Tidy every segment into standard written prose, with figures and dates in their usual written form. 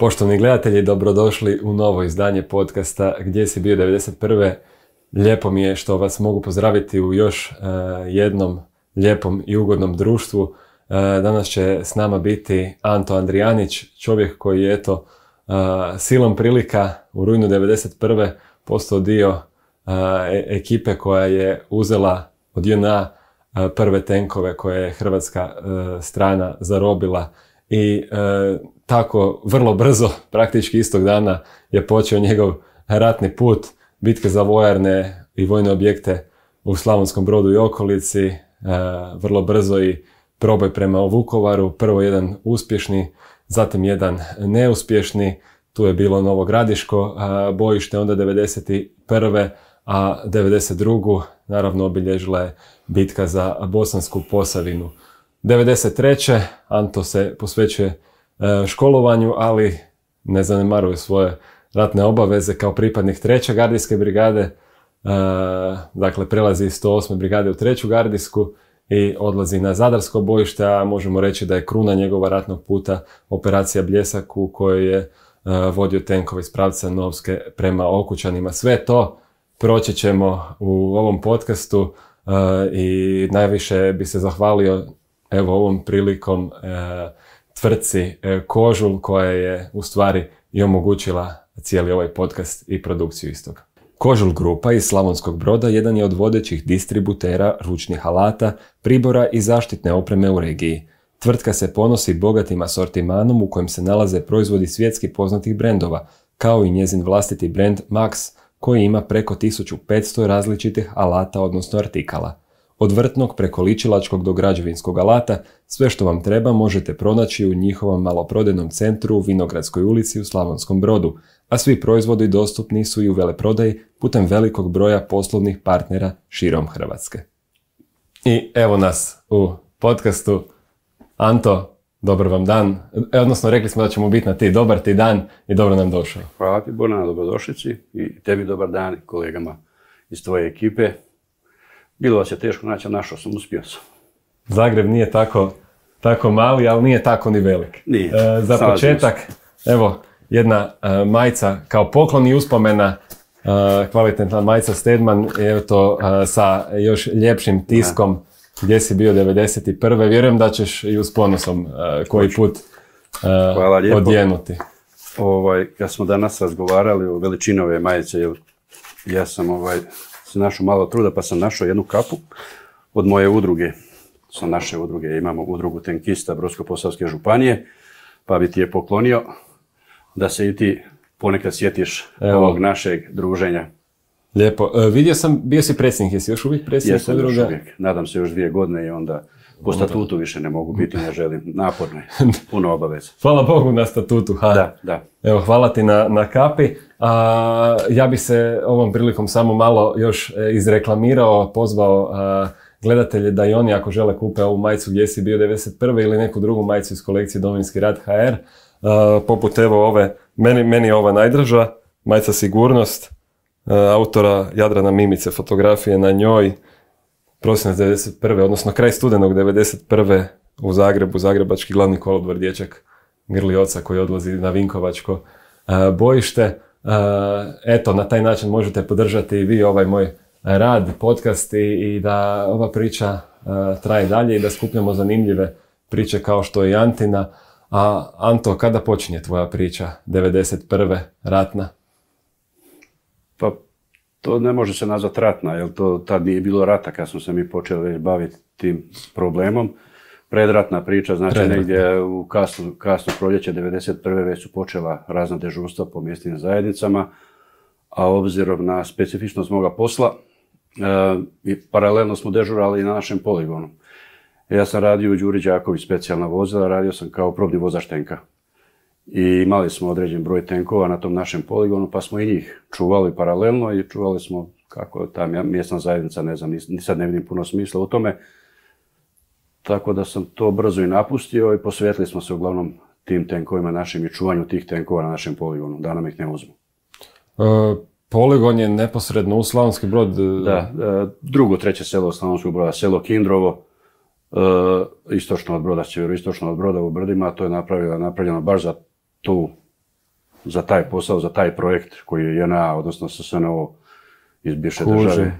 Poštovani gledatelji, dobrodošli u novo izdanje podcasta Gdje si bio 91. Lijepo mi je što vas mogu pozdraviti u još jednom lijepom i ugodnom društvu. Danas će s nama biti Anto Andrijanić, čovjek koji je silom prilika u rujnu 91. postao dio ekipe koja je uzela od JNA prve tenkove koje je hrvatska strana zarobila i tako vrlo brzo, praktički istog dana, je počeo njegov ratni put, bitke za vojarne i vojne objekte u Slavonskom Brodu i okolici, vrlo brzo i proboj prema Vukovaru, prvo jedan uspješni, zatim jedan neuspješni, tu je bilo Novo Gradiško bojište, onda 91. a 92. naravno obilježila je bitka za Bosansku Posavinu. 93. Anto se posvećuje školovanju, ali ne zanemaruje svoje ratne obaveze kao pripadnik 3. gardijske brigade, dakle prelazi iz 108. brigade u 3. gardijsku i odlazi na Zadarsko bojište, a možemo reći da je kruna njegova ratnog puta operacija Bljesak u kojoj je vodio tenkove iz pravca Novske prema Okučanima. Sve to proći ćemo u ovom podcastu i najviše bi se zahvalio ovom prilikom tvrtci Kožul koja je u stvari i omogućila cijeli ovaj podcast i produkciju istog. Kožul grupa iz Slavonskog Broda jedan je od vodećih distributera ručnih alata, pribora i zaštitne opreme u regiji. Tvrtka se ponosi bogatim asortimanom u kojem se nalaze proizvodi svjetski poznatih brendova, kao i njezin vlastiti brend Max, koji ima preko 1500 različitih alata odnosno artikala. Od vrtnog preko ličilačkog do građevinskog alata, sve što vam treba možete pronaći u njihovom maloprodajnom centru u Vinogradskoj ulici u Slavonskom Brodu, a svi proizvodi dostupni su i u veleprodaji putem velikog broja poslovnih partnera širom Hrvatske. I evo nas u podcastu. Anto, dobar vam dan. Odnosno, rekli smo da ćemo biti na ti. Dobar ti dan i dobro nam došao. Hvala ti, Borna, na dobrodošlici i tebi dobar dan i kolegama iz tvoje ekipe. Bilo vas je teško naći, a našao sam, uspio sam. Zagreb nije tako mali, ali nije tako ni velik. Nije. Za početak, evo, jedna majica kao poklon i uspomena, kvalitetna majica Stedman, evo to sa još ljepšim tiskom. Gdje si bio 91. Vjerujem da ćeš i uz ponosom koji put odjenuti. Kad smo danas razgovarali o veličini ove majice, ja sam se našao malo truda pa sam našao jednu kapu od moje udruge. Sa naše udruge imamo udrugu tenkista Brodsko-posavske županije, pa bi ti je poklonio da se i ti ponekad sjetiš ovog našeg druženja. Lijepo. Vidio sam, bio si predsjednik, jesi još uvijek predsjednik udruga? Jesam još uvijek. Nadam se još 2 godine i onda po statutu više ne mogu biti, ne želim. Naporno je, puno obaveza. Hvala Bogu na statutu. Da. Evo, hvala ti na kapi. Ja bi se ovom prilikom samo malo još izreklamirao, pozvao gledatelje da i oni ako žele kupe ovu majicu Gdje si bio 91. ili neku drugu majicu iz kolekcije Domovinski rat HR. Poput evo ove, meni je ova najdraža, majica Sigurnost, autora Jadrana Mimice, fotografije na njoj, prosinac 91. odnosno kraj studenog 91. u Zagrebu, zagrebački glavni kolodvor dječak grli oca koji odlazi na Vinkovačko bojište. Eto, na taj način možete podržati i vi ovaj moj rad, podcast i da ova priča traje dalje i da skupljamo zanimljive priče kao što je i Antina. A Anto, kada počinje tvoja priča 91. ratna? Pa to ne može se nazvati ratna, jer to tad nije bilo rata kad smo se mi počeli baviti tim problemom. Predratna priča, znači negdje u kasno proljeće 91. već su počela razna dežurstva po mjesnim zajednicama, a obzirom na specifičnost moga posla, i paralelno smo dežurali i na našem poligonu. Ja sam radio u Đuri Đaković specijalna vozila, radio sam kao probni vozač tenka. I imali smo određen broj tenkova na tom našem poligonu, pa smo i njih čuvali paralelno i čuvali smo kako ta mjesna zajednica, ne znam, ni sad ne vidim puno smisla u tome. Tako da sam to brzo i napustio i posvetili smo se uglavnom tim tenkovima našim i čuvanju tih tenkova na našem poligonu, da nam ih ne uzmu. Poligon je neposredno u Slavonski Brod? Da, drugo, treće selo od Slavonskog Broda, selo Kindrovo, istočno od Broda, sjeveroistočno od Broda u Brdima, to je napravljeno baš za tu za taj posao, za taj projekt koji je JNA, odnosno SSNO iz bivše države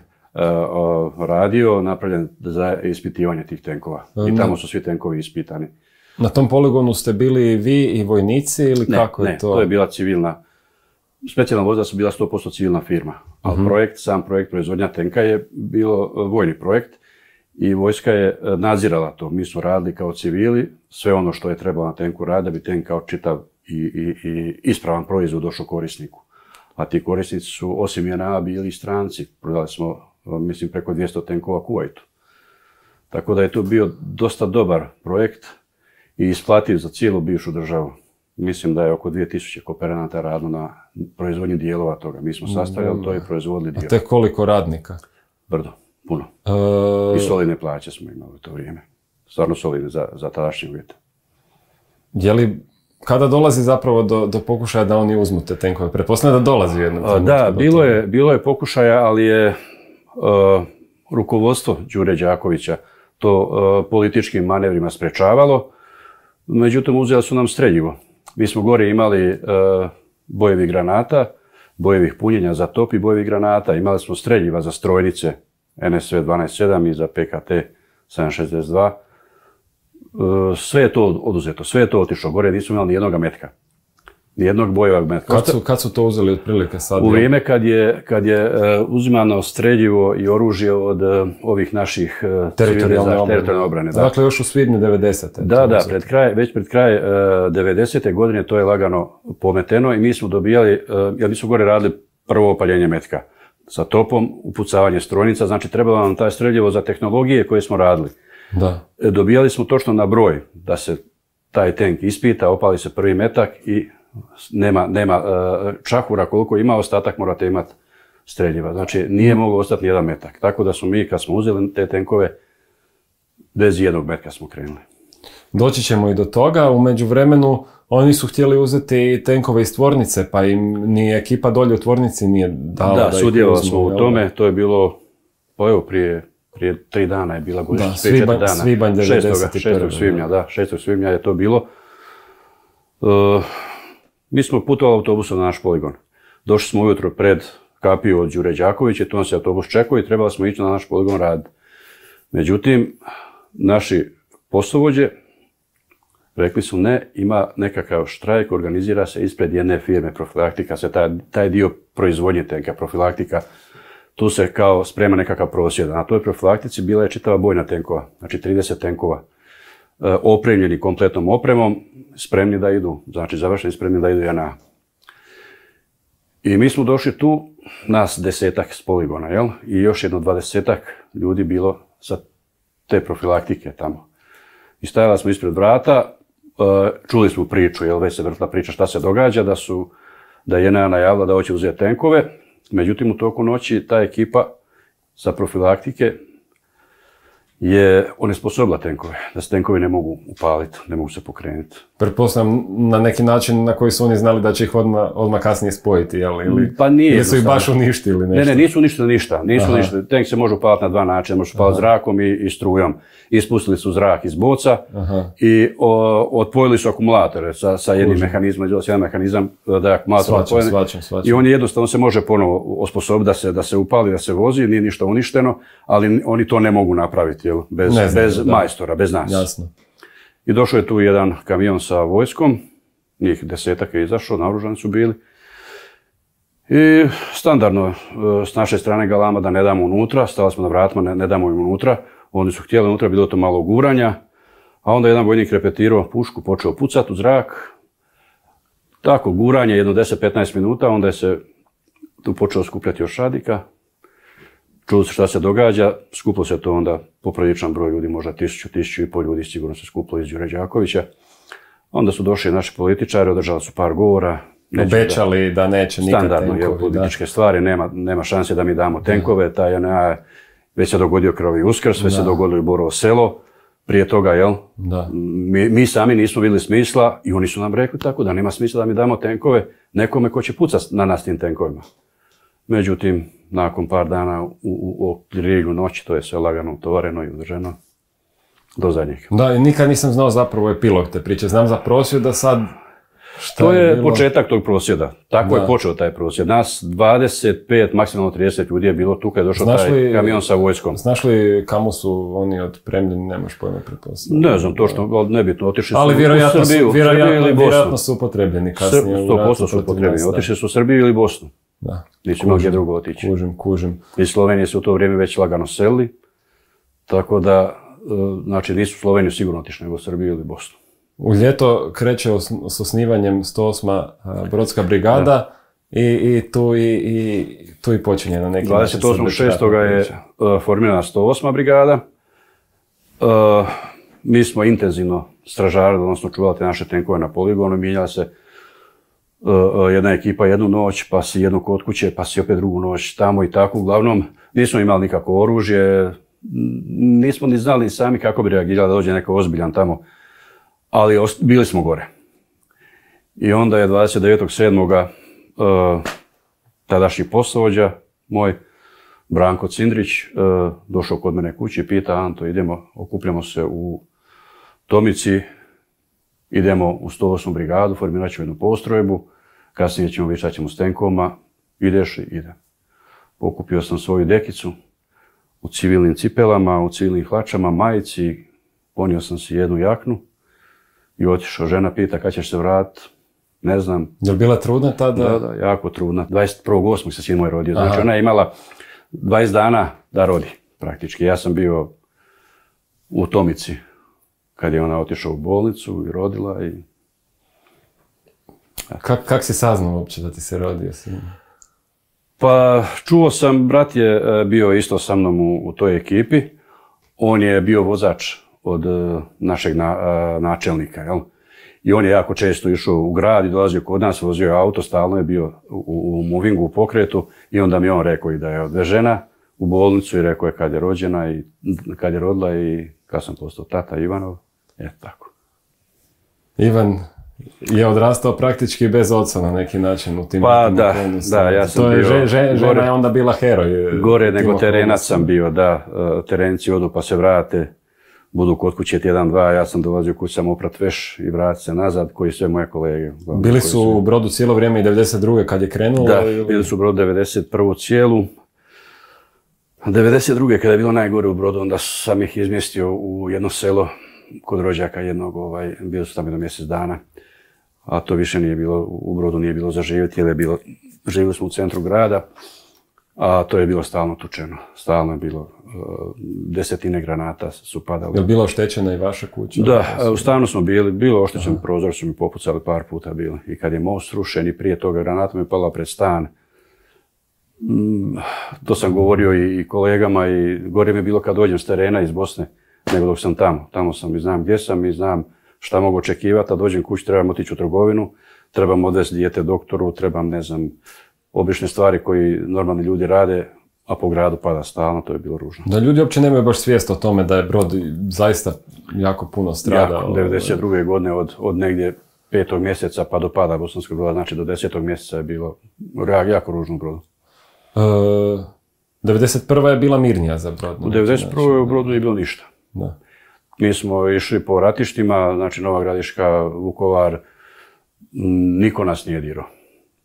radio, napravljen za ispitivanje tih tenkova. I tamo su svi tenkovi ispitani. Na tom poligonu ste bili vi i vojnici ili kako je to? Ne, to je bila civilna. Specijalna vozila su bila 100% civilna firma, ali sam projekt proizvodnja tenka je bilo vojni projekt i vojska je nadzirala to. Mi smo radili kao civili sve ono što je trebalo na tenku raditi da bi tenk kao čitav i ispravan proizvod došao korisniku. A ti korisnici su osim JNA bili i stranci. Prodali smo, mislim, preko 200 tenkova Kuvajtu. Tako da je to bio dosta dobar projekt i isplativ za cijelu bivšu državu. Mislim da je oko 2000 kooperanata radilo na proizvodnji dijelova toga. Mi smo sastavljali to i proizvodili dijelova. A te koliko radnika? Brdo, puno. I solidne plaće smo imali u to vrijeme. Stvarno solidne za tadašnje uvjete. Je li, kada dolazi zapravo do pokušaja da oni uzmu te tenkove? Pretpostavljam da dolazi u jednom trenutku. Da, bilo je pokušaja, ali je rukovodstvo Đure Đakovića to političkim manevrima sprečavalo. Međutim, uzeli su nam streljivo. Mi smo gore imali bojevih granata, bojevih punjenja za top i bojevih granata. Imali smo streljiva za strojnice NSV 12.7 i za PKT 7.62. Sve je to oduzeto, sve je to otišlo. Gore nismo imali nijednog metka. Nijednog bojevog metka. Kad su to uzeli otprilike sad? U vrijeme kad je uzimano streljivo i oružje od ovih naših teritorijalne obrane. Da. Dakle, još u svibnju 90. Da, već pred kraj 90. godine to je lagano pometeno i mi smo dobijali, jer mi smo gore radili prvo opaljenje metka sa topom, upucavanje strojnica, znači trebalo nam taj streljivo za tehnologije koje smo radili. Da. Dobijali smo točno na broj da se taj tank ispita, opali se prvi metak i nema čahura, koliko ima, ostatak morate imati streljiva. Znači, nije moglo ostati nijedan metak. Tako da smo mi, kad smo uzeli te tenkove, bez jednog metka smo krenuli. Doći ćemo i do toga. U međuvremenu, oni su htjeli uzeti tenkove iz tvornice, pa im ni ekipa dolje u tvornici nije dala da ih uzmu. Da, sudjelovali smo u tome. To je bilo, pa evo, prije 3 dana je bila godišnjica. Da, svibanj 91. 6. svibnja, da, 6. svibnja je to bilo. Mi smo putovali autobusom na naš poligon. Došli smo ujutro pred kapiju od Đure Đakovića, tu nas je autobus čekao i trebali smo ići na naš poligon raditi. Međutim, naši poslovođe rekli su ne, ima nekakav štrajk, organizira se ispred jedne firme, Profilaktika, se taj dio proizvodnje tenka, Profilaktika, tu se kao sprema nekakav prosvjed. Na toj Profilaktici bila je čitava bojna tenkova, znači 30 tenkova. Opremljeni kompletnom opremom, spremni da idu, znači završeni spremni da idu JNA. I mi smo došli tu, nas 10-ak s poligona, jel? I još jedno 20-ak ljudi bilo sa te Profilaktike tamo. I stajala smo ispred vrata, čuli smo priču, jel? Već se vrtila priča šta se događa, da je JNA najavila da hoće uzeti tenkove. Međutim, u toku noći ta ekipa sa Profilaktike je onesposobila tenkove, da se tenkovi ne mogu upaliti, ne mogu se pokrenuti. Pretpostavljam na neki način na koji su oni znali da će ih odmah kasnije spojiti, jel? Ili pa nije. Jesu ih baš uništili nešto? Ne, nisu uništili ništa. Tenk se može upaliti na dva načina, može upaliti zrakom i strujom. Ispustili su zrak iz boca i otpojili su akumulatore sa jednim mehanizmom, jedan mehanizam da je akumulator otpojen. I on jednostavno se može ponovo osposobiti da se upali, da se vozi, nije ništa uništeno, ali oni to ne mogu napraviti, jel? Bez majstora, bez nas. Jasno. I došao je tu jedan kamion sa vojskom, njih 10-ak je izašao, naoružani su bili. I standardno s naše strane galama da ne damo unutra, stali smo na vratima, ne damo im unutra. Oni su htjeli unutra, bilo to malo guranja, a onda jedan vojnik repetirao pušku, počeo pucati u zrak. Tako, guranje, jedno 10-15 minuta, onda je se tu počeo skupljati još radika. Čulo se šta se događa, skupilo se to onda popriličan broj ljudi, možda 1000-1500 ljudi sigurno se skupilo iz Đure Đakovića. Onda su došli naši političari, održali su par govora. Obećali da neće nikad tenkovi. Standardno, političke stvari, nema šanse da mi damo tenkove, taj JNA već se dogodio Krvavi Uskrs, već se dogodilo i Borovo Selo, prije toga, jel? Mi sami nismo vidjeli smisla i oni su nam rekli tako da nema smisla da mi damo tenkove nekome ko će pucati na nas tim tenkovima. Međutim, nakon par dana u Rigu noći, to je sve lagano utovareno i udrženo do zadnjeg. Da, i nikad nisam znao zapravo epilog te priče. Znam za prosvjed da sad To je početak tog prosvjeda. Tako je počeo taj prosvjed. Nas 25, maksimalno 30 ljudi je bilo tu kad je došao taj kamion sa vojskom. Znaš li kamo su oni otpremljeni, nemaš pojma pretpostavljati? Ne znam točno, ali nebitno. Otišli su ali u Srbiju, vjerojatno su upotrebljeni kasnije. 100% su upotrebljeni. Otišli su u Srbiju ili Bosnu. Da. Nisu imali gdje drugo otići. Kužim. I Slovenije su u to vrijeme već lagano selili. Tako da, znači nisu u Sloveniju sigurno otišli, nego u Srbiju ili Bosnu. U ljeto kreće s osnivanjem 108. Brodska brigada i tu i počinje na neki način. 28.6. je formirana 108. brigada. Mi smo intenzivno stražarili, odnosno čuvali te naše tenkove na poligonu, mijenjala se jedna ekipa jednu noć, pa si jednu kod kuće, pa si opet drugu noć tamo i tako. Uglavnom, nismo imali nikako oružje, nismo ni znali sami kako bi reagirali da dođe neko ozbiljan tamo, ali bili smo gore. I onda je 29.7. Tadašnji poslovođa, moj Branko Cindrić, došao kod mene kući i pita: Anto, idemo, okupljamo se u Tomici, idemo u 108. brigadu, formirat ćemo jednu postrojbu, kasnije ćemo vidjeti šta ćemo s tenkovima, ideš i idem. Pokupio sam svoju dekicu u civilnim cipelama, u civilnim hlačama, majici, ponio sam si jednu jaknu i otišao. Žena pita kad ćeš se vratiti, ne znam. Je li bila trudna tada? Da, jako trudna. 21.8. se sin moj rodio, znači ona je imala 20 dana da rodi praktički. Ja sam bio u Tomici kad je ona otišla u bolnicu i rodila i... Kak si saznao uopće da ti se rodio sin? Pa čuo sam, brat je bio isto sa mnom u toj ekipi. On je bio vozač od našeg načelnika, jel? I on je jako često išao u grad i dolazio kod nas, vozio je auto, stalno je bio u movingu, u pokretu, i onda mi on rekao i da je odvežena u bolnicu i rekao je kad je rođena i kad je rodila i kad sam postao tata Ivanov. Tako. Ivan je odrastao praktički bez oca na neki način u tim okolnostima. Da, ja sam bio... Žena je onda bila heroj. Gore nego terenac sam bio, da. Terenci odu pa se vrate, budu kod kuće tjedan, dva, ja sam dolazio kući sam oprat veš i vrati se nazad, koji sve moje kolege. Bili su u Brodu cijelo vrijeme i 92. kad je krenulo? Da, bili su u Brodu 91. cijelu. 92. kada je bilo najgore u Brodu, onda sam ih izmjestio u jedno selo kod rođaka jednog, bio su tamo jedno mjesec dana, a to više nije bilo, u Brodu nije bilo za živjeti, jer je bilo, živjeli smo u centru grada, a to je bilo stalno tučeno, stalno je bilo, desetine granata su padale. Je li bila oštećena i vaša kuća? Da, u stanu smo bili, bilo oštećen prozor, su mi popucali par puta bili, i kad je most srušen i prije toga granata mi je pala pred stan. To sam govorio i kolegama, i gore mi je bilo kad dođem s terena iz Bosne, nego dok sam tamo. Tamo sam i znam gdje sam i znam šta mogu očekivati, a dođem kući, trebam otići u trgovinu, trebam odvesti dijete doktoru, trebam, ne znam, obične stvari koji normalni ljudi rade, a po gradu pada stalno, to je bilo ružno. Da, ljudi uopće nemaju baš svijest o tome da je Brod zaista jako puno stradao. Jako, 92. godine od negdje 5. mjeseca pa do pada Bosanskog Broda, znači do 10. mjeseca je bilo jako ružno u Brodu. 91. je bila mirnija za Brod. U 91. u Brodu nije bilo ništa. Da. Mi smo išli po ratištima, znači Nova Gradiška, Vukovar, niko nas nije dirao.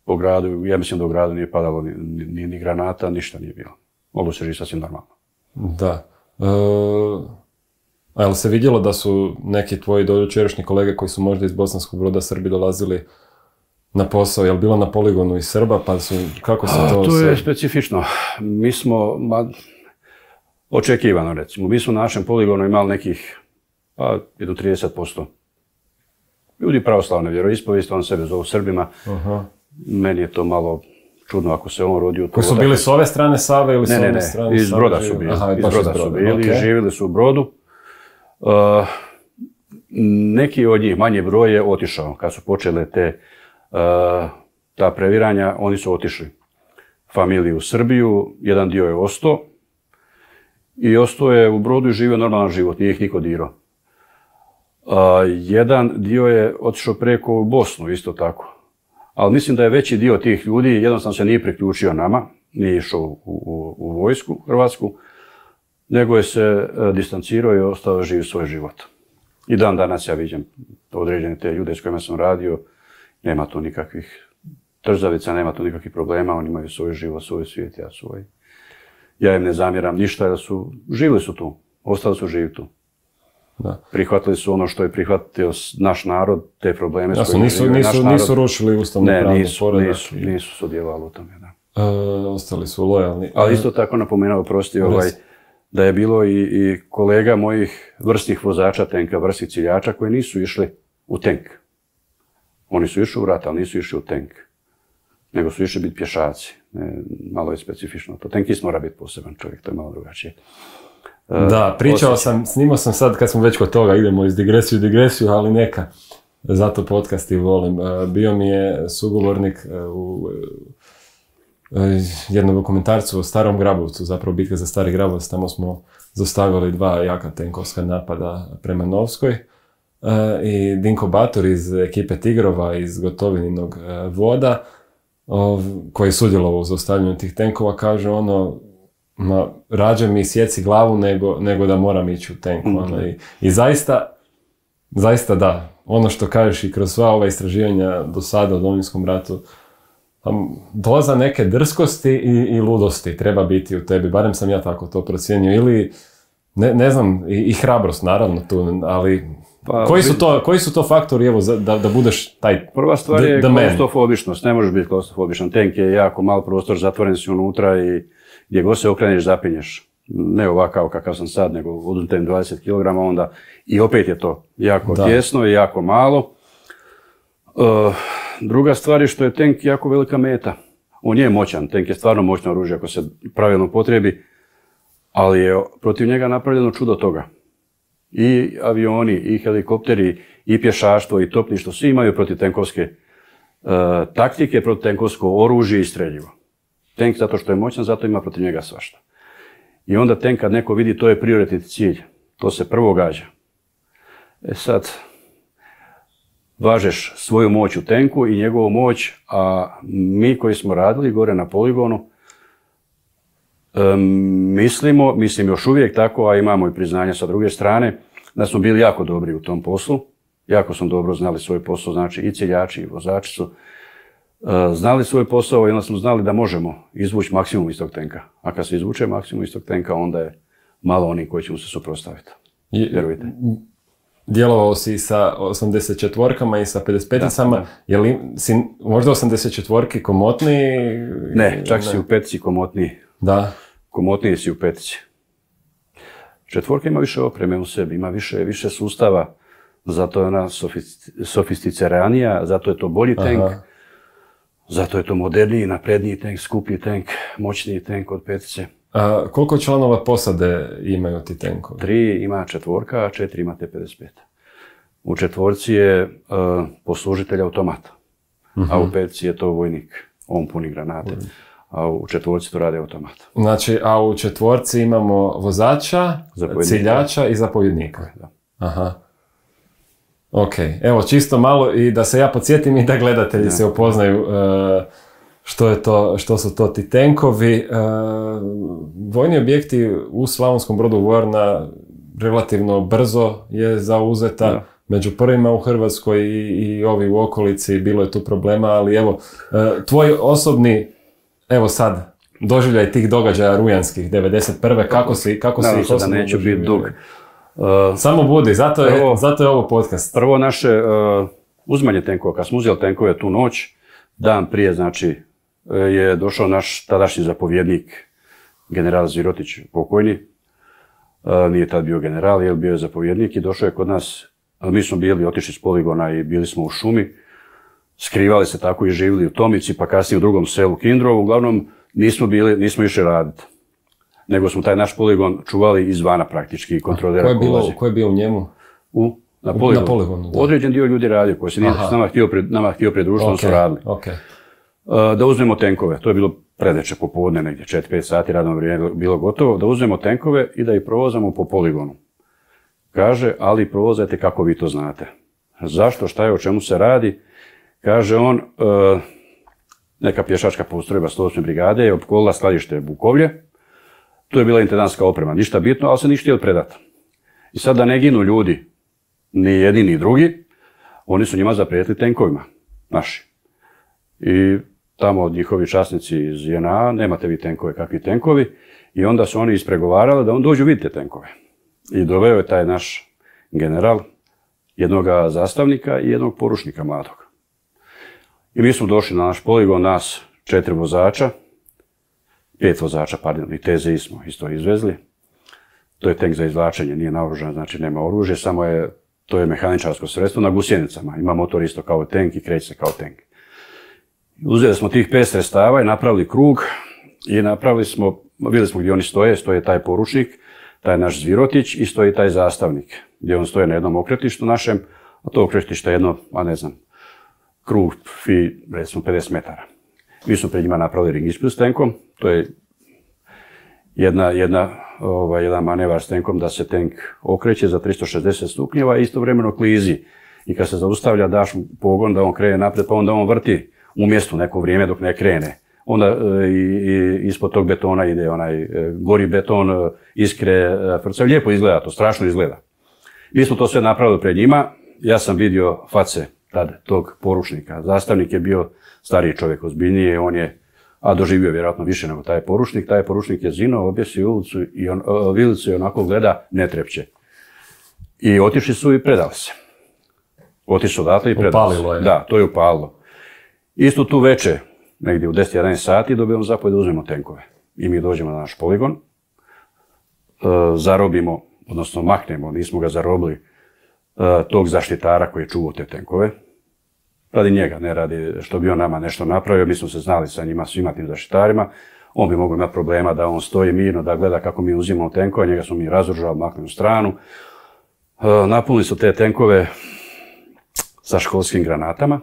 Po gradu, ja mislim da u gradu nije padalo ni granata, ništa nije bilo. Moglo se živjeti sasvim normalno. Da. A je li se vidjelo da su neki tvoji dojučerašnji kolege koji su možda iz Bosanskog Broda Srbi dolazili na posao, je li bilo na poligonu iz Srba, pa su, kako se to... To je specifično. Mi smo, očekivano recimo, mi smo na našem poligonu imali nekih, jedno 30%. Ljudi pravoslavne vjeroispovijesti, on sebe zovu Srbima. Meni je to malo čudno ako se on rodio... Koji su bili s ove strane Save ili s ove strane Save? Iz Broda su bili. Iz Broda su bili, živjeli su u Brodu. Neki od njih, manji broj, je otišao. Kad su počele ta previranja, oni su otišli familiju u Srbiju, jedan dio je ostao i ostao je u Brodu i živio normalan život, nije ih niko dirao. Jedan dio je otišao preko u Bosnu, isto tako. Ali mislim da je veći dio tih ljudi jednostavno se nije priključio nama, nije išao u vojsku hrvatsku, nego je se distancirao i ostao živi svoj život. I dan danas ja vidim određene te ljude s kojima sam radio, Nema tu nikakvih trzavica, nema tu nikakvih problema, oni imaju svoj život, svoj svijet, ja svoj. Ja im ne zamjeram ništa, jer živjeli su tu, ostali su živi tu. Da. Prihvatili su ono što je prihvatio naš narod, te probleme s kojima živi naš narod. Nisu rušili ustavno pravni poredak. Nisu sudjelovali u tome, da. Ostali su lojalni. Ali isto tako napomenuo, prosti, da je bilo i kolega mojih vrsnih vozača tenka, vrsnih ciljača koji nisu išli u tenk. Oni su išli u rat, ali nisu išli u tenk. Nego su išli biti pješaci. Malo je specifično to. Tenkist mora biti poseban čovjek, to je malo drugačije. Da, snimao sam sad, kad smo već kod toga, idemo iz digresiju, ali neka. Zato podcast i volim. Bio mi je sugovornik u jednom dokumentarcu o Starom Grabovcu, zapravo bitka za Stari Grabovac, tamo smo zaustavili 2 jaka tenkovska napada prema Novskoj. I Dinko Bator iz ekipe Tigrova iz Gotovininog voda, koji je sudjelovao u zaustavljanju tih tenkova, kaže rađe mi sjeci glavu nego da moram ići u tenku. I zaista da, ono što kažeš i kroz sva ova istraživanja do sada u Domovinskom ratu, doza neke drskosti i ludosti treba biti u tebi, barem sam ja tako to procijenio, ili ne znam, i hrabrost naravno tu, ali koji su to faktori, evo, da budeš taj Prva stvar je klaustrofobičnost, ne možeš biti klaustrofobičan, tenk je jako mal prostor, zatvoren si unutra i gdje god se okreneš zapinješ. Ne ovakav kakav sam sad, nego oduzmem 20 kg, onda i opet je to jako tjesno i jako malo. Druga stvar je što je tenk jako velika meta. On je moćan, tenk je stvarno moćno oružje ako se pravilno upotrebi, ali je protiv njega napravljeno čudo toga. I avioni, i helikopteri, i pješaštvo, i topništvo, svi imaju protivtenkovske taktike, protivtenkovsko oružje i streljivo. Tenk zato što je moćan, zato ima protiv njega svašta. I onda tenk kad neko vidi, to je prioritetni cilj. To se prvo gađa. Sad, važeš svoju moć u tenku i njegovu moć, a mi koji smo radili gore na poligonu, mislim još uvijek tako, a imamo i priznanja sa druge strane, da smo bili jako dobri u tom poslu. Jako smo dobro znali svoj posao, znači i ciljači i vozači su znali svoj posao i onda smo znali da možemo izvući maksimum iz tog tenka. A kad se izvuče maksimum iz tog tenka, onda je malo onih koji će mu se suprotstaviti. Vjerujte. Djelovao si sa 84-kama i sa 55-icama, je li si možda 84-ki komotniji? Ne, čak si u petici komotniji. Da. Komotniji si u petici. Četvorka ima više opreme u sebi, ima više sustava, zato je ona sofisticiranija, zato je to bolji tank, zato je to moderniji, napredniji tank, skuplji tank, moćniji tank od petice. A koliko članova posade imaju ti tenkovi? 3 ima četvorka, a 4 ima T-55. U četvorci je poslužitelj automata, a u petici je to vojnik, on puni granate. A u četvorci to radi automat. Znači, a u četvorci imamo vozača, ciljača i zapovjednika. Da. Aha. Ok, evo čisto malo i da se ja podsjetim i da gledatelji se upoznaju što su to ti tenkovi. Vojni objekti u Slavonskom Brodu, vojarna relativno brzo je zauzeta. Da. Među prvima u Hrvatskoj i ovi u okolici, bilo je tu problema, ali evo, tvoj osobni, evo sad, doživljaj tih događaja rujanskih, 91. Kako si ih osobno da neću biti dug. Samo budi, zato je ovo podcast. Prvo naše uzimanje tenkova, kad smo uzeli tenkove tu noć, dan prije, znači, je došao naš tadašnji zapovjednik, general Zirotić, pokojni, nije tad bio general, jer bio je zapovjednik i došao je kod nas, mi smo bili otišli s poligona i bili smo u šumi, skrivali se tako i živjeli u Tomici, pa kasnije u drugom selu Kindrovu. Uglavnom, nismo išli raditi. Nego smo taj naš poligon čuvali izvana praktički i kontrolirali ko ulazi. Ko je bio u njemu? Na poligonu. Određen dio ljudi radio, koji se nije s nama htio pridružiti, oni su radili. Da uzmemo tenkove, to je bilo predveče popodne, negdje 4-5 sati, radno vrijeme bilo gotovo, da uzmemo tenkove i da ih provozamo po poligonu. Kaže, ali provozajte kako vi to znate. Zašto, šta je, o čemu se radi? Kaže on, neka pješačka postrojba 108. brigade je opkolila skladište Bukovlje. Tu je bila intendantska oprema, ništa bitno, ali se ništa htjeli predati. I sad da ne ginu ljudi, ni jedni ni drugi, oni su njima zaprijetili tenkovima. naši. I tamo njihovi časnici iz JNA, nemate vi tenkove, kakvi tenkovi, i onda su oni ispregovarali da on dođu vidjeti tenkove. I doveo je taj naš general jednog zastavnika i jednog poručnika mladog. I mi smo došli na naš poligon, nas 4 vozača, 5 vozača, pardon, i TZI smo isto izvezli. To je tank za izvlačenje, nije naoružan, znači nema oružje, samo to je mehaničarsko sredstvo na gusjenicama. Ima motor isto kao tank i kreće se kao tank. Uzeli smo tih 5 sredstava i napravili krug i vidjeli smo gdje oni stoje taj poručnik, taj naš Zvirotić i stoji taj zastavnik, gdje on stoje na jednom okretištu našem, a to okretište je jedno, krug recimo 50 metara. Mi smo pred njima napravili ring ispred s tenkom, to je jedan manevar s tenkom da se tenk okreće za 360 stupnjeva i istovremeno klizi. I kad se zaustavlja, daš mu pogon da on krene naprijed, pa onda on vrti u mjestu neko vrijeme dok ne krene. Onda ispod tog betona ide onaj gori beton, iskre, frcav. Lijepo izgleda to, strašno izgleda. Mi smo to sve napravili pred njima. Ja sam vidio face tad tog poručnika. Zastavnik je bio stariji čovjek, ozbiljniji, a doživio vjerojatno više nego taj poručnik. Taj poručnik je zinuo, objesio vilicu i onako gleda, ne trepće. I otišli su i predali se. Otišli odatle i predali se. Upalilo je. Da, to je upalilo. Isto tu veče, negdje u 10-11 sati, dobijemo zapovjed da uzmemo tenkove. I mi dođemo na naš poligon, zarobimo, odnosno maknemo, nismo ga zarobili, tog zaštitara koji je čuvao te tenkove. Radi njega, ne radi što bi on nama nešto napravio, mi smo se znali sa njima, svima tim zaštitarima. On bi mogao imati problema da on stoji mirno, da gleda kako mi uzimamo tenkove, njega smo mi razoružali, maknuli u stranu. Napunili su te tenkove sa školskim granatama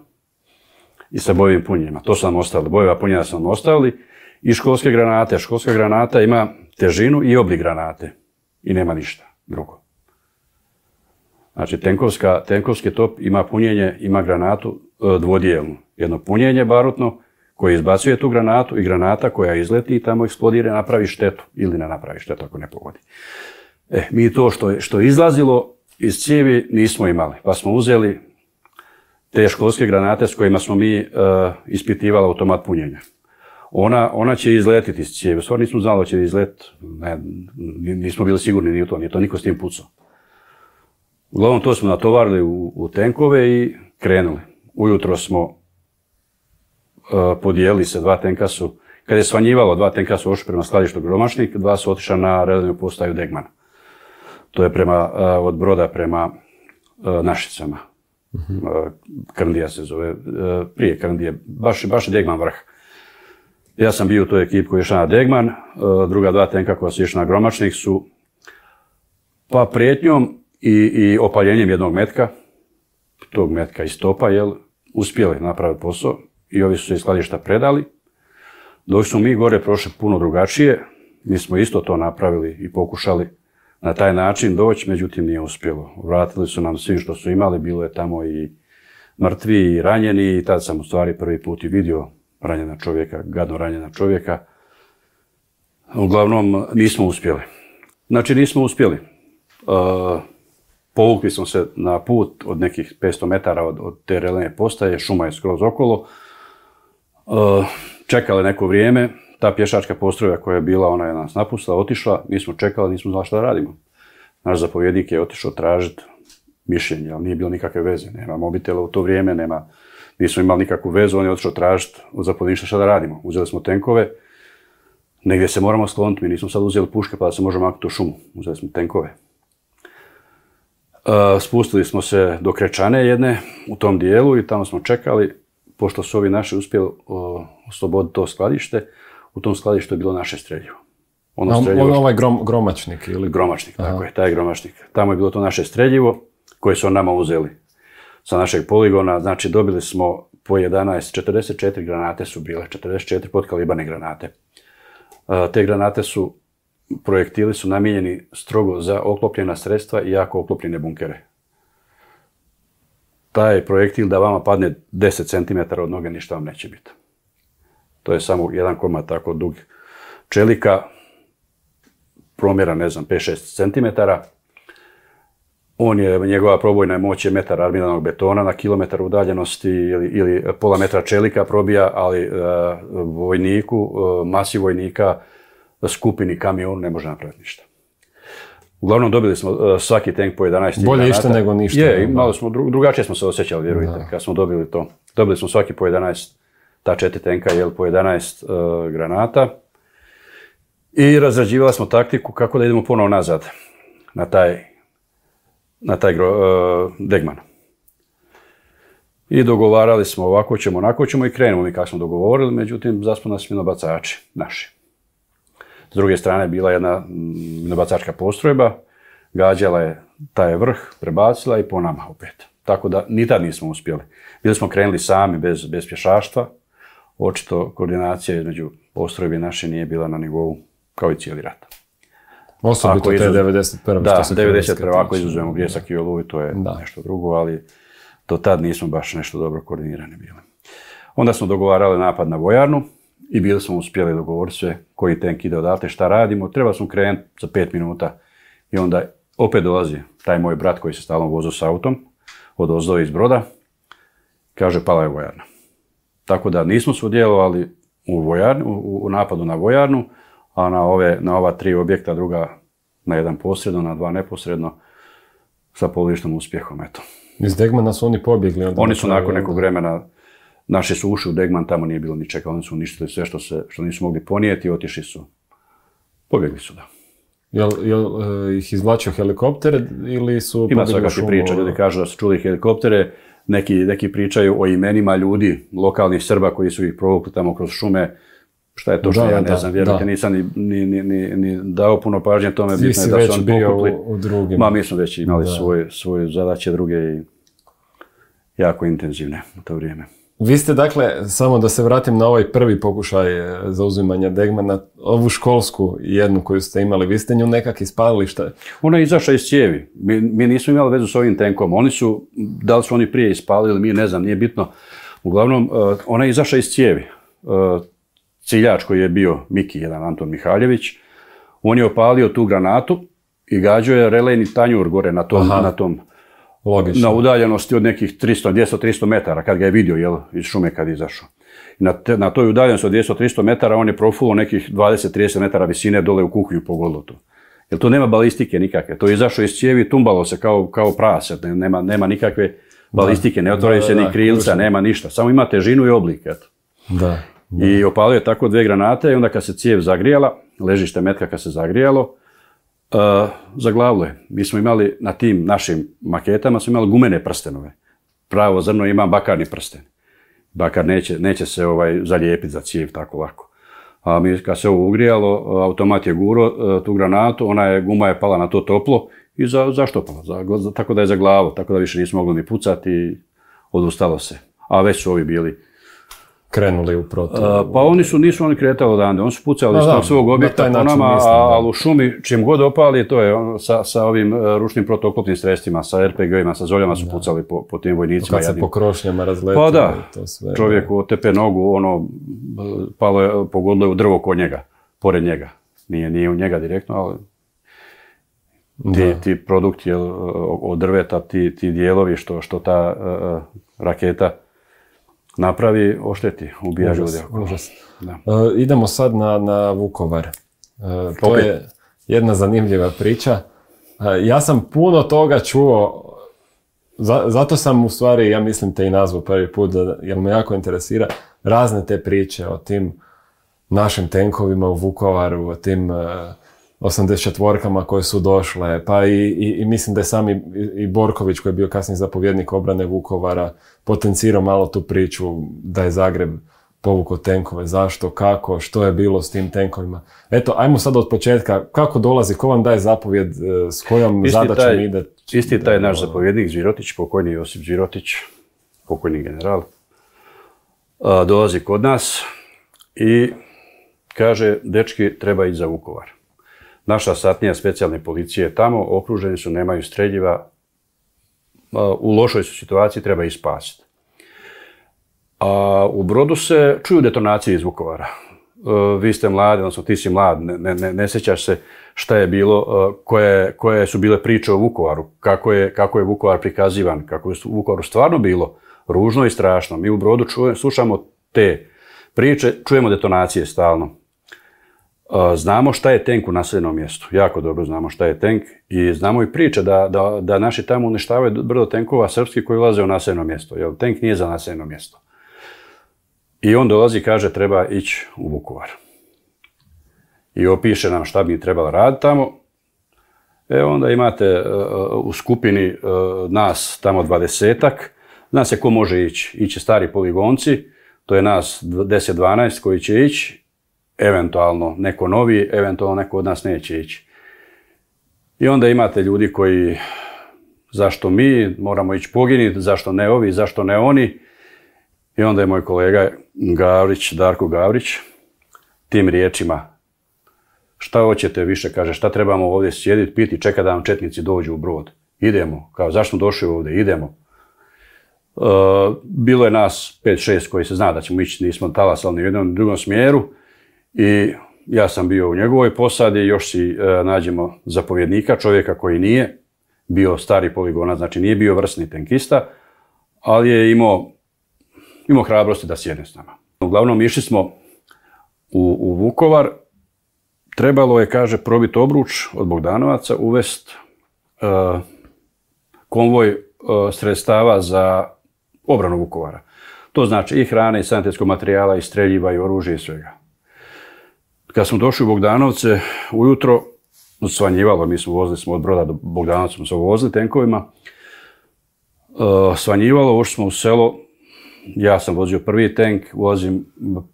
i sa bojevim punjenjima. To su nam ostavili, bojeva punjenja su nam ostavili i školske granate. Školska granata ima težinu i oblik granate i nema ništa drugo. Znači, tenkovski top ima punjenje, ima granatu dvodijelnu. Jedno punjenje barutno koje izbacuje tu granatu i granata koja izleti i tamo eksplodira i napravi štetu ili ne napravi štetu ako ne pogodi. Mi to što je izlazilo iz cijevi nismo imali, pa smo uzeli te školske granate s kojima smo mi ispitivali automat punjenja. Ona će izletiti iz cijevi, stvarno nismo znali da će izletiti, nismo bili sigurni ni u to, nije to niko s tim pucao. Uglavnom to smo natovarili u tenkove i krenuli. Ujutro smo podijelili se, 2 tenka su, kad je svanjivalo, 2 tenka su ošli prema skladištu Gromašnik, 2 su otišla na relevnu postaju Degmana. To je od Broda prema Našicama. Krndija se zove, prije Krndije, baš je Degman vrh. Ja sam bio u toj ekipi koji je išla na Degman, druga 2 tenka koja su išla na Gromačnik su pa prijetnjom i opaljenjem jednog metka, tog metka iz topa, uspjeli napraviti posao i ovi su se iz skladišta predali. Dok smo mi gore prošli puno drugačije, mi smo isto to napravili i pokušali na taj način doći, međutim nije uspjelo. Vratili su nam svim što su imali, bilo je tamo i mrtvi i ranjeni i tad sam u stvari prvi put i vidio ranjena čovjeka, gadno ranjena čovjeka. Uglavnom nismo uspjeli. Znači nismo uspjeli. Povukli smo se na put od nekih 500 metara od te relevne postaje, šuma je skroz okolo. Čekali neko vrijeme, ta pješačka postrojba koja je bila, ona je nas napustila, otišla, mi smo čekali, nismo znali šta da radimo. Naš zapovjednik je otišao tražiti mišljenje, ali nije bilo nikakve veze, nema mobitela u to vrijeme, nismo imali nikakvu vezu, on je otišao tražiti od zapovjedništva šta da radimo. Uzeli smo tenkove, negdje se moramo skloniti, mi nismo sad uzeli puške pa da se možemo maknuti u šumu, uzeli smo tenkove. Spustili smo se do Krečane jedne u tom dijelu i tamo smo čekali, pošto su ovi naši uspjeli osloboditi to skladište, u tom skladištu je bilo naše streljivo. Ovaj Gromačnik ili? Gromačnik, tako je, taj Gromačnik. Tamo je bilo to naše streljivo koje su nama uzeli sa našeg poligona. Znači dobili smo po 44 granate su bile, 44 podkalibane granate. Te granate projektili su namijenjeni strogo za oklopljena sredstva i jako oklopljene bunkere. Taj projektil da vama padne 10 cm od noge, ništa vam neće biti. To je samo jedan komad tako dug čelika, promjera, 5-6 cm. Njegova probojna moć je metar armiranog betona na kilometar udaljenosti ili pola metra čelika probija, ali vojniku, masi vojnika, skupini, kamionu ne može napraviti ništa. Uglavnom dobili smo svaki tank po 11 granata. Bolje išta nego ništa. Je, malo smo, drugačije smo se osjećali, vjerujte, kad smo dobili to. Dobili smo svaki po 11, ta 4 tanka, po 11 granata. I razrađivali smo taktiku kako da idemo ponovo nazad na taj Degman. I dogovarali smo ovako ćemo, onako ćemo i krenemo mi kako smo dogovorili, međutim zaspu nas minobacači naši. S druge strane bila jedna minobacačka postrojba, gađala je taj vrh, prebacila i po nama opet. Tako da ni tad nismo uspjeli. Bili smo krenuli sami bez pješaštva, očito koordinacija između postrojbe naše nije bila na nivou kao i cijeli rat. Osobito te 91. Da, 91. Ako izuzujemo Bljesak i Oluju, to je nešto drugo, ali do tad nismo baš nešto dobro koordinirani bili. Onda smo dogovarali napad na vojarnu i bili smo uspjeli dogovoriti sve koji tank ide odatle, šta radimo. Treba smo krenuti za 5 minuta i onda opet dolazi taj moj brat koji se stalno vozio s autom, odozdo iz Broda, kaže pala je vojarna. Tako da nismo sudjelovali u napadu na vojarnu, a na ova 3 objekta, druga na jedan posredno, na 2 neposredno, sa polovičnom uspjehom, eto. Iz Degmana su oni pobjegli? Oni su nakon nekog vremena, naši su ušli u Degman, tamo nije bilo ničega, oni su uništili sve što nisu mogli ponijeti, otišli su, pobjegli su, da. Jel ih izvlačio helikopter ili su Ima svakakve priča, ljudi kažu da su čuli helikoptere, neki pričaju o imenima ljudi, lokalnih Srba koji su ih provukli tamo kroz šume. Šta je to što ja ne znam, vjerujte, nisam ni dao puno pažnje tome, bitno je da su oni pokupli. U drugim. Mi smo već imali svoje zadaće druge i jako intenzivne u to vrijeme. Vi ste, dakle, samo da se vratim na ovaj prvi pokušaj zauzimanja Degmana, ovu školsku jednu koju ste imali, vi ste nju nekak ispalili, šta je? Ona je izašla iz cijevi. Mi nismo imali vezu s ovim tenkom. Da li su oni prije ispalili, mi ne znam, nije bitno. Uglavnom, ona je izašla iz cijevi. Ciljač koji je bio Miki, jedan Anton Mihaljević, on je opalio tu granatu i gađao je relejni tanjur gore na tom Logično. Na udaljenosti od nekih 200-300 metara, kad ga je vidio iz šume kad je izašao. Na toj udaljenosti od 200-300 metara on je profulo nekih 20-30 metara visine dole u kuhinju pogodilo to. Jer to nema balistike nikakve. To je izašao iz cijevi, tumbalo se kao prase, nema nikakve balistike, ne otvoraju se ni krilca, nema ništa. Samo ima težinu i oblik. Eto. Da. I opalio je tako 2 granate i onda kad se cijev zagrijala, ležište metka kad se zagrijalo, zaglavilo je. Mi smo imali na tim našim maketama smo imali gumene prstenove. Pravo zrno ima bakarni prsten. Bakar neće se zalijepiti za cijev tako lako. A mi kad se ovo ugrijalo, automat je guro tu granatu, guma je pala na to toplo i zaštopala. Tako da je zaglavo, tako da više nismo mogli ni pucati i odustalo se. A već su ovi bili krenuli u protiv. Pa nisu oni kretali odande, oni su pucali iz svog objekta po nama, ali u šumi čim god opali, to je sa ovim ručnim protuoklopnim sredstvima, sa RPG-ima, sa zoljama su pucali po tim vojnicima. Kad se po krošnjama razletili. Pa da, čovjeku otepe nogu, pogodilo je u drvo kod njega, pored njega. Nije u njega direktno, ali ti produkti od drveta, ti dijelovi što ta raketa napravi, ošteti, ubija ljudi. Idemo sad na Vukovar. To je jedna zanimljiva priča. Ja sam puno toga čuo, zato sam u stvari, ja mislim te i nazvao prvi put, jer me jako interesira razne te priče o tim našim tenkovima u Vukovaru, o tim 84-kama koje su došle, pa i mislim da je sami i Borković, koji je bio kasniji zapovjednik obrane Vukovara, potencirao malo tu priču da je Zagreb povukao tenkove. Zašto, kako, što je bilo s tim tenkovima. Eto, ajmo sad od početka. Kako dolazi, ko vam daje zapovjed, s kojom zadaćom ide? Isti taj naš zapovjednik Zvirotić, pokojni Josip Zvirotić, pokojni general, dolazi kod nas i kaže, dečki, treba ići za Vukovar. Naša satnija specijalne policije je tamo, okruženi su, nemaju streljiva, u lošoj su situaciji, treba ih spasiti. A u Brodu se čuju detonacije iz Vukovara. vi ste mladi, odnosno ti si mlad, ne sjećaš se šta je bilo, koje su bile priče o Vukovaru, kako je Vukovar prikazivan, kako je u Vukovaru stvarno bilo ružno i strašno. Mi u Brodu slušamo te priče, čujemo detonacije stalno. Znamo šta je tenk u naseljenom mjestu, jako dobro znamo šta je tenk i znamo i priče da naši tamo uništavaju brdo tenkova srpski koji ulaze u naseljeno mjesto, jer tenk nije za naseljeno mjesto. I on dolazi i kaže treba ići u Vukovar. I opiše nam šta bi trebalo raditi tamo. Onda imate u skupini nas tamo 20-ak. Zna se ko može ići. Iće stari poligonci, to je nas 10-12 koji će ići. Eventualno neko novi, eventualno neko od nas neće ići. I onda imate ljudi koji, zašto mi moramo ići poginiti, zašto ne ovi, zašto ne oni. I onda je moj kolega Darko Gavrić, tim riječima, šta hoćete više, kaže, šta trebamo ovdje sjediti, piti, čeka da nam četnici dođu u Brod. Idemo, kao zašto smo došli ovdje, idemo. Bilo je nas 5-6 koji se zna da ćemo ići, nismo talasali ni u jednom ni drugom smjeru. I ja sam bio u njegovoj posadi, još si nađemo zapovjednika, čovjeka koji nije bio stari poligonac, znači nije bio vrsni tenkista, ali je imao hrabrosti da sjedne s nama. Uglavnom išli smo u Vukovar, trebalo je, kaže, probiti obruč od Bogdanovaca, uvesti konvoj sredstava za obranu Vukovara. To znači i hrane, i sanitetskog materijala, i streljiva, i oružja, i svega. Kad smo došli u Bogdanovce, ujutro svanjivalo, vozili smo od Broda do Bogdanovca, smo se vozili tenkovima, svanjivalo, ušli smo u selo, ja sam vozio prvi tenk,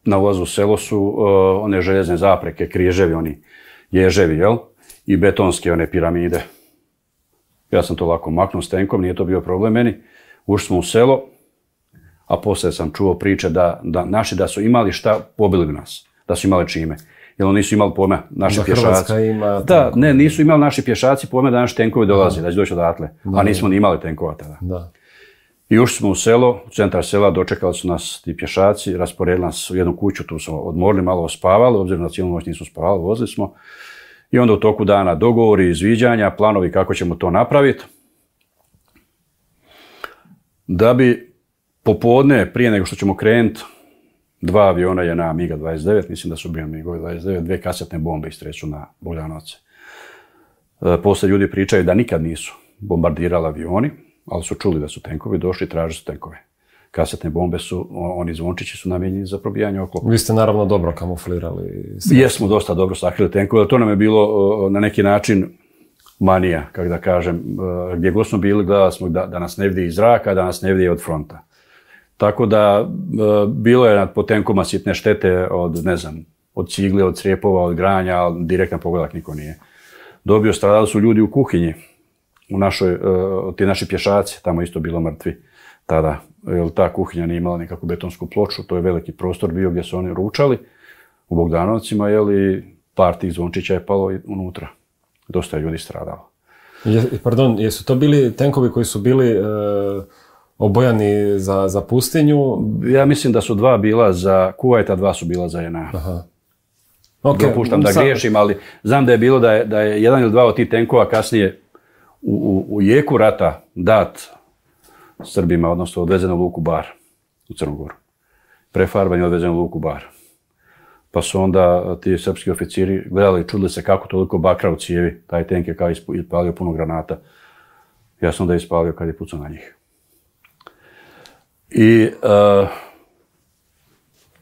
na vozu u selo su one željezne zapreke, križevi, oni ježevi, jel? I betonske one piramide. Ja sam to lako maknuo s tenkom, nije to bio problem meni. Ušli smo u selo, a poslije sam čuo priče da naši da su imali šta, pobili bi nas, da su imali čime. Jer oni nisu imali pojma, naši pješaci. Hrvatska ima... Da, ne, nisu imali naši pješaci pojma da naši tenkovi dolaze, da će doći odatle. A nismo ni imali tenkova tada. Da. I ušli smo u selo, u centar sela, dočekali su nas ti pješaci, rasporedili nas u jednu kuću, tu smo odmorili, malo ospavali, obzirom na cijelu noć nismo spavali, vozili smo. I onda u toku dana dogovori, izviđanja, planovi kako ćemo to napraviti. Da bi popodne, prije nego što ćemo krenuti, 2 aviona je na MiG-29, mislim da su bili MiG-29, 2 kasetne bombe istreću na Bogdanovce. Poslije ljudi pričaju da nikad nisu bombardirali avioni, ali su čuli da su tenkovi došli i tražili su tenkove. Kasetne bombe su, oni zvončići su namijenjeni za probijanje oklopa. Vi ste naravno dobro kamuflirali. Jesmo dosta dobro sakrili tenkove, ali to nam je bilo na neki način manija, kako da kažem. Gdje god smo bili, gledali smo da nas ne vidi iz zraka, da nas ne vidi od fronta. Tako da bilo je po tenkoma sitne štete od, ne znam, od cigle, od crijepova, od granja, ali direktan pogledak niko nije dobio. Stradali su ljudi u kuhinji, ti naši pješaci, tamo isto bilo mrtvi tada. Jer ta kuhinja nije imala nikakvu betonsku ploču, to je veliki prostor bio gdje su oni ručali u Bogdanovcima, i par tih zvončića je palo unutra. Dosta je ljudi stradalo. Pardon, jesu to bili tenkovi koji su bili obojani za pustinju? Ja mislim da su 2 bila za Kuvajt, a 2 su bila za JNA. Okay. Dopuštam da griješim, ali znam da je bilo da je 1 ili 2 od tih tenkova kasnije u jeku rata dat Srbima, odnosno odvezeno u luku Bar u Crnu Goru. Prefarban je odvezeno u luku Bar. Pa su onda ti srpski oficiri gledali i čudili se kako toliko bakra u cijevi. Taj tenk je kao ispalio puno granata. Ja sam onda ispalio kad je pucao na njih. I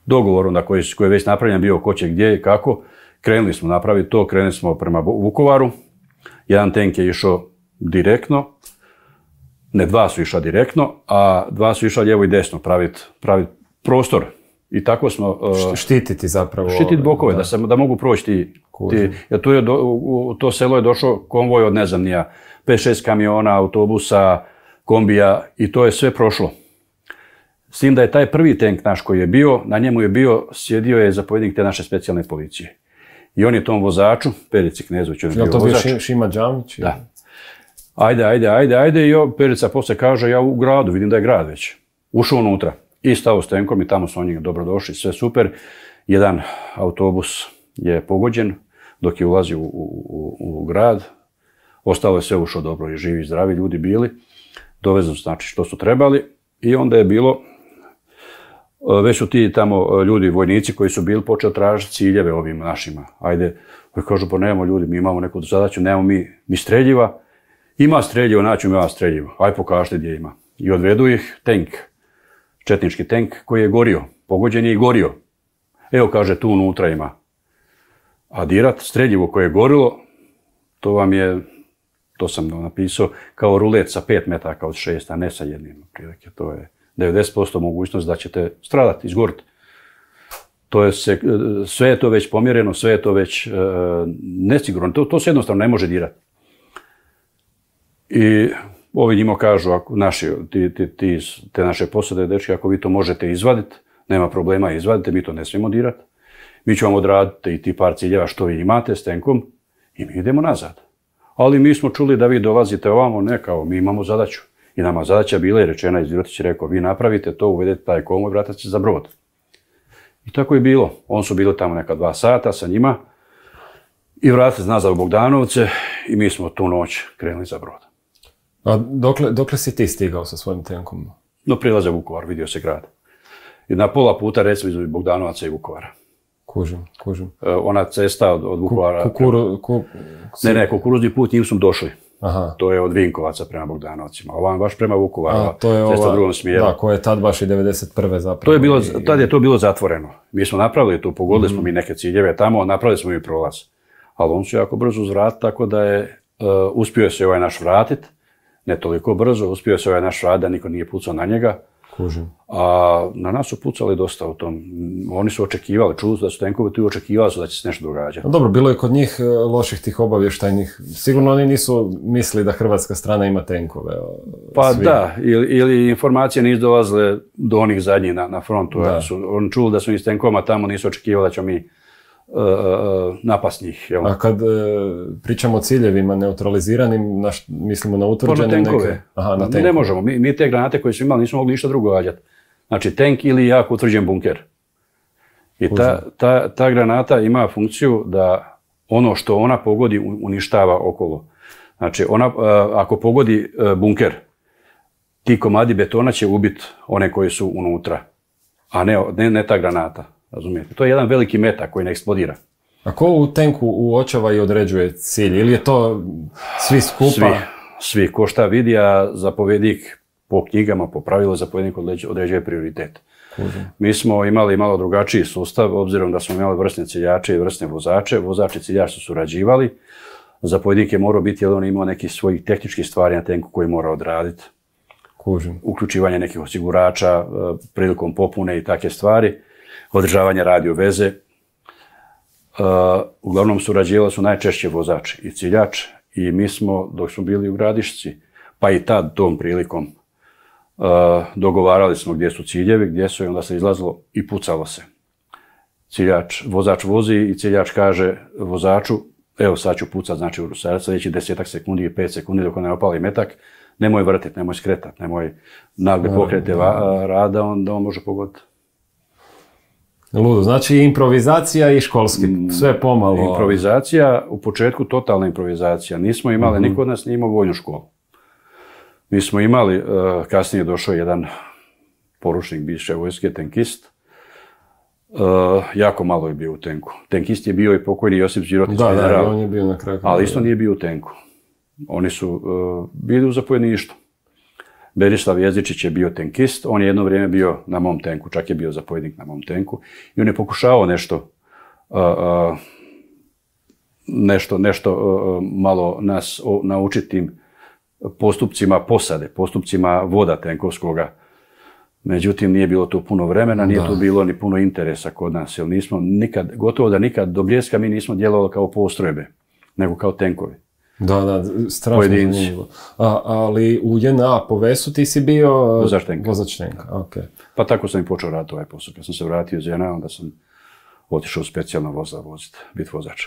dogovor onda koji je već napravljen bio ko će gdje i kako, krenuli smo napraviti to, krenuli smo prema Vukovaru. Jedan tenk je išao direktno, ne 2 su išla direktno, a 2 su išla lijevo i desno, praviti prostor. I tako smo... štititi zapravo. Štititi bokove, da mogu proći ti. Jer u to selo je došao konvoj od, ne znam, 5-6 kamiona, autobusa, kombija i to je sve prošlo. S tim da je taj prvi tank naš koji je bio, na njemu je sjedio je zapovjednik te naše specijalne policije. I on je tom vozaču, Perici Knezović, on je bio vozač. Je to bio Šima Đamić? Da. Ajde, i Perica poslije kaže, ja u gradu, vidim da je grad već. Ušao unutra i stao s tenkom i tamo su oni dobro došli, sve super. jedan autobus je pogođen dok je ulazio u grad. Ostalo je sve ušlo dobro i živi i zdravi ljudi bili. Dovezno znači što su trebali i onda je bilo, već su ti tamo ljudi, vojnici koji su bili počeli tražiti ciljeve ovim našima. Ajde, kažu pa nemamo ljudi, mi imamo neku zadaću, nemamo mi streljiva. Ima streljivo, naći ima streljivo. Aj pokažite gdje ima. I odvedu ih tank, četnički tank koji je gorio. Pogođen je i gorio. Evo kaže tu unutra ima. A dirat streljivo koje je gorilo, to vam je, to sam napisao, kao rulet sa 5 metaka od 6, a ne sa jednim. Prilike. To je 90% mogućnost da ćete stradati, izgoriti. Sve je to već pomjereno, sve je to već nesigurno. To se jednostavno ne može dirati. I ovi njima kažu, ako te naše posade, dečki, ako vi to možete izvaditi, nema problema, izvadite, mi to ne smijemo dirati. Mi ćemo vam odraditi i ti par ciljeva što vi imate s tenkom i mi idemo nazad. Ali mi smo čuli da vi dolazite ovamo, ne kao, mi imamo zadaću. I nama zadaća bila je rečena, Izvirotić je rekao, vi napravite to, uvedete taj konvoj, vratite se za brod. I tako je bilo. On su bili tamo neka 2 sata sa njima i vratili se nazad u Bogdanovce i mi smo tu noć krenuli za brod. A dokle si ti stigao sa svojim tenkom? Do prilaza Vukovar, vidio se grad. I na pola puta recimo između Bogdanovaca i Vukovara. Kužim. Ona cesta od Vukovara... Ne, kukuruzni put, njim smo došli. Aha. To je od Vinkovaca prema Bogdanovcima. Ovam baš prema Vukovaru, cesta u drugom smjeru. Da, koja je tad baš i 91. zapravo. Tad je to bilo zatvoreno. Mi smo napravili to, pogodili smo mi neke ciljeve tamo, napravili smo i prolaz. Ali on su jako brzo uzvratiti, tako da je uspio se ovaj naš vratiti. Ne toliko brzo, uspio se ovaj naš vratiti da niko nije pucao na njega. Kužim. A na nas su pucali dosta u tom. Oni su očekivali, čuli su da su tenkovi tu i očekivali su da će se nešto događati. No dobro, bilo je kod njih loših tih obavještajnih. Sigurno oni nisu mislili da hrvatska strana ima tenkove. Pa svi. Da, ili informacije nisu dolazile do onih zadnjih na frontu. Oni čuli da su iz tenkoma tamo, nisu očekivali da ćemo mi napast njih. Jel? A kad pričamo o ciljevima neutraliziranim, mislimo na utvrđene neke... Aha, na tenkove. Ne možemo. Mi te granate koje su imali nismo mogli ništa drugo gađati. Znači tank ili jako utvrđen bunker. I ta granata ima funkciju da ono što ona pogodi uništava okolo. Znači ako pogodi bunker, ti komadi betona će ubiti one koji su unutra, a ne ta granata. Razumijete? To je jedan veliki metak koji ne eksplodira. A ko u tenku uočava i određuje cilj? Ili je to svi skupa? Svi. Ko šta vidi, a zapovjednik po knjigama, po pravilu, zapovjednik određuje prioritet. Mi smo imali malo drugačiji sustav, obzirom da smo imali vrsne ciljače i vrsne vozače. Vozači i ciljač su surađivali. Zapovjednik je morao biti, jer on imao nekih svojih tehničkih stvari na tenku koji mora odraditi. Uključivanje nekih osigurača prilikom popune i takve stvari. Održavanje radio veze. Uglavnom surađivali su najčešće vozač i ciljač i mi smo, dok smo bili u Gradišci, pa i tad tom prilikom, dogovarali smo gdje su ciljevi, gdje su i onda se izlazilo i pucalo se. Vozač vozi i ciljač kaže vozaču, evo sad ću pucat, znači u sljedećih 10 sekundi i 5 sekundi dok ne opali metak, nemoj vrtiti, nemoj skretati, nemoj nagle pokrete rada, onda on može pogoditi. Ludo, znači improvizacija i školski, sve pomalo. Improvizacija, u početku totalna improvizacija. Nismo imali, niko od nas nije imao vojnu školu. Mi smo imali, kasnije došao jedan poručnik bivše vojske, tenkist. Jako malo je bio u tenku. Tenkist je bio i pokojni Josip Đirotić, general. Da, on je bio na kraju. Ali isto nije bio u tenku. Oni su bili u zapovjedništvu. Berislav Jezičić je bio tenkist, on je jedno vrijeme bio na mom tenku, čak je bio zapovjednik na mom tenku i on je pokušavao nešto malo nas naučiti tim postupcima posade, postupcima voda tenkovskoga. Međutim, nije bilo tu puno vremena, nije tu bilo ni puno interesa kod nas, jer nismo nikad, gotovo da nikad do Bljeska mi nismo djelovali kao postrojbe, nego kao tenkovi. Da, strašno zanimljivo. Ali u JNA po Vesu ti si bio vozač tenka. Okay. Pa tako sam i počeo raditi ovaj posao. Kad sam se vratio iz JNA, onda sam otišao u specijalno vozila voziti, biti vozač.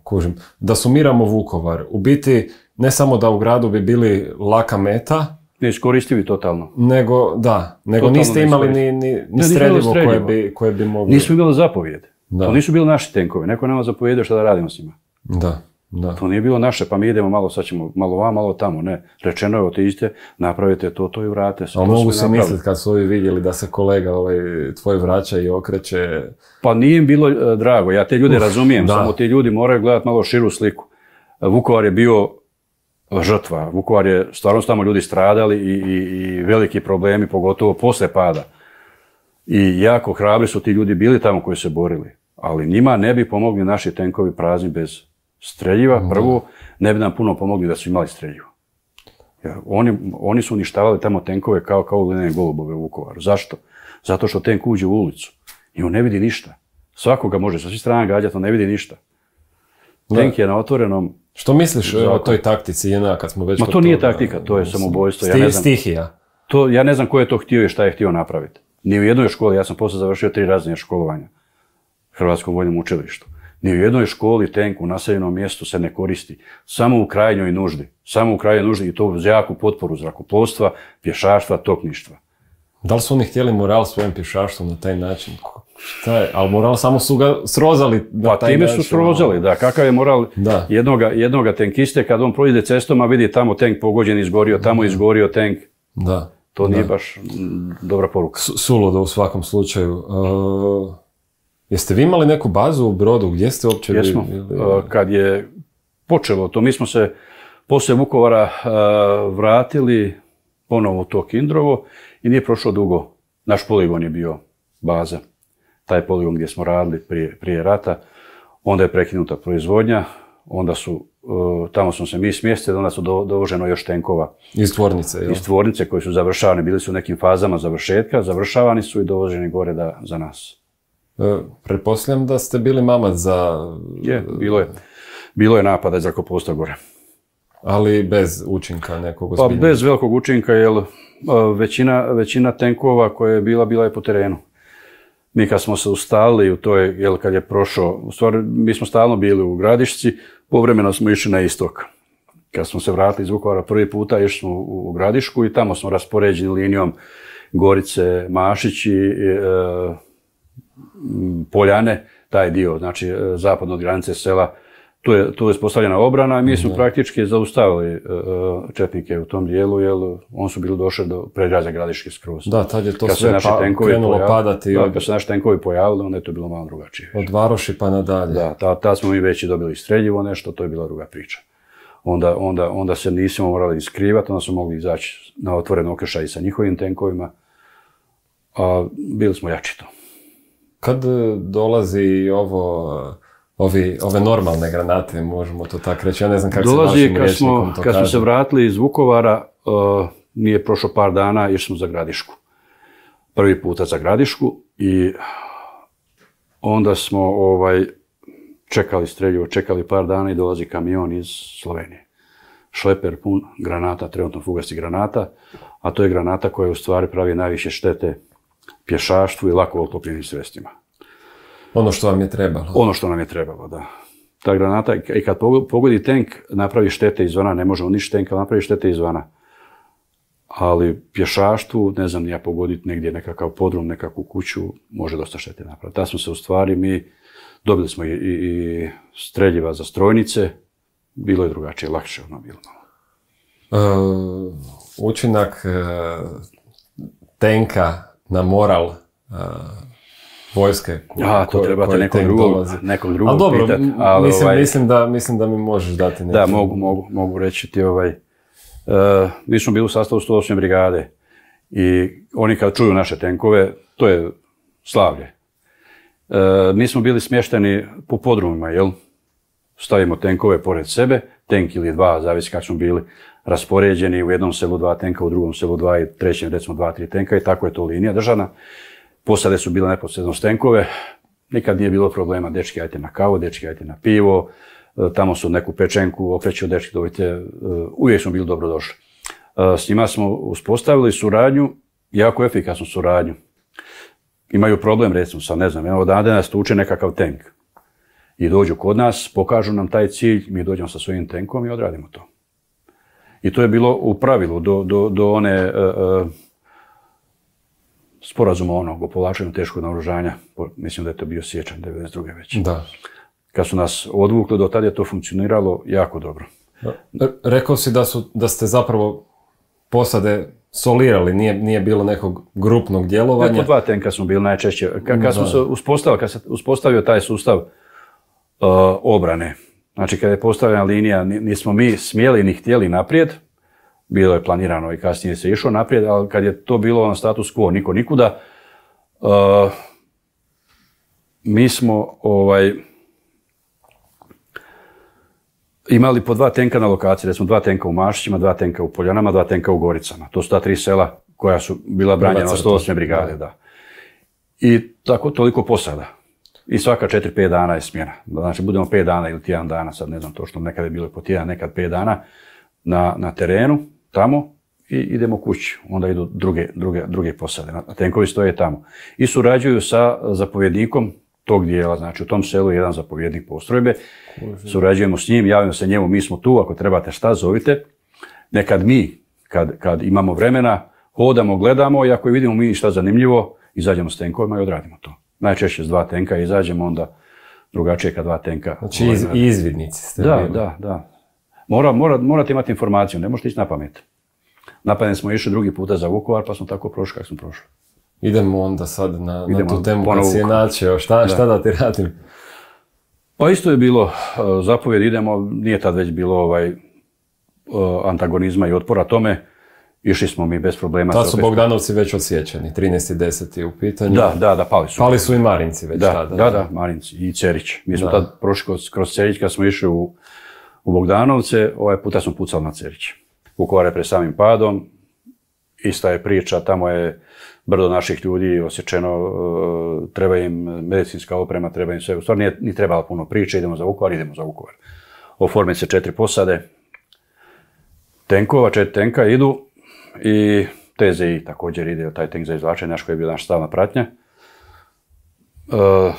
Kužim. Da sumiramo Vukovar, u biti ne samo da u gradu bi bili laka meta, neiskoristivi totalno. Nego totalno niste niste imali ni streljivo koje bi mogli... Nismo imali zapovjed. To nisu bili naši tenkovi. Neko nama zapovjedio šta da radimo s njima. Da. To nije bilo naše, pa mi idemo malo, sad ćemo malo vam, malo tamo. Ne, rečeno je otiđite, napravite to i vrate se. Ali mogu se misliti kad su ovi vidjeli da se kolega tvoj vraća i okreće... Pa nije im bilo drago, ja te ljude razumijem, samo ti ljudi moraju gledati malo širu sliku. Vukovar je bio žrtva, Vukovar je, stvarno su tamo ljudi stradali i veliki problemi, pogotovo posle pada. I jako hrabri su ti ljudi bili tamo koji se borili, ali njima ne bi pomogli naši tenkovi prazni bez streljiva. Prvo, ne bi nam puno pomogli da su imali streljivo. Oni su uništavali tamo tenkove kao glinene golubove u Vukovaru. Zašto? Zato što tenk uđe u ulicu i on ne vidi ništa. Svakoga može sa svih strana gađati, on ne vidi ništa. Tenk je na otvorenom... Što misliš o toj taktici JNA kad smo već... Ma to nije taktika, to je samoubojstvo. Stihija. Ja ne znam ko je to htio i šta je htio napraviti. Ni u jednoj školi, ja sam poslije završio 3 razine školovanja u Hrvatskom vojnom učilištu. Ni u jednoj školi tenk u naseljenom mjestu se ne koristi. Samo u krajnjoj nuždi. Samo u krajnjoj nuždi i to uz jaku potporu zrakoplovstva, pješaštva, topništva. Da li su oni htjeli moral svojim pješaštvom na taj način? Ali moral samo su ga srozali na taj način. Pa time su srozali, da. Kakav je moral jednoga tenkiste kad on prođe cestom, a vidi tamo tenk pogođen, izgorio, tamo izgorio tenk. Da. To nije baš dobra poruka. Suludo u svakom slučaju. Jeste vi imali neku bazu u Brodu? Gdje ste uopće bili? Jesmo. Kad je počelo to, mi smo se poslije Vukovara vratili ponovo u to Kindrovo i nije prošlo dugo. Naš poligon je bio baza. Taj poligon gdje smo radili prije rata. Onda je prekinuta proizvodnja. Onda tamo smo se mi smjestili, onda su dovoženo još tenkova. Iz tvornice, jel? Iz tvornice koji su završavani. Bili su u nekim fazama završetka. Završavani su i dovoženi gore za nas. Pretpostavljam da ste bili mamac za... Bilo je napada iz zrakoplovstva gore. Ali bez učinka nekog ozbiljnog? Pa bez velikog učinka, jer većina tenkova koja je bila je po terenu. Mi kad smo se ustalili u toj, kad je prošao, u stvari mi smo stalno bili u Gradišci, povremeno smo išli na istok. Kad smo se vratili iz Vukovara prvi puta, išli smo u Gradišku i tamo smo raspoređeni linijom Gorice, Mašići, Poljane, taj dio, znači zapadno od granice sela, tu je uspostavljena obrana i mi smo praktički zaustavili četnike u tom dijelu, jer oni su bili došli do predgrađa Gradiške skroz. Da, tad je to sve krenulo padati. Kad se naši tenkovi pojavili, onda je to bilo malo drugačije. Od Varoši pa nadalje. Da, tad smo mi već i dobili streljivo nešto, to je bila druga priča. Onda se nismo morali iskrivati, onda smo mogli izaći na otvoren okršaj sa njihovim tenkovima, a bili smo jači to. Kad dolazi ove normalne granate, možemo to tako reći, ja ne znam kako se vašim rječnikom to kaže. Kad smo se vratili iz Vukovara, nije prošlo par dana, išli smo za Gradišku. Prvi puta za Gradišku i onda smo čekali streljivo, čekali par dana i dolazi kamion iz Slovenije. Šleper pun granata, trenutno fugastih granata, a to je granata koja u stvari pravi najviše štete pješaštvu i lako oklopnim sredstvima. Ono što vam je trebalo. Ono što nam je trebalo, da. Ta granata, i kad pogodi tank, napravi štete izvana, ne može uništiti tank, ali napravi štete izvana. Ali pješaštvu, ne znam, ja pogoditi negdje nekakav podrum, nekakvu kuću, može dosta štete napraviti. Ta smo se u stvari, dobili smo i streljiva za strojnice, bilo je drugačije, lakše ono bilo. Učinak tenka na moral vojske to trebate nekog drugog pitati. Mislim da mi možeš dati neki. Da, mogu reći ti mi smo bili u sastavu 108. brigade i oni kad čuju naše tenkove, to je slavlje. Mi smo bili smješteni po podrumima, jel? Stavimo tenkove pored sebe, tenk ili dva, zavisi kako smo bili raspoređeni, u jednom selu 2 tenka, u drugom selu 2 i trećem recimo 2-3 tenka i tako je to linija državna. Posade su bile neposredno tenkove, nikad nije bilo problema, dečki ajte na kavu, dečki ajte na pivo, tamo su neku pečenku okreću, dečki dovite, uvijek smo bili dobrodošli. S njima smo uspostavili suradnju, jako efikasnu suradnju. Imaju problem recimo sa, ne znam, odande nas tuče nekakav tenk i dođu kod nas, pokažu nam taj cilj, mi dođemo sa svojim tenkom i odradimo to. I to je bilo u pravilu do one sporazuma o povlačenju teškog naoružanja. Mislim da je to bio siječanj 92. već. Da. Kad su nas odvukli, do tada je to funkcioniralo jako dobro. Rekao si da ste zapravo posade solirali, nije bilo nekog grupnog djelovanja. Po 2 tenka smo bili najčešće. Kad se uspostavio taj sustav obrane, znači kada je postavljena linija, nismo mi smjeli ni htjeli naprijed, bilo je planirano i kasnije se išlo naprijed, ali kad je to bilo na status quo, niko nikuda, mi smo imali po 2 tenka na lokaciji, recimo 2 tenka u Mašićima, 2 tenka u Poljanama, 2 tenka u Goricama. To su ta 3 sela koja su bila branjena od 108. brigade. Da. I tako toliko posada. I svaka 4-5 dana je smjena. Znači budemo 5 dana ili tjedan dana, sad ne znam točno, nekad je bilo po tjedan, nekad 5 dana na terenu, tamo i idemo kući. Onda idu druge posade. Tenkovi stoje tamo. I surađuju sa zapovjednikom tog dijela, znači u tom selu je jedan zapovjednik postrojbe, surađujemo s njim, javimo se njemu, mi smo tu, ako trebate šta, zovite. Nekad mi, kad imamo vremena, hodamo, gledamo i ako vidimo mi šta zanimljivo, izađemo s tenkovima i odradimo to. Najčešće s 2 tenka izađemo, onda drugačije kad 2 tenka. Znači izvidnici ste bili. Da. Morate imati informaciju, ne možete ići na pamet. Na pamet smo išli drugi puta za Vukovar, pa smo tako prošli kako smo prošli. Idemo onda sad na tu temu kad si je načeo, šta da ti radim? Pa isto je bilo zapovjed, idemo, nije tad već bilo antagonizma i otpora tome, išli smo mi bez problema. Tad su Bogdanovci već odsječeni, 13.10. u pitanju. Da, pali su. Pali su i Marinci već tada. Da, Marinci i Cerić. Mi smo tad prošli kroz Cerić kad smo išli u Bogdanovce, ovaj puta smo pucali na Cerić. Vukovar je pred samim padom, ista je priča, tamo je brdo naših ljudi osječeno, treba im medicinska oprema, treba im sve. U stvari nije ni trebalo puno priče, idemo za Vukovar. Oforme se 4 posade tenkova, 4 tenka idu i TZI također ide, taj tank za izvlačenje, naš koji je bio naša stalna pratnja.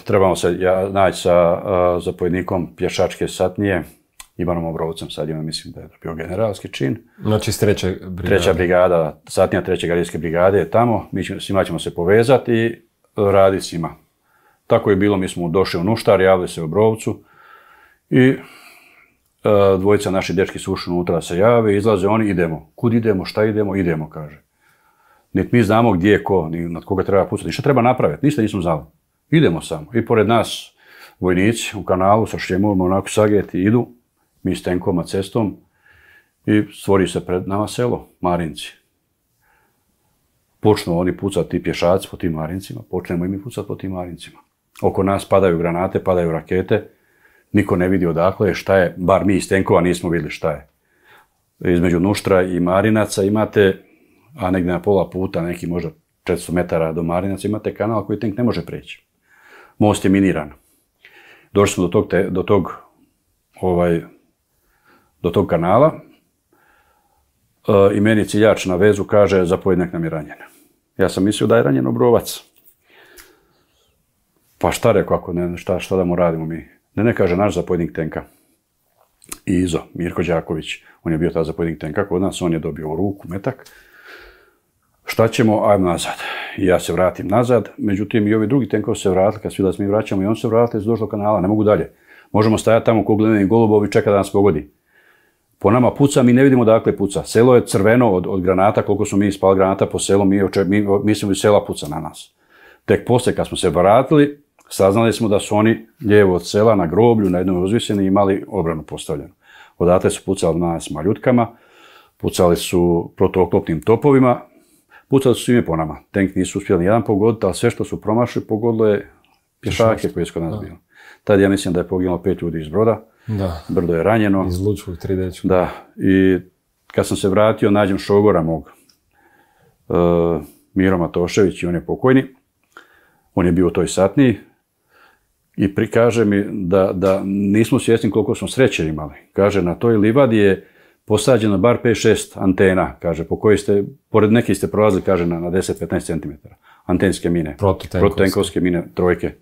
Trebamo se naći sa zapovjednikom pješačke satnije, Ivanom Obrovcem, sad ima, mislim da je bio generalski čin. Znači s 3. brigade. 3. brigada, satnija 3. gardijske brigade je tamo, svima ćemo se povezati i raditi s njima. Tako je bilo, mi smo došli u Nuštar, javili se Obrovcu i dvojica naši dečki su ušli unutra da se jave, izlaze oni, idemo. Kud idemo, šta idemo, idemo, kaže. Niti mi znamo gdje je ko, ni nad koga treba pucati, ništa treba napraviti, ništa nismo znali. Idemo samo. I pored nas vojnici u kanalu sa šljemovima onako sageti idu, mi s tenkom cestom i stvori se pred nama selo, Marinci. Počnu oni pucati, ti pješaci po tim Marincima, počnemo i mi pucati po tim Marincima. Oko nas padaju granate, padaju rakete, niko ne vidi odakle je, šta je, bar mi iz tenkova nismo vidjeli šta je. Između Nuštra i Marinaca imate, a negdje na pola puta, neki možda 400 metara do Marinaca, imate kanal koji tenk ne može preći. Most je miniran. Došli smo do tog kanala i meni ciljač na vezu kaže zapovjednik nam je ranjen. Ja sam mislio da je ranjen Obrovac. Pa šta rekao, ako ne, šta da mu radimo mi? Ne, kaže naš zapovjednik tenka. Izo, Mirko Đaković, on je bio ta zapovjednik tenka kod nas, on je dobio u ruku metak. Šta ćemo? Ajmo nazad. I ja se vratim nazad, međutim i ovi drugi tenkovi se vratili, kad svi da se mi vraćamo i on se vratili, su došli do kanala, ne mogu dalje. Možemo stajati tamo ko gledani golubovi, čeka da nas pogodi. Po nama puca, mi ne vidimo dakle puca. Selo je crveno od granata, koliko smo mi ispali granata po selu, mislimo da sela puca na nas. Tek poslije kad smo se vratili, saznali smo da su oni lijevo od sela na groblju, na jednom uzvisjeni, imali obranu postavljenu. Odatle su pucali na nas maljutkama, pucali su protuoklopnim topovima, pucali su svime po nama. Tank nisu uspjeli ni jedan pogoditi, ali sve što su promašili pogodilo je pješake koji su kod nas bili. Tad ja mislim da je poginulo 5 ljudi iz broda, brdo je ranjeno. Iz Lučkog 3 dečka. Da, i kad sam se vratio, nađem šogora mog, Miro Matošević, i on je pokojni. On je bio u toj satniji i prikaže mi da nismo svjesni koliko smo sreće imali. Kaže, na toj livadi je posađeno bar 5-6 antena, kaže, po kojoj ste, pored nekih ste prolazili, kaže, na 10-15 cm. Antenske mine, protutenkovske mine, trojke.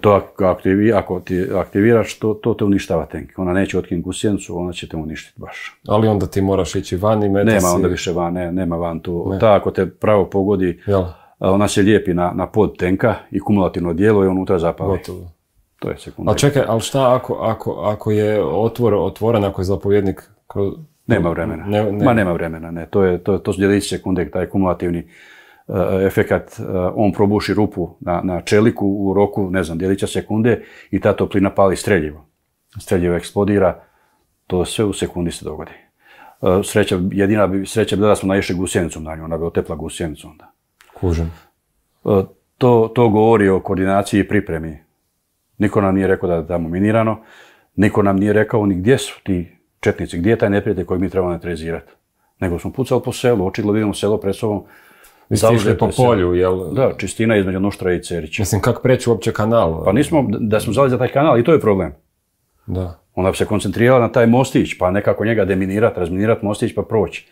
To ako ti aktiviraš, to te uništava tenk. Ona neće otkinuti gusjenicu, ona će te uništiti baš. Ali onda ti moraš ići van i metati. Nema onda više van, nema van tu. Ta ako te pravo pogodi, ona se lijepi na pod tenka i kumulativno djeluje i unutra zapali. Gotovo. To je sekunda. Ali čekaj, ali šta ako je otvoren, ako je zapovjednik... Nema vremena. Nema vremena, ne. To su djelići sekunde, taj kumulativni efekat, on probuši rupu na čeliku u roku, ne znam, djelića sekunde i ta toplina pali streljivo. Streljivo eksplodira, to sve u sekundi se dogodi. Jedina sreća bila da smo naišli gusjenicom na nju, ona bi otepla gusjenicu onda. Kužim. To govori o koordinaciji i pripremi. Niko nam nije rekao da je tamo minirano, niko nam nije rekao ni gdje su ti četnici, gdje je taj neprijatelj koji mi trebamo neutralizirati. Nego smo pucali po selu, očigledno vidimo selo pred sobom. Vi ste išli po polju, jel? Da, čistina između Nuštra i Cerića. Mislim, kako preći uopće kanal? Pa nismo, da smo zali za taj kanal i to je problem. Da. Onda bi se koncentrirala na taj mostić, pa nekako njega deminirati, razminirati mostić pa proći.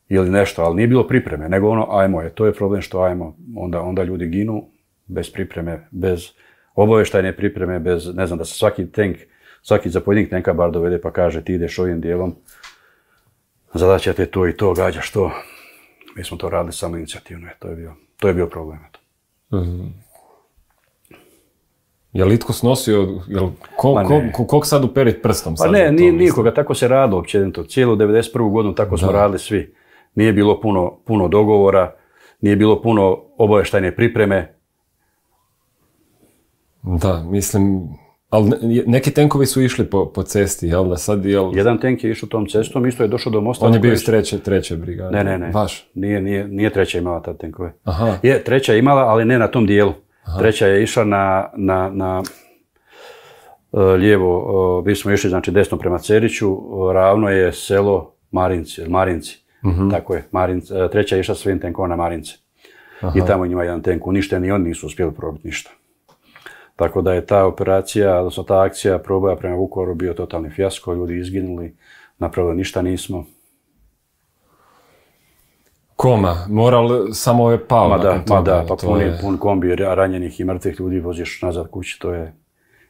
Ili nešto, ali nije bilo pripreme, nego ono, ajmo je, to je problem što ajmo. Onda ljudi ginu bez pripreme, bez obavještajne pripreme, bez, ne znam, da se svaki zapovjednik tenka bar dovede pa kaže ti ideš ovim dijelom, zadaća te to i to, gađaš to. Mi smo to radili samo inicijativno, to je bio problem. Je li itko snosio, koliko sad uperit prstom? Pa ne, nikoga, tako se radilo općenito. Cijelu 91. godinu tako smo radili svi. Nije bilo puno dogovora, nije bilo puno obavještajne pripreme. Da, mislim, ali neki tenkovi su išli po cesti, jel da sad, jel... Jedan tenk je išao tom cestom, isto je došao do mosta. On je bio iz treće brigade. Ne. Vaš? Nije treća imala tad tenkove. Aha. Je, treća je imala, ali ne na tom dijelu. Aha. Treća je išla na lijevo, mi smo išli, znači desno prema Ceriću, ravno je selo Marinci. Tako je, treća je išla svim tenkova na Marince. Aha. I tamo njima jedan tenk uništen i oni nisu uspjeli probiti ništa. Tako da je ta operacija, odnosno ta akcija proboja prema Vukovaru bio totalni fijasko, ljudi izginuli, napravili ništa nismo. Koma, moral samo je pao. Pa pun kombi ranjenih i mrtvih ljudi voziš nazad kući, to je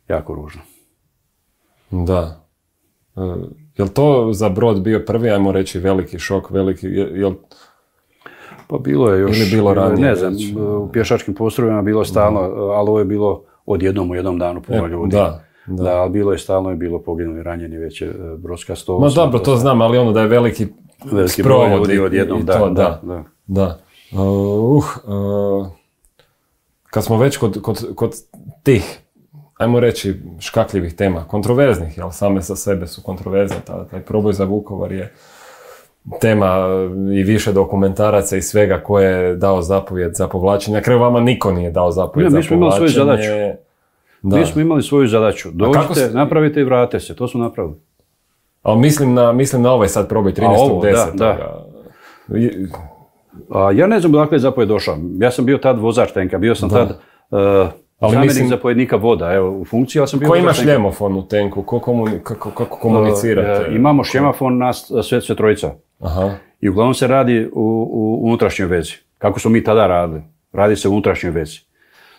jako ružno. Da. Je li to za Brod bio prvi, ajmo reći, veliki šok, Pa bilo je još, ili bilo ranije, ne znam, u pješačkim postrojbama bilo stalno, ali ovo je bilo odjednom u jednom danu puno ljudi. Da, ali bilo je stalno, je bilo poginuli, ranjeni, već je brodska 108. Ma dobro, to znam, ali ono da je veliki broj ljudi odjednom, da. Kad smo već kod tih, ajmo reći, škakljivih tema, kontroverznih, jel same sa sebe su kontroverzne, taj proboj za Vukovar je tema i više dokumentaraca i svega ko je dao zapovjed za povlačenje. Na kraju vama niko nije dao zapovjed za povlačenje. Mi smo imali svoju zadaću. Dođite, napravite i vrate se. To su napravili. Ali mislim na ovaj sad probaj 13.10. Ja ne znam dakle je zapovjed došao. Ja sam bio tad vozač tenka. Bio sam tad zamjenik zapovjednika voda. Evo, u funkciji, ali sam bio... Ko ima šljemofon u tenku? Kako komunicirate? Imamo šljemofon nas sve trojica. Aha. I uglavnom se radi u unutrašnjoj vezi. Kako smo mi tada radili? Radi se u unutrašnjoj vezi.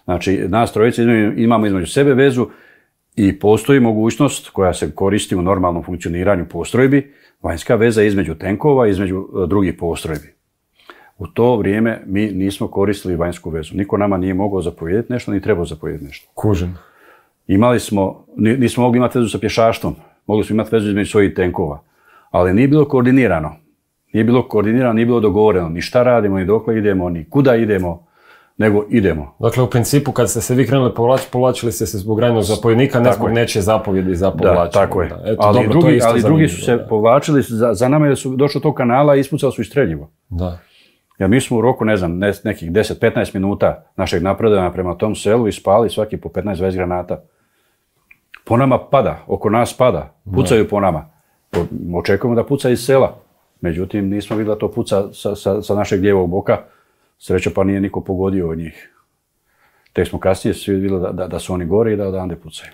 Znači, nas trojica imamo između sebe vezu i postoji mogućnost koja se koristi u normalnom funkcioniranju postrojbi, vanjska veza između tenkova i između drugih postrojbi. U to vrijeme mi nismo koristili vanjsku vezu. Niko nama nije mogao zapovjediti nešto, ni trebao zapovjediti nešto. Kužim. Nismo mogli imati vezu sa pješaštvom. Mogli smo imati vezu između svojih tenkova. Ali nije bilo koordinirano. Nije bilo dogovoreno. Ni šta radimo, ni dokle idemo, ni kuda idemo, nego idemo. Dakle, u principu, kad ste se vi krenuli povlačili ste se zbog ranjenog zapovjednika, ne zbog nečije zapovjedi za povlačenje. Da, tako je. Ali drugi su se povlačili, za nama je su došli do tog kanala i ispucali su i streljivo. Da. Ja, mi smo u roku, ne znam, nekih 10-15 minuta našeg napredovanja prema tom selu ispali svaki po 15-20 granata. Po nama pada, oko nas pada, pucaju po nama. Očekujemo da puca iz sela. Međutim, nismo vidjeli da to puca sa našeg lijevog boka. Sreća pa nije niko pogodio od njih. Tek smo kasnije svi vidjeli da su oni gore i da odande pucaju.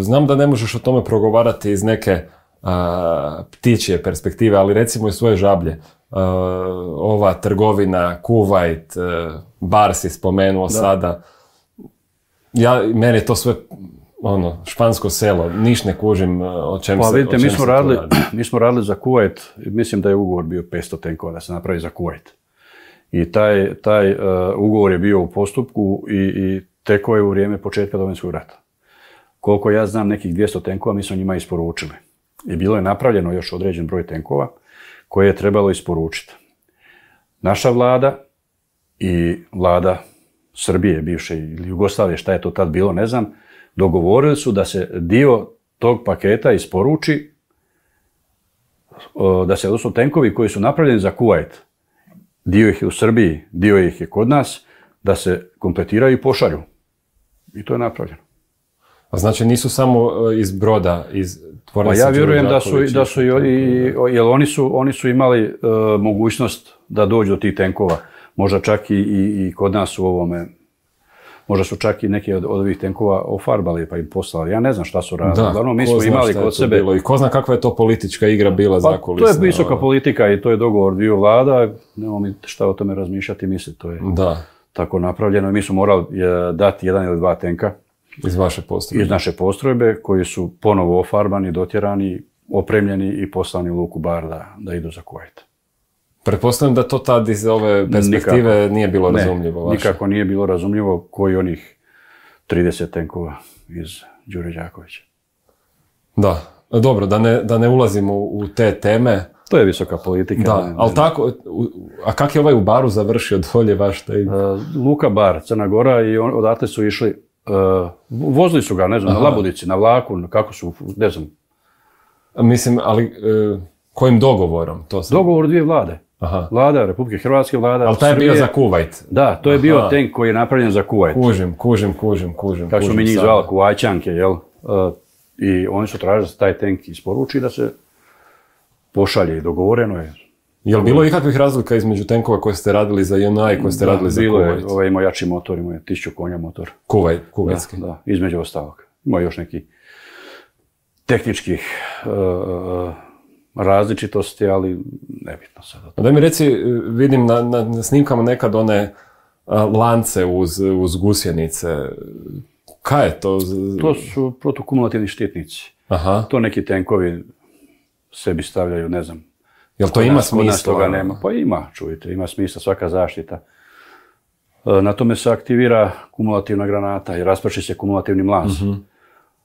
Znam da ne možeš o tome progovarati iz neke ptičje perspektive, ali recimo iz svoje Žablje. Ova trgovina, Kuvajt, bar si spomenuo sada. Meni je to sve špansko selo, niš ne kužim o čem pa, se vidite, o čem se tu radi. Mi smo radili za Kuvajt, mislim da je ugovor bio 500 tenkova da se napravi za Kuvajt. I taj ugovor je bio u postupku i tekao je u vrijeme početka Domovinskog rata. Koliko ja znam, nekih 200 tenkova mi smo njima isporučili. I bilo je napravljeno još određen broj tenkova koje je trebalo isporučiti. Naša vlada i vlada Srbije, bivše ili Jugoslavije, šta je to tad bilo, ne znam, dogovorili su da se dio tog paketa isporuči, da se odnosno tenkovi koji su napravljeni za Kuvajt, dio ih je u Srbiji, dio ih je kod nas, da se kompletiraju i pošalju. I to je napravljeno. A znači nisu samo iz broda, iz tvornice ja vjerujem da su jer oni su imali mogućnost da dođu do tih tenkova. Možda čak i kod nas u ovome, možda su čak i neki od ovih tenkova ofarbali pa im poslali. Ja ne znam šta su radili. Uglavnom, mi smo imali kod sebe. I ko zna kakva je to politička igra bila zakulisna. To je visoka politika i to je dogovor dviju vlada. Nemamo mi šta o tome razmišljati, misliti. To je tako napravljeno. Mi smo morali dati 1 ili 2 tenka. Iz vaše postrojbe? Iz naše postrojbe, koji su ponovo ofarbani, dotjerani, opremljeni i poslani u luku Bar da idu za Kuvajt. Pretpostavljam da to tad iz ove perspektive nije bilo razumljivo vaše. Nikako nije bilo razumljivo koji onih 30 tenkova iz Đure Đakovića. Da, dobro, da ne ulazimo u te teme. To je visoka politika. Da, ali tako, a kak je ovaj u Baru završio dolje vaš taj? Luka Bar, Crna Gora, i odatle su išli, vozili su ga, ne znam, na Labudici, na vlaku, kako su, ne znam. Mislim, ali kojim dogovorom? Dogovor dvije vlade. Vlada Republike Hrvatske, vlada ali taj je bio za Kuvajt? Da, to je bio tank koji je napravljen za Kuvajt. Kužim. Kako smo mi njih zvali, Kuvajčanke, jel? I oni su tražili da se taj tank isporuči da se pošalje i dogovoreno je. Je li bilo ikakvih razlika između tenkova koje ste radili za JNA i koje ste radili za Kuvajt? Bilo je, ovaj ima jači motor, ima 1000 konja motor. Kuvajtski? Da, između ostalog. Ima još neki tehničkih različitosti, ali nebitno sad. Daj mi reci, vidim na snimkama nekad one lance uz gusjenice. Kaj je to? To su protukumulativni štitnici. To neki tenkovi sebi stavljaju, ne znam. Jel to ima smisla? Toga nema. Pa ima, čujte, ima smisla svaka zaštita. Na tome se aktivira kumulativna granata i rasprši se kumulativni mlaz.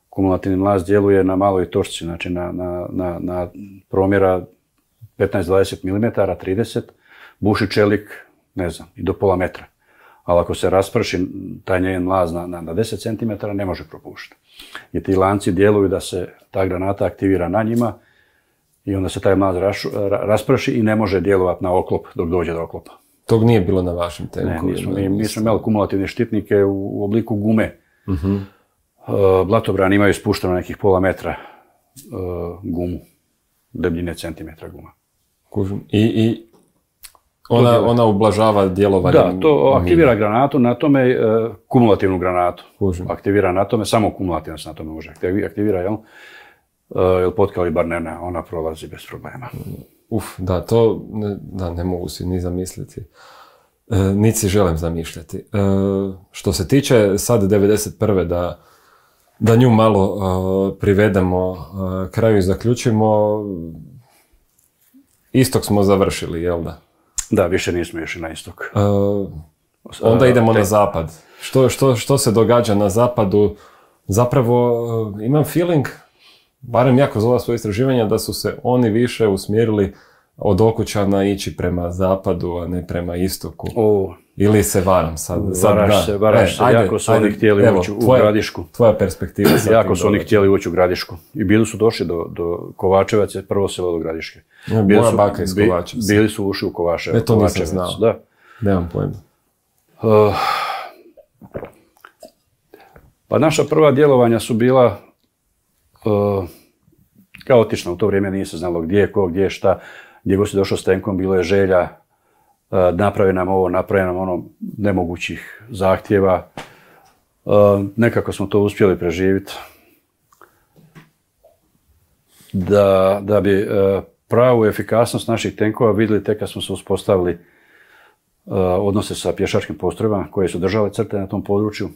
Kumulativni mlaz djeluje na maloj točci, znači na promjera 15-20 mm, 30, buši čelik, ne znam, i do pola metra. Ali ako se rasprši taj njen mlaz na 10 cm, ne može propušiti. I ti lanci djeluju da se ta granata aktivira na njima i onda se taj mlaz rasprši i ne može djelovati na oklop dok dođe do oklopa. Tog nije bilo na vašim tenkovima? Ne, mi smo imali kumulativne štitnike u obliku gume. Blatobrani imaju spušteno nekih pola metra gumu, debljine centimetra guma. Kužim. I ona ublažava djelovanje? Da, to aktivira granatu, na tome kumulativnu granatu. Kužim. Aktivira na tome, samo kumulativno se na tome može aktivira, jel? Jer podkalibarna ona prolazi bez problema. Da, to ne mogu si ni zamisliti. Niti si želim zamišljati. Što se tiče sad 91. da nju malo privedemo kraju i zaključimo, istok smo završili, jel da? Da, više nismo išli na istok. Onda idemo na zapad. Što se događa na zapadu? Zapravo imam feeling, barem ja kroz ova svoja istraživanja, da su se oni više usmjerili od Okučana ići prema zapadu, a ne prema istoku. Ili se varam sad? Varaš se. Jako su oni htjeli ući u Gradišku. Tvoja perspektiva. Jako su oni htjeli ući u Gradišku. I bili su došli do Kovačevac, prvo selo do Gradiške. Moja baka iz Kovačevca. Bili su ušli u Kovačevac. To nisam znao. Da. Nemam pojma. Pa naša prva djelovanja su bila kaotična. U to vrijeme nije se znalo gdje je ko, gdje je šta. Gdje god si došao s tenkom, bilo je želja, napravi nam ovo, napravi nam ono, nemogućih zahtjeva. Nekako smo to uspjeli preživjeti. Da bi pravu efikasnost naših tenkova vidjeli tek kad smo se uspostavili odnose sa pješačkim postrojbama koje su držale crte na tom području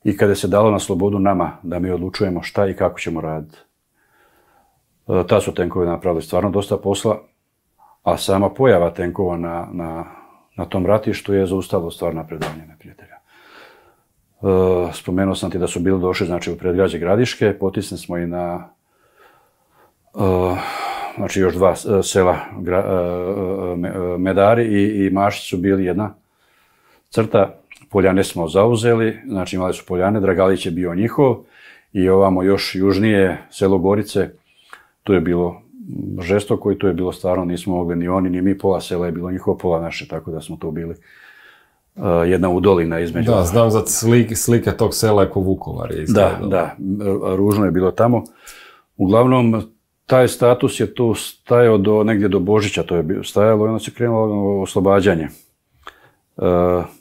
i kada se dalo na slobodu nama da mi odlučujemo šta i kako ćemo raditi. Ta su tenkovi napravili stvarno dosta posla, a sama pojava tenkova na tom ratištu je zaustavilo stvar napredovanje neprijatelja. Spomenuo sam ti da su bili došli znači, u predgrađe Gradiške, potisli smo i na znači još dva sela, Medari i Mašić su bili jedna crta. Poljane smo zauzeli, znači imali su Poljane, Dragalić je bio njihov i ovamo još južnije selo Gorice, tu je bilo žestoko i tu je bilo stvarno, nismo mogli ni oni ni mi, pola sela je bilo njihovo, pola naše, tako da smo tu bili jedna udolina između. Da, znam za slike tog sela je ko Vukovar je izgledalo. Da, ružno je bilo tamo. Uglavnom, taj status je tu stajao negdje do Božića, to je stajalo i onda se krenulo oslobađanje.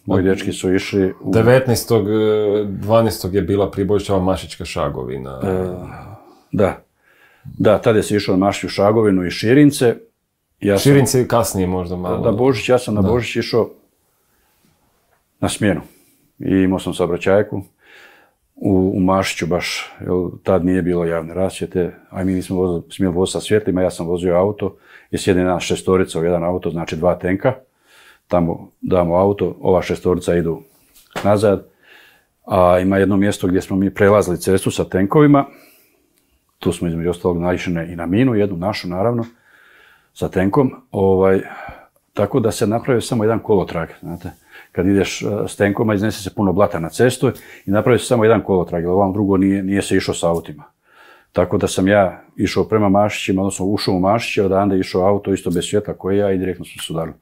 Moji dečki su išli... 19.12. je bila pribojištava Mašićka Šagovina. Da, tada se išao na Mašiću Šagovinu i Širince. Širince kasnije možda malo. Da, Božić, ja sam na Božić išao na smjenu. I imao sam saobraćajku u Mašiću baš, jer tad nije bilo javne rasvjete, a mi nismo smjeli voziti sa svjetlima, ja sam vozio auto i sjedi nas šestorica u jedan auto, znači 2 tenka. Tamo damo auto, ova šestorica idu nazad, a ima jedno mjesto gdje smo mi prelazili cestu sa tenkovima. Tu smo između ostalog naišli i na minu, jednu našu naravno, sa tenkom. Tako da se napravio samo jedan kolotrag, znate. Kad ideš s tenkoma, iznese se puno blata na cestu i napravio se samo jedan kolotrag, jer ovam drugo nije se išao s autima. Tako da sam ja išao prema Mašićima, odnosno ušao u Mašiće, odande išao auto isto bez svjetla koje ja i direktno smo se udarili.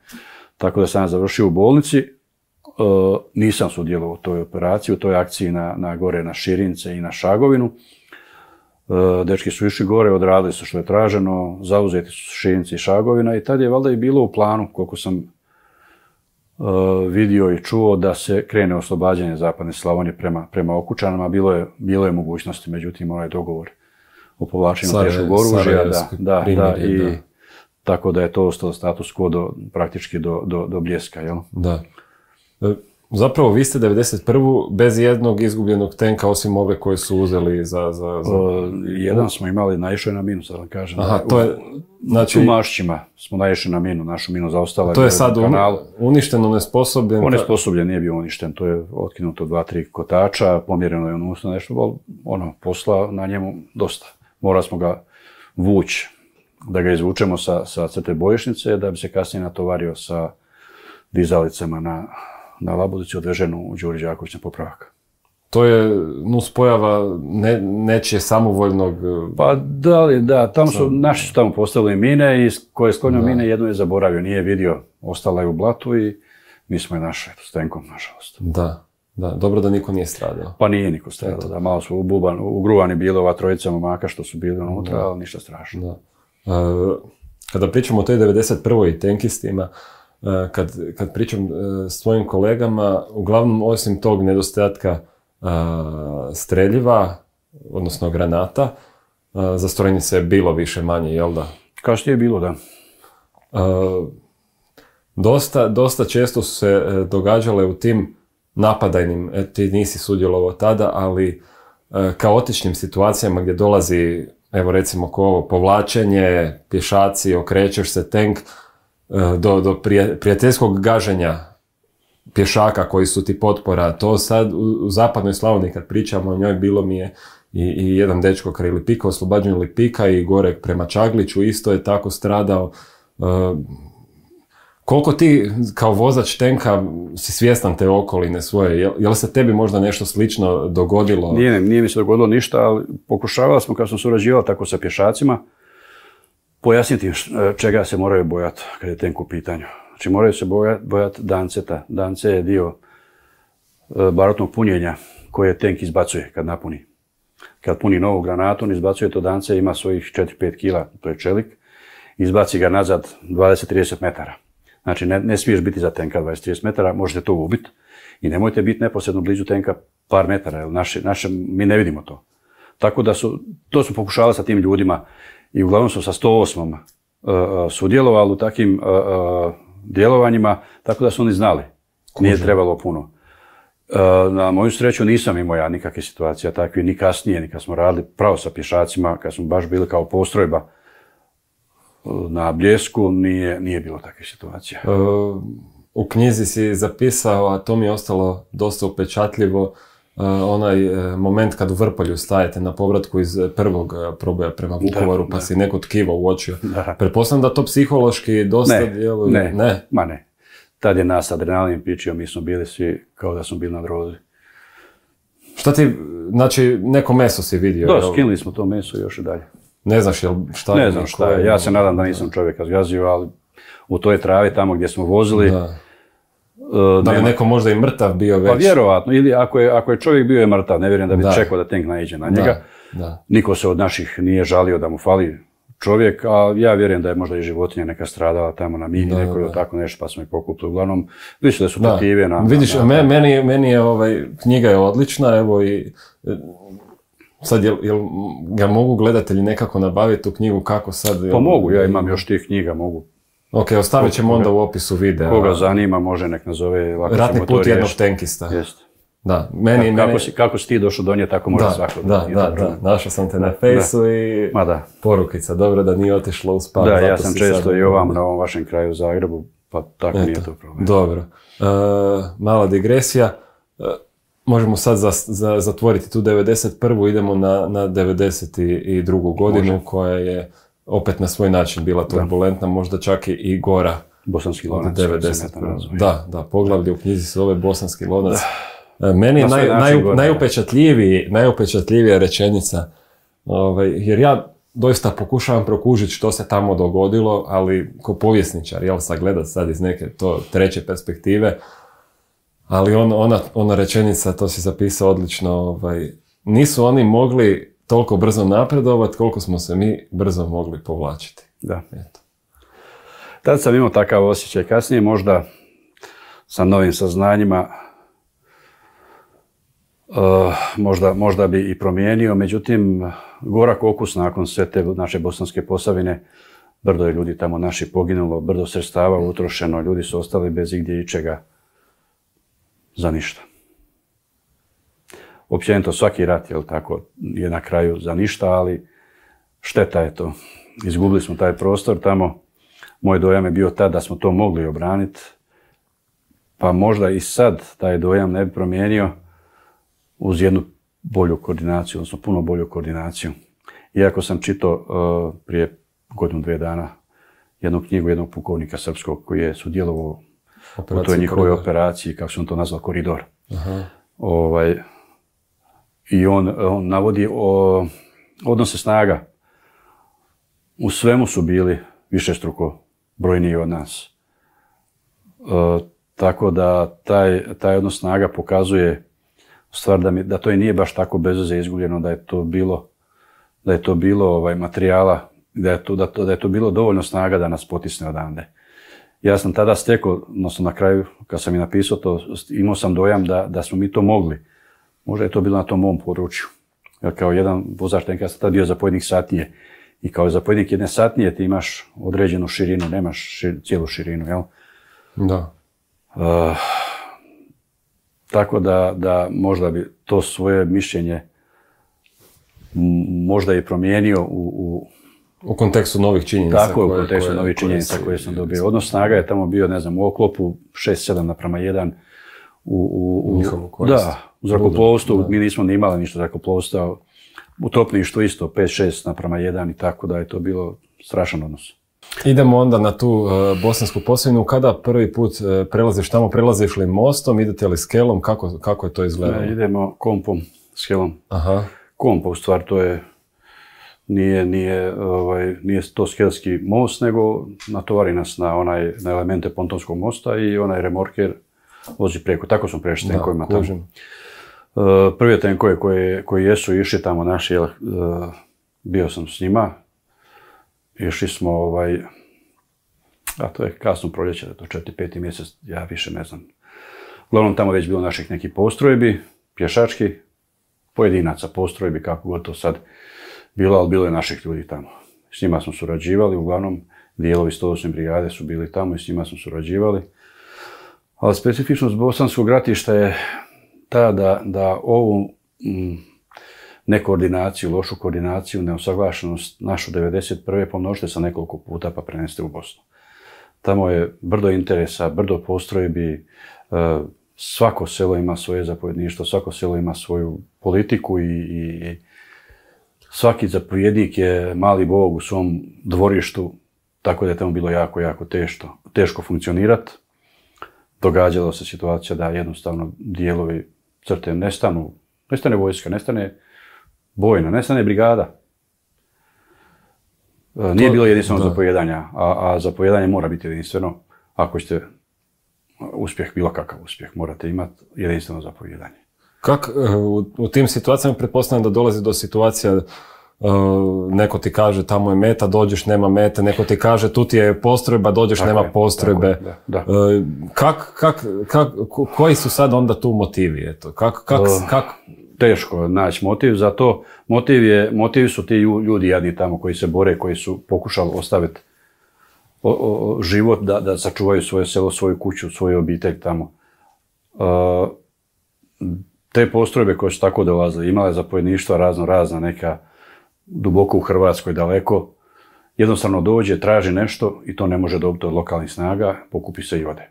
Tako da sam ja završio u bolnici, nisam sudjelovao u toj operaciji, u toj akciji gore na Širince i na Šagovinu. Dečki su išli gore, odradili su što je traženo, zauzeti su Širinci i Šagovina i tad je valjda i bilo u planu, koliko sam vidio i čuo, da se krene oslobađanje zapadne Slavonije prema Okučanima. Bilo je mogućnosti, međutim onaj dogovor o povlačenju teškog oružja, i tako da je to ostalo status quo praktički do Bljeska, jel? Da. Zapravo, vi ste 91. bez jednog izgubljenog tenka, osim ove koje su uzeli za... Jedan smo imali, naišao je na minu, sad vam kažem. Aha, to je... Znači... U Mašićima smo naišli na minu, našu minu zaostala. To je sad uništeno, onesposobljen? Onesposobljen, nije bio uništen, to je otkinuto 2-3 kotača, pomjereno je unutra nešto, posla na njemu dosta. Morali smo ga vući, da ga izvučemo sa crte bojišnice, da bi se kasnije natovario sa dizalicama na Labudici, odveženu u Đuri Đaković na popravak. To je nuspojava nečije samovoljnog... Pa da, naši su tamo postavili mine i ko je sklonio mine, jednu je zaboravio, nije vidio, ostala je u blatu i mi smo je našli s tenkom, nažalost. Da, dobro da niko nije stradao. Pa nije niko stradao, da, malo su ugruvani bili ova trojica momaka što su bili unutra, ali ništa strašno. Da. Kada pričamo o toj 91. i tenkistima, kad pričam s svojim kolegama, uglavnom osim tog nedostatka streljiva, odnosno granata, za strojnice je bilo više manje, jel da? Kasnije je bilo, da. Dosta često su se događale u tim napadajnim, ti nisi sudjelovao tada, ali kaotičnim situacijama gdje dolazi, evo recimo ko ovo, povlačenje, pješaci, okrećeš se, tenk, do prijateljskog gaženja pješaka koji su ti potpora. To sad u zapadnoj Slavoniji kad pričamo o njoj, bilo mi je i jedan dečko kraj Lipika, oslobađanju Lipika i gore prema Čagliću isto je tako stradao. Koliko ti kao vozač tenka si svjestan te okoline svoje? Je li se tebi možda nešto slično dogodilo? Nije mi se dogodilo ništa, ali pokušavali smo kad sam surađivao tako sa pješacima pojasniti čega se moraju bojati kad je tenk u pitanju. Znači moraju se bojati danceta. Dance je dio barutnog punjenja koje tenk izbacuje kad napuni. Kad puni novu granatu, on izbacuje to dance, ima svojih 4-5 kila, to je čelik, izbaci ga nazad 20-30 metara. Znači ne smiješ biti za tenka 20-30 metara, možete to ubiti i nemojte biti neposredno blizu tenka par metara, jer mi ne vidimo to. Tako da to su pokušavali sa tim ljudima i uglavnom su sa 108. Sudjelovali u takvim djelovanjima, tako da su oni znali. Nije trebalo puno. Na moju sreću nisam imao ja nikakve situacije takve, ni kasnije, ni kad smo radili pravo sa pješacima, kad smo baš bili kao postrojba na Bljesku, nije bilo takve situacije. U knjizi si zapisao, a to mi je ostalo dosta upečatljivo, onaj moment kad u Vrpolju stajete na povratku iz prvog proboja prema Vukovaru, pa si neko tkivo uočio. Pretpostavljam da to psihološki dosta djeluje. Ne. Tad je nas adrenalin pičio, mi smo bili svi kao da smo bili na drozi. Šta ti, znači, neko meso si vidio? Da, skinuli smo to meso još i dalje. Ne znaš šta je? Ne znam šta je. Ja se nadam da nisam čovjeka zgazio, ali u toj travi tamo gdje smo vozili... Da li neko možda i mrtav bio već? Pa vjerovatno, ili ako je čovjek bio je mrtav, ne vjerujem da bi čekao da tank naiđe na njega. Niko se od naših nije žalio da mu fali čovjek, a ja vjerujem da je možda i životinja neka stradala tamo na mini, neko ili tako nešto, pa smo ih pokupili. Uglavnom, vidiš da su taktive na... Vidiš, meni je knjiga je odlična, evo i... Sad, jel ga mogu gledatelji nekako nabaviti tu knjigu, kako sad... Pa mogu, ja imam još tih knjiga, mogu. Ok, ostavit ćemo onda u opisu videa. Koga zanima, može nek nazove... Ratni put jednog tenkista. Jest. Da, kako si ti došao do nje, tako može svako. Da, našao sam te na fejsu i porukica, dobro da nije otišlo u spav. Da, ja sam često i ovam na ovom vašem kraju u Zagrebu, pa tako nije to problem. Dobro, mala digresija, možemo sad zatvoriti tu 91. Idemo na 92. godinu koja je opet na svoj način bila turbulentna, možda čak i gora. Bosanski lonac. Da, poglavlje u knjizi se zove Bosanski lonac. Meni je najupečatljivija rečenica, jer ja doista pokušavam prokužiti što se tamo dogodilo, ali ko povjesničar, sagledat sad iz neke to treće perspektive, ali ona rečenica, to si zapisao odlično, nisu oni mogli toliko brzo napredovati koliko smo se mi brzo mogli povlačiti. Da. Eto. Tad sam imao takav osjećaj, kasnije možda sa novim saznanjima možda bi i promijenio, međutim, gorak okus nakon sve te naše Bosanske Posavine, brdo je ljudi tamo naši poginulo, brdo sredstava utrošeno, ljudi su ostali bez igdje ičega za ništa. Općenito svaki rat, je na kraju za ništa, ali šteta je to. Izgubili smo taj prostor tamo, moj dojam je bio tad da smo to mogli obraniti, pa možda i sad taj dojam ne bi promijenio, uz jednu bolju koordinaciju, odnosno puno bolju koordinaciju. Iako sam čitao prije godinu, 2 dana jednu knjigu jednog pukovnika srpskog koji je sudjelovao u toj njihovoj operaciji, kako sam to nazvao, Koridor. I on navodi odnose snaga. U svemu su bili višestruko brojniji od nas. Tako da taj odnos snaga pokazuje stvar da to i nije baš tako bez veze izgubljeno, da je to bilo materijala, da je to bilo dovoljno snaga da nas potisne odande. Ja sam tada stekao, odnosno na kraju, kad sam i napisao to, imao sam dojam da smo mi to mogli. Možda je to bilo na tom mom području. Jer kao jedan vozač tenka sam tada bio zapovjednik satnije. I kao zapovjednik jedne satnije ti imaš određenu širinu, nemaš cijelu širinu, jel? Da. Tako da možda bi to svoje mišljenje možda i promijenio u kontekstu novih činjenica. Tako, u kontekstu novih činjenica koje sam dobio. Odnos snaga je tamo bio, u oklopu 6-7:1 u zrakoplovstvu. Mi nismo ni imali ništa zrakoplovstva. U topništvu isto 5-6:1 i tako da je to bilo strašan odnos. Idemo onda na tu Bosansku Posavinu. Kada prvi put prelaziš tamo, prelaziš li mostom, idete li skelom, kako je to izgledalo? Idemo kompom, skelom. Kompa, u stvari, to je, nije to skelski most, nego natovari nas na elemente pontonskog mosta i onaj remorker vozi preko. Tako smo prešli tenkovima tamo. Prvi tenkove koji jesu išli tamo naši, bio sam s njima. Išli smo, a to je kasno proljeće, to 4-5 mjesec, ja više ne znam. Uglavnom tamo već bilo naših nekih postrojbi, pješački, pojedinaca postrojbi, kako god to sad bilo, ali bilo je naših ljudi tamo. S njima smo surađivali, uglavnom dijelovi 108. brigade su bili tamo i s njima smo surađivali. Ali specifičnost bosanskog ratišta je ta da ovu nekoordinaciju, lošu koordinaciju, neusaglašenost našu 91. pomnožite sa nekoliko puta pa preneste u Bosnu. Tamo je brdo interesa, brdo postrojbi, svako selo ima svoje zapovjedništvo, svako selo ima svoju politiku i svaki zapovjednik je mali bog u svom dvorištu, tako da je tamo bilo jako, jako teško funkcionirati. Događalo se situacija da jednostavno dijelovi crte nestanu, nestane vojska, nestane bojna, nestane brigada. Nije bilo jedinstveno zapovijedanja, a zapovijedanje mora biti jedinstveno. Ako ćete uspjeh, bilo kakav uspjeh, morate imati jedinstveno zapovijedanje. U tim situacijama pretpostavljam da dolazi do situacija, neko ti kaže tamo je meta, dođeš, nema mete, neko ti kaže tu ti je postrojba, dođeš, tako nema postrojbe. Da. Koji su sad onda tu motivi? Eto? Teško naći motiv za to. Motivi su ti ljudi jadni tamo koji se bore, koji su pokušali ostaviti život da sačuvaju svoje selo, svoju kuću, svoju obitelj tamo. Te postrojbe koje su tako dolazile, imale zapovjedništva razna, neka duboko u Hrvatskoj, daleko, jednostavno dođe, traži nešto i to ne može dobiti od lokalnih snaga, pokupi se i ode.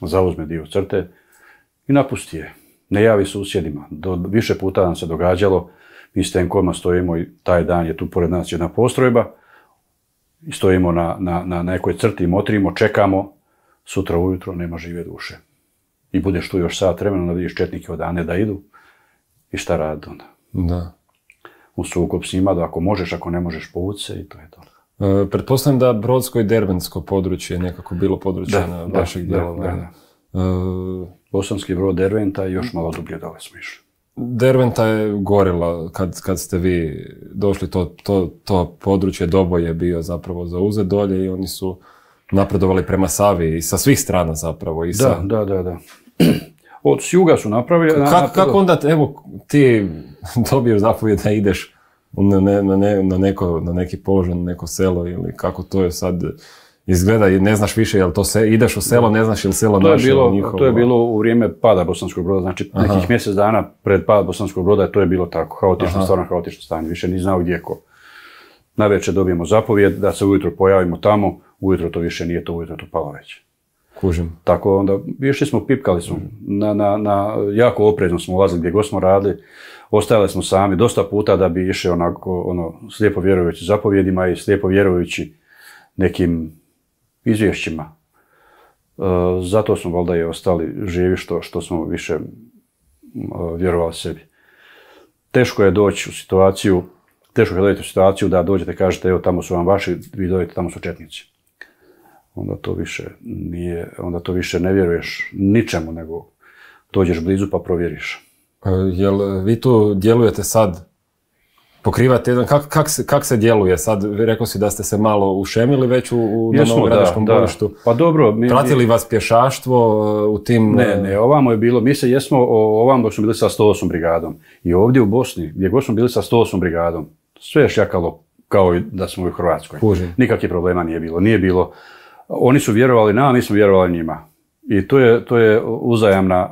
Zauzme dio crte i napusti je. Ne javi susjedima. Više puta nam se događalo, mi s tenkovima stojimo i taj dan je tu pored nas jedna postrojba i stojimo na nekoj crti, motrimo, čekamo, sutra ujutro nema žive duše. I budeš tu još sat vremena, da vidiš četnike odane da idu i šta radi onda. Da. U sukob s njima, da ako možeš, ako ne možeš, povući se i to je to. Pretpostavljam da Brodsko i Dervensko područje je nekako bilo područje na vašeg djelovanja. Bosanski Brod, Derventa i još malo dublje dole smo išli. Derventa je gorila kad ste vi došli, to područje Doboj je bio zapravo zauzet dolje i oni su napredovali prema Savi i sa svih strana zapravo. Da. Od juga su napravili... Kako onda, evo, ti dobiješ zapovjed da ideš na neki položaj, na neko selo ili kako to je sad izgleda i ne znaš više jel to ideš u selo, ne znaš je li selo naše ili njihovo. To je bilo u vrijeme pada Bosanskog Broda, znači nekih mjesec dana pred pad Bosanskog Broda to je bilo tako, stvarno haotično stanje, više ni znao gdje ko. Navečer dobijemo zapovjed da se ujutro pojavimo tamo, ujutro to više nije to, ujutro to palo već. Kužim. Tako onda, išli smo, pipkali smo, jako oprezno smo ulazili gdje god smo radili, ostajali smo sami dosta puta da bi išli onako, slijepo vjerujući zapovjedima i slijepo vjerujući nekim izvješćima. Zato smo valjda i ostali živi što smo više vjerovali sebi. Teško je doći u situaciju da dođete i kažete evo tamo su vam vaši, vi dođete tamo su četnici. Onda to više ne vjeruješ ničemu, nego dođeš blizu pa provjeriš. Jel vi tu djelujete sad, pokrivate jedan, kak se djeluje sad? Rekao si da ste se malo ušemili već na Novogradiškom bojištu. Pa dobro. Pratili vas pješaštvo u tim... Ne, ovamo je bilo, mi se jesmo ovamo dok smo bili sa 108 brigadom. I ovdje u Bosni, gdje god smo bili sa 108 brigadom, sve je šjakalo kao i da smo u Hrvatskoj. Nikakvih problema nije bilo. Oni su vjerovali nama, mi smo vjerovali njima. I to je uzajamna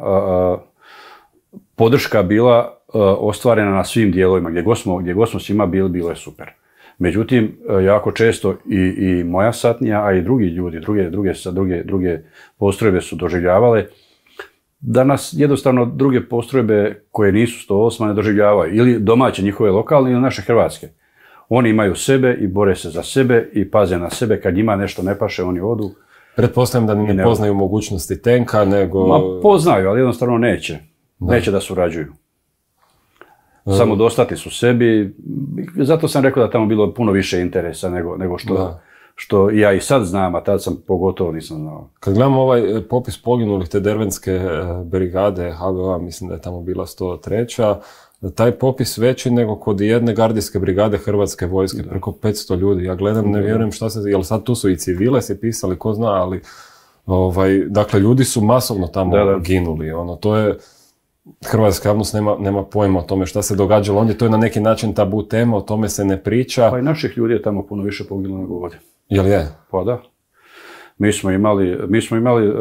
podrška bila ostvarena na svim dijelovima. Gdje god smo s njima bili, bilo je super. Međutim, jako često i moja satnija, a i drugi ljudi, druge postrojbe su doživljavale da nas jednostavno druge postrojbe koje nisu 108 ne doživljavaju. Ili domaće njihove lokalne ili naše hrvatske. Oni imaju sebe i bore se za sebe i paze na sebe. Kad njima nešto ne paše, oni odu. Pretpostavljam da ne poznaju mogućnosti tenka, nego... Poznaju, ali jednostavno neće. Neće da surađuju. Samo dostati su sebi. Zato sam rekao da tamo bilo puno više interesa nego što ja i sad znam, a tad sam pogotovo nisam znao. Kad gledamo ovaj popis poginulih te Dervenske brigade HVO, mislim da je tamo bila 103. Taj popis veći nego kod jedne gardijske brigade Hrvatske vojske, preko 500 ljudi. Ja gledam, ne vjerujem šta se... Jel sad tu su i civile se pisali, ko zna, ali... dakle, ljudi su masovno tamo ginuli. To je... Hrvatska javnost nema pojma o tome šta se događalo. Ondje to je na neki način tabu tema, o tome se ne priča. Pa i naših ljudi je tamo puno više poginulo nego ovdje. Jel je? Pa da. Mi smo imali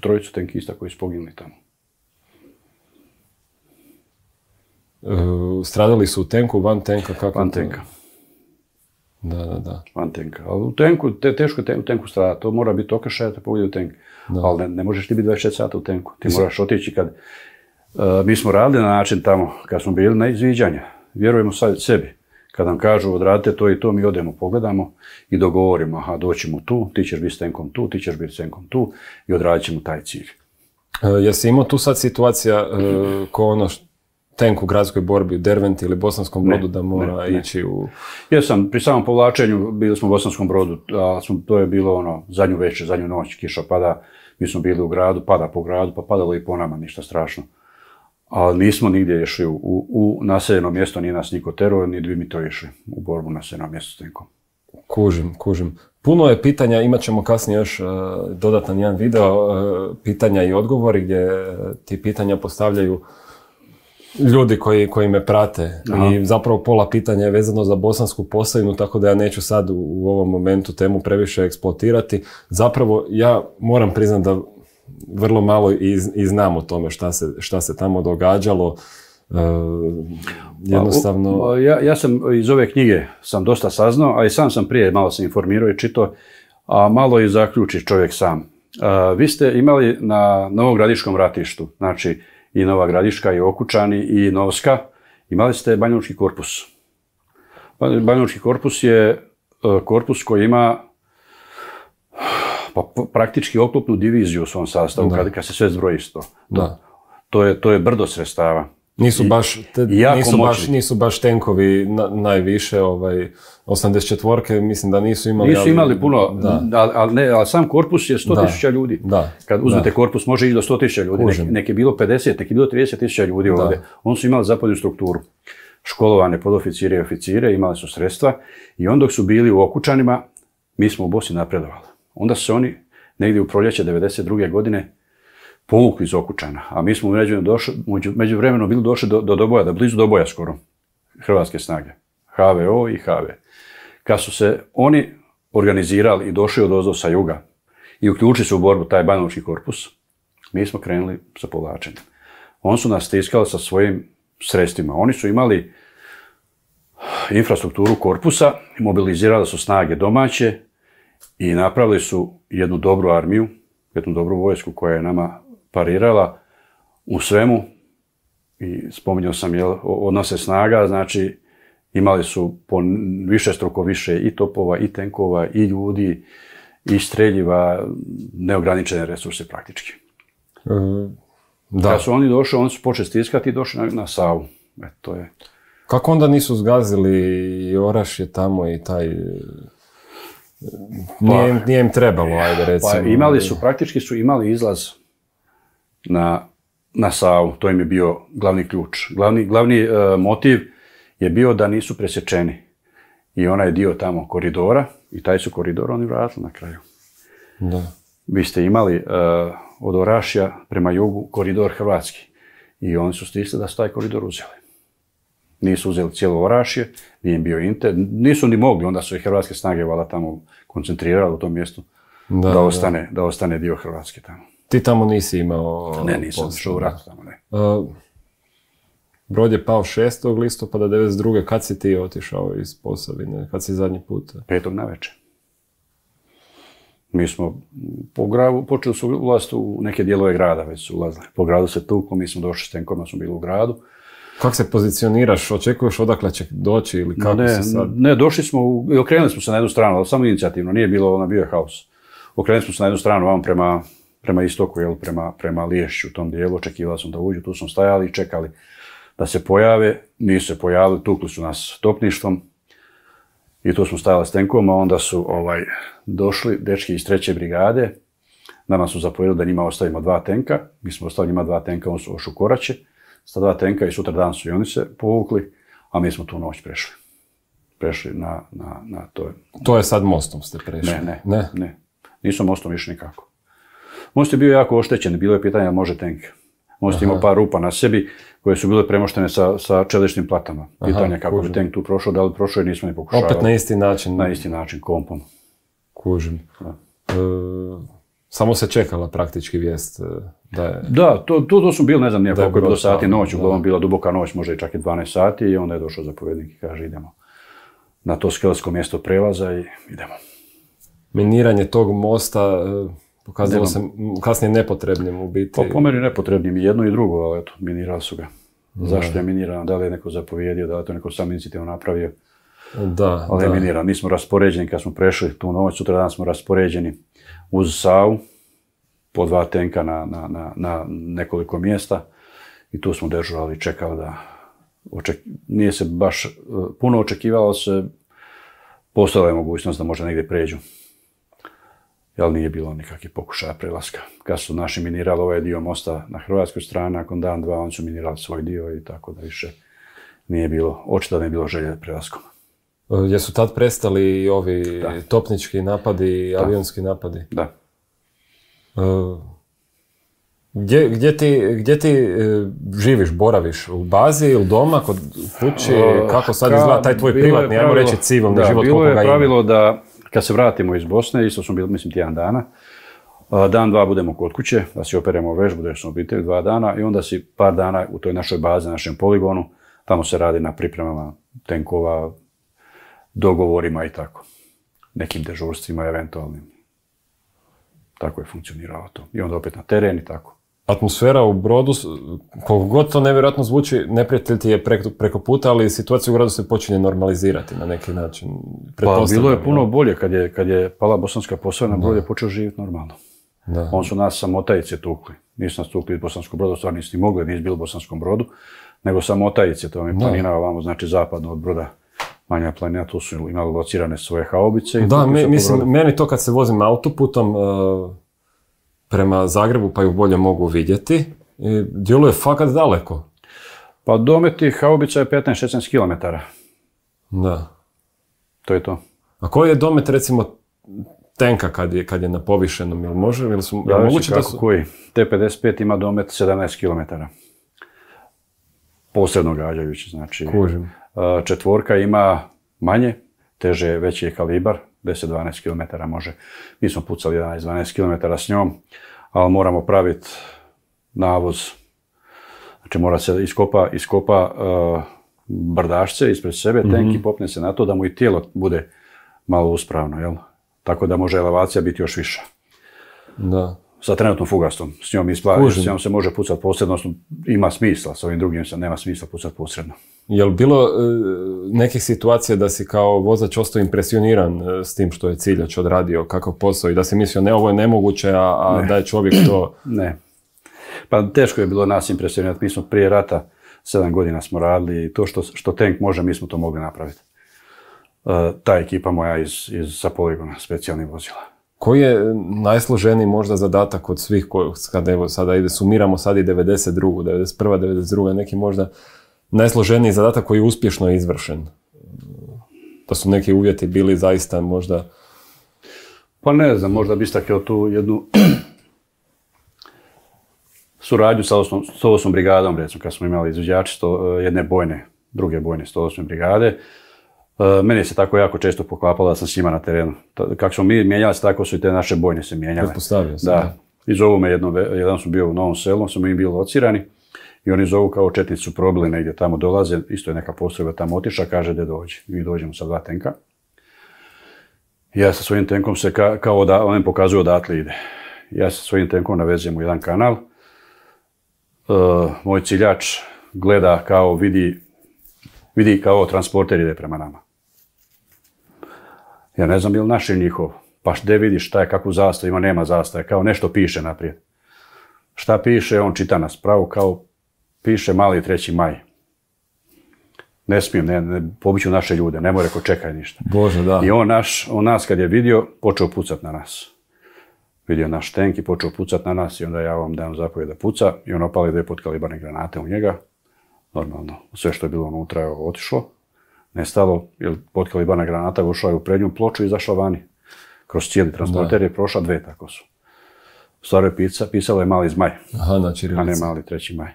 trojicu tenkista koji su poginuli tamo. Stradali su u tenku, van tenka? Kako van tenka. Da. Van tenka. Ali u tenku, teško je u tenku stradati. To mora biti okršaj da te pogodi u tenk. Ali ne možeš ti biti 24 sata u tenku. Ti moraš otići kad... mi smo radili na način tamo, kad smo bili na izviđanja. Vjerujemo sad sebi. Kad nam kažu odradite to i to, mi odemo, pogledamo i dogovorimo. Aha, doćemo tu, ti ćeš biti s tenkom tu, ti ćeš biti s tenkom tu i odradit ćemo taj cilj. Jesi imao tu sad situacija ko ono tenk u gradskoj borbi u Derventi ili Bosanskom Brodu da mora ići u... Jesam, pri samom povlačenju bili smo u Bosanskom Brodu, a to je bilo zadnju večer, zadnju noć, kiša pada, mi smo bili u gradu, pada po gradu, pa padalo i po nama, ništa strašno. Ali nismo nigdje išli u naseljeno mjesto, nije nas niko terao, ni bi mi to išli u borbu na naseljeno mjesto s tenkom. Kužim. Puno je pitanja, imat ćemo kasnije još dodatan jedan video, pitanja i odgovori gdje ti pitanja postavljaju ljudi koji me prate. Aha. I zapravo pola pitanja je vezano za Bosansku Posavinu, tako da ja neću sad u ovom momentu temu previše eksploatirati. Zapravo ja moram priznati da vrlo malo i znam o tome šta se tamo događalo. Jednostavno... Ja sam iz ove knjige sam dosta saznao, a i sam prije malo se informirao i čitao, a malo i zaključi čovjek sam. Vi ste imali na Novogradiškom ratištu, znači i Nova Gradiška, i Okučani, i Novska, imali ste Banjalučki korpus. Banjalučki korpus je korpus koji ima praktički oklopnu diviziju u svom sastavu, kad se sve zbroji isto. To je brdo sredstava. Nisu baš tenkovi najviše, 84-ke, mislim da nisu imali... Nisu imali puno, ali sam korpus je 100.000 ljudi. Kad uzmete korpus, može ići do 100.000 ljudi. Nek je bilo 50, nek je bilo 30.000 ljudi ovdje. Oni su imali zapadnu strukturu. Školovane podoficire i oficire, imali su sredstva i onda dok su bili u Okučanima, mi smo u Bosni napredovali. Onda su oni negdje u proljeće 92. godine povukli iz Okučana, a mi smo međuvremeno bili došli do Doboja, blizu Doboja skoro, hrvatske snage, HVO i HV. Kad su se oni organizirali i došli odozdo sa juga i uključili se u borbu taj Banjalučki korpus, mi smo krenuli sa povlačenjem. Oni su nas stiskali sa svojim sredstvima. Oni su imali infrastrukturu korpusa, mobilizirali su snage domaće i napravili su jednu dobru armiju, jednu dobru vojsku koja je nama parirala u svemu. I spominjao sam odnose snaga, znači imali su po višestruko više i topova, i tenkova, i ljudi, i streljiva, neograničene resurse praktički. Kad su oni došli, oni su počeli stiskati i došli na Savu. To je... Kako onda nisu zgazili i Orašje tamo i taj... Nije im trebalo, ajde recimo. Praktički su imali izlaz na Savu, to im je bio glavni ključ. Glavni motiv je bio da nisu presječeni. I onaj dio tamo koridora, i taj su koridor oni vratili na kraju. Da. Vi ste imali od Orašja prema jugu koridor hrvatski. I oni su stisli da su taj koridor uzeli. Nisu uzeli cijelo Orašje, nije im bio Inter, nisu ni mogli, onda su i hrvatske snage valjda tamo koncentrirali u tom mjestu da ostane dio Hrvatske tamo. Ti tamo nisi imao... Ne, nisam šao u ratu tamo, ne. Brod je pao 6. listopada 1992. Kad si ti otišao iz Posavine? Kad si zadnji put? 5. navečer. Mi smo počeli su ulaziti u neke dijelove grada, već su ulazili. Po gradu se tuklo, mi smo došli s tenkovima, smo bili u gradu. Kako se pozicioniraš? Očekuješ odakle će doći ili kako se sad? Ne, došli smo i okrenuli smo se na jednu stranu, ali samo inicijativno, nije bilo, bio je haos. Okrenuli smo se na jednu stranu, vam prema istoku, prema Liješću, u tom dijelu, očekivali smo da uđu, tu smo stajali i čekali da se pojave, nisu se pojavili, tukli su nas topništvom i tu smo stajali s tenkom, a onda su došli dečki iz 3. brigade, nama su zapovjedili da njima ostavimo 2 tenka, mi smo ostavili njima 2 tenka, oni su ošli u Koraće, sa 2 tenka i sutra dan su i oni se povukli, a mi smo tu noć prešli. Prešli na to. To je sad mostom ste prešli? Ne. Nisu mostom išli nikako. Most je bio jako oštećen, bilo je pitanje da može tenk. Most imao par rupa na sebi koje su bile premoštene sa čeličnim platama. Pitanje kako bi tenk tu prošao, da li prošao i nismo ni pokušavali. Opet na isti način? Na isti način, kompom. Kužim. Samo se čekala praktički vijest da je... Da, to su bili, ne znam nije koliko je bilo sati noć, uglavnom bila duboka noć, možda i čak i 12 sati i onda je došao zapovjednik i kaže idemo na to skelsko mjesto prelaza i idemo. Miniranje tog mosta pokazalo se kasnije nepotrebnim u biti. Pa po meni nepotrebnim i jedno i drugo, ali eto, minirali su ga. Zašto je minirano, da li je neko zapovjedio, da li je to neko sam inicijativno napravio. Da, ali je miniran. Mi smo raspoređeni, kad smo prešli tu noć, sutra dan smo raspoređeni uz Savu, po 2 tenka na nekoliko mjesta i tu smo dežurali i čekali da... Nije se baš puno očekivalo se, postojala je mogućnost da možda negdje pređu. Jel nije bilo nikakvih pokušaja prelaska. Kad su naši minirali ovaj dio mosta na hrvatskoj strani, nakon dan, dva, oni su minirali svoj dio i tako da više nije bilo, očito da nije bilo želje prelaskom. Jesu tad prestali i ovi topnički napadi i avionski napadi? Da. Gdje ti živiš, boraviš? U bazi ili doma, kod kući? Kako sad izgleda taj tvoj privatni, ajmo reći civilni život? Bilo je pravilo da kad se vratimo iz Bosne, isto smo bili, mislim, tjedan dana, dan, dva budemo kod kuće, da si operemo vežbu, da smo obitelj 2 dana i onda si par dana u toj našoj bazi, našem poligonu, tamo se radi na pripremama tenkova, dogovorima i tako. Nekim dežurstvima eventualnim. Tako je funkcioniralo to. I onda opet na teren i tako. Atmosfera u Brodu, koliko god to nevjerojatno zvuči, neprijatelj ti je preko puta, ali situacija u gradu se počinje normalizirati na neki način. Pa bilo je puno bolje kad je pala Bosanska Posavina, Brod je počeo živjeti normalno. Da. On su nas samotajice tukli. Nisu nas tukli iz Bosanskog Broda, stvarno nisi mogli, nisi bili u Bosanskom Brodu, nego samotajice, to vam je planina ovamo, znači zapadno od Broda. Manja planina, tu su imali locirane svoje haubice. Da, mislim, meni to kad se vozim autoputom prema Zagrebu, pa ju bolje mogu vidjeti, djeluje fakat daleko. Pa domet tih haubica je 15-16 km. Da. To je to. A koji je domet, recimo, tenka kad je na povišenom, ili može? Koji? T-55 ima domet 17 km. Posredno gađajući, znači. Kužim. Četvorka ima manje, teže, veći je kalibar, 10-12 km može. Mi smo pucali 11-12 km s njom, ali moramo praviti navoz. Znači mora se iskopa brdašce ispred sebe, tenk i popne se na to da mu i tijelo bude malo uspravno, jel? Tako da može elevacija biti još viša. Da. Sa trenutnom fugastom. S njom se može pucati posredno, ima smisla, s ovim drugim se nema smisla pucati posredno. Je li bilo nekih situacija da si kao vozač ostao impresioniran s tim što je ciljač odradio, kakav posao i da si mislio ne, ovo je nemoguće, a da je čovjek to... Ne. Pa teško je bilo nas impresionirati. Mi smo prije rata 7 godina smo radili i to što tank može, mi smo to mogli napraviti. Ta ekipa moja sa poligona specijalnih vozila. Koji je najsloženiji možda zadatak od svih kad evo sada sumiramo sad i 92. 91. 92. neki možda najsloženiji zadatak koji je uspješno izvršen? Da su neki uvjeti bili zaista možda... Pa ne znam, možda bi istakao tu jednu suradnju sa 108. brigadom, recimo, kad smo imali izvođači jedne druge bojne 108. brigade. Meni se tako jako često poklapalo da sam s njima na terenu. Kako smo mi mijenjali se, tako su i te naše bojne se mijenjale. Pretpostavio sam. Da. I zovu me jedan su bio u Novom Selu, smo im bili locirani i oni zovu kao četnici su probili negdje tamo dolaze, isto je neka postrojba tamo otišla, kaže da dođe. Mi dođemo sa 2 tenka. Ja sa svojim tenkom se kao da, on im pokazuje odatle ide. Ja sa svojim tenkom navezem u jedan kanal. Moj ciljač gleda kao vidi kao transporter ide prema nama. Ja ne znam je li naš ili njihov. Pa gdje vidiš šta je, kakvu zastavu ima, nema zastave, kao nešto piše naprijed. Šta piše, on čita nas pravo, kao piše Mali 3. maj. Ne smijem, ne pobiću naše ljude, ne more ko čekaj ništa. Bože, da. I on nas kad je vidio, počeo pucat na nas. Vidio naš tank i počeo pucat na nas i onda ja vam dam zapovjed da puca i on opali 2 potkalibarne granate u njega. Normalno, sve što je bilo unutra je otišlo, nestalo, jer potkalibarna granata ušla je u prednju ploču i izašla vani. Kroz cijeli transporter je prošla 2, tako su. U stvari pisalo je Mali zmaj, a ne Mali 3. maj.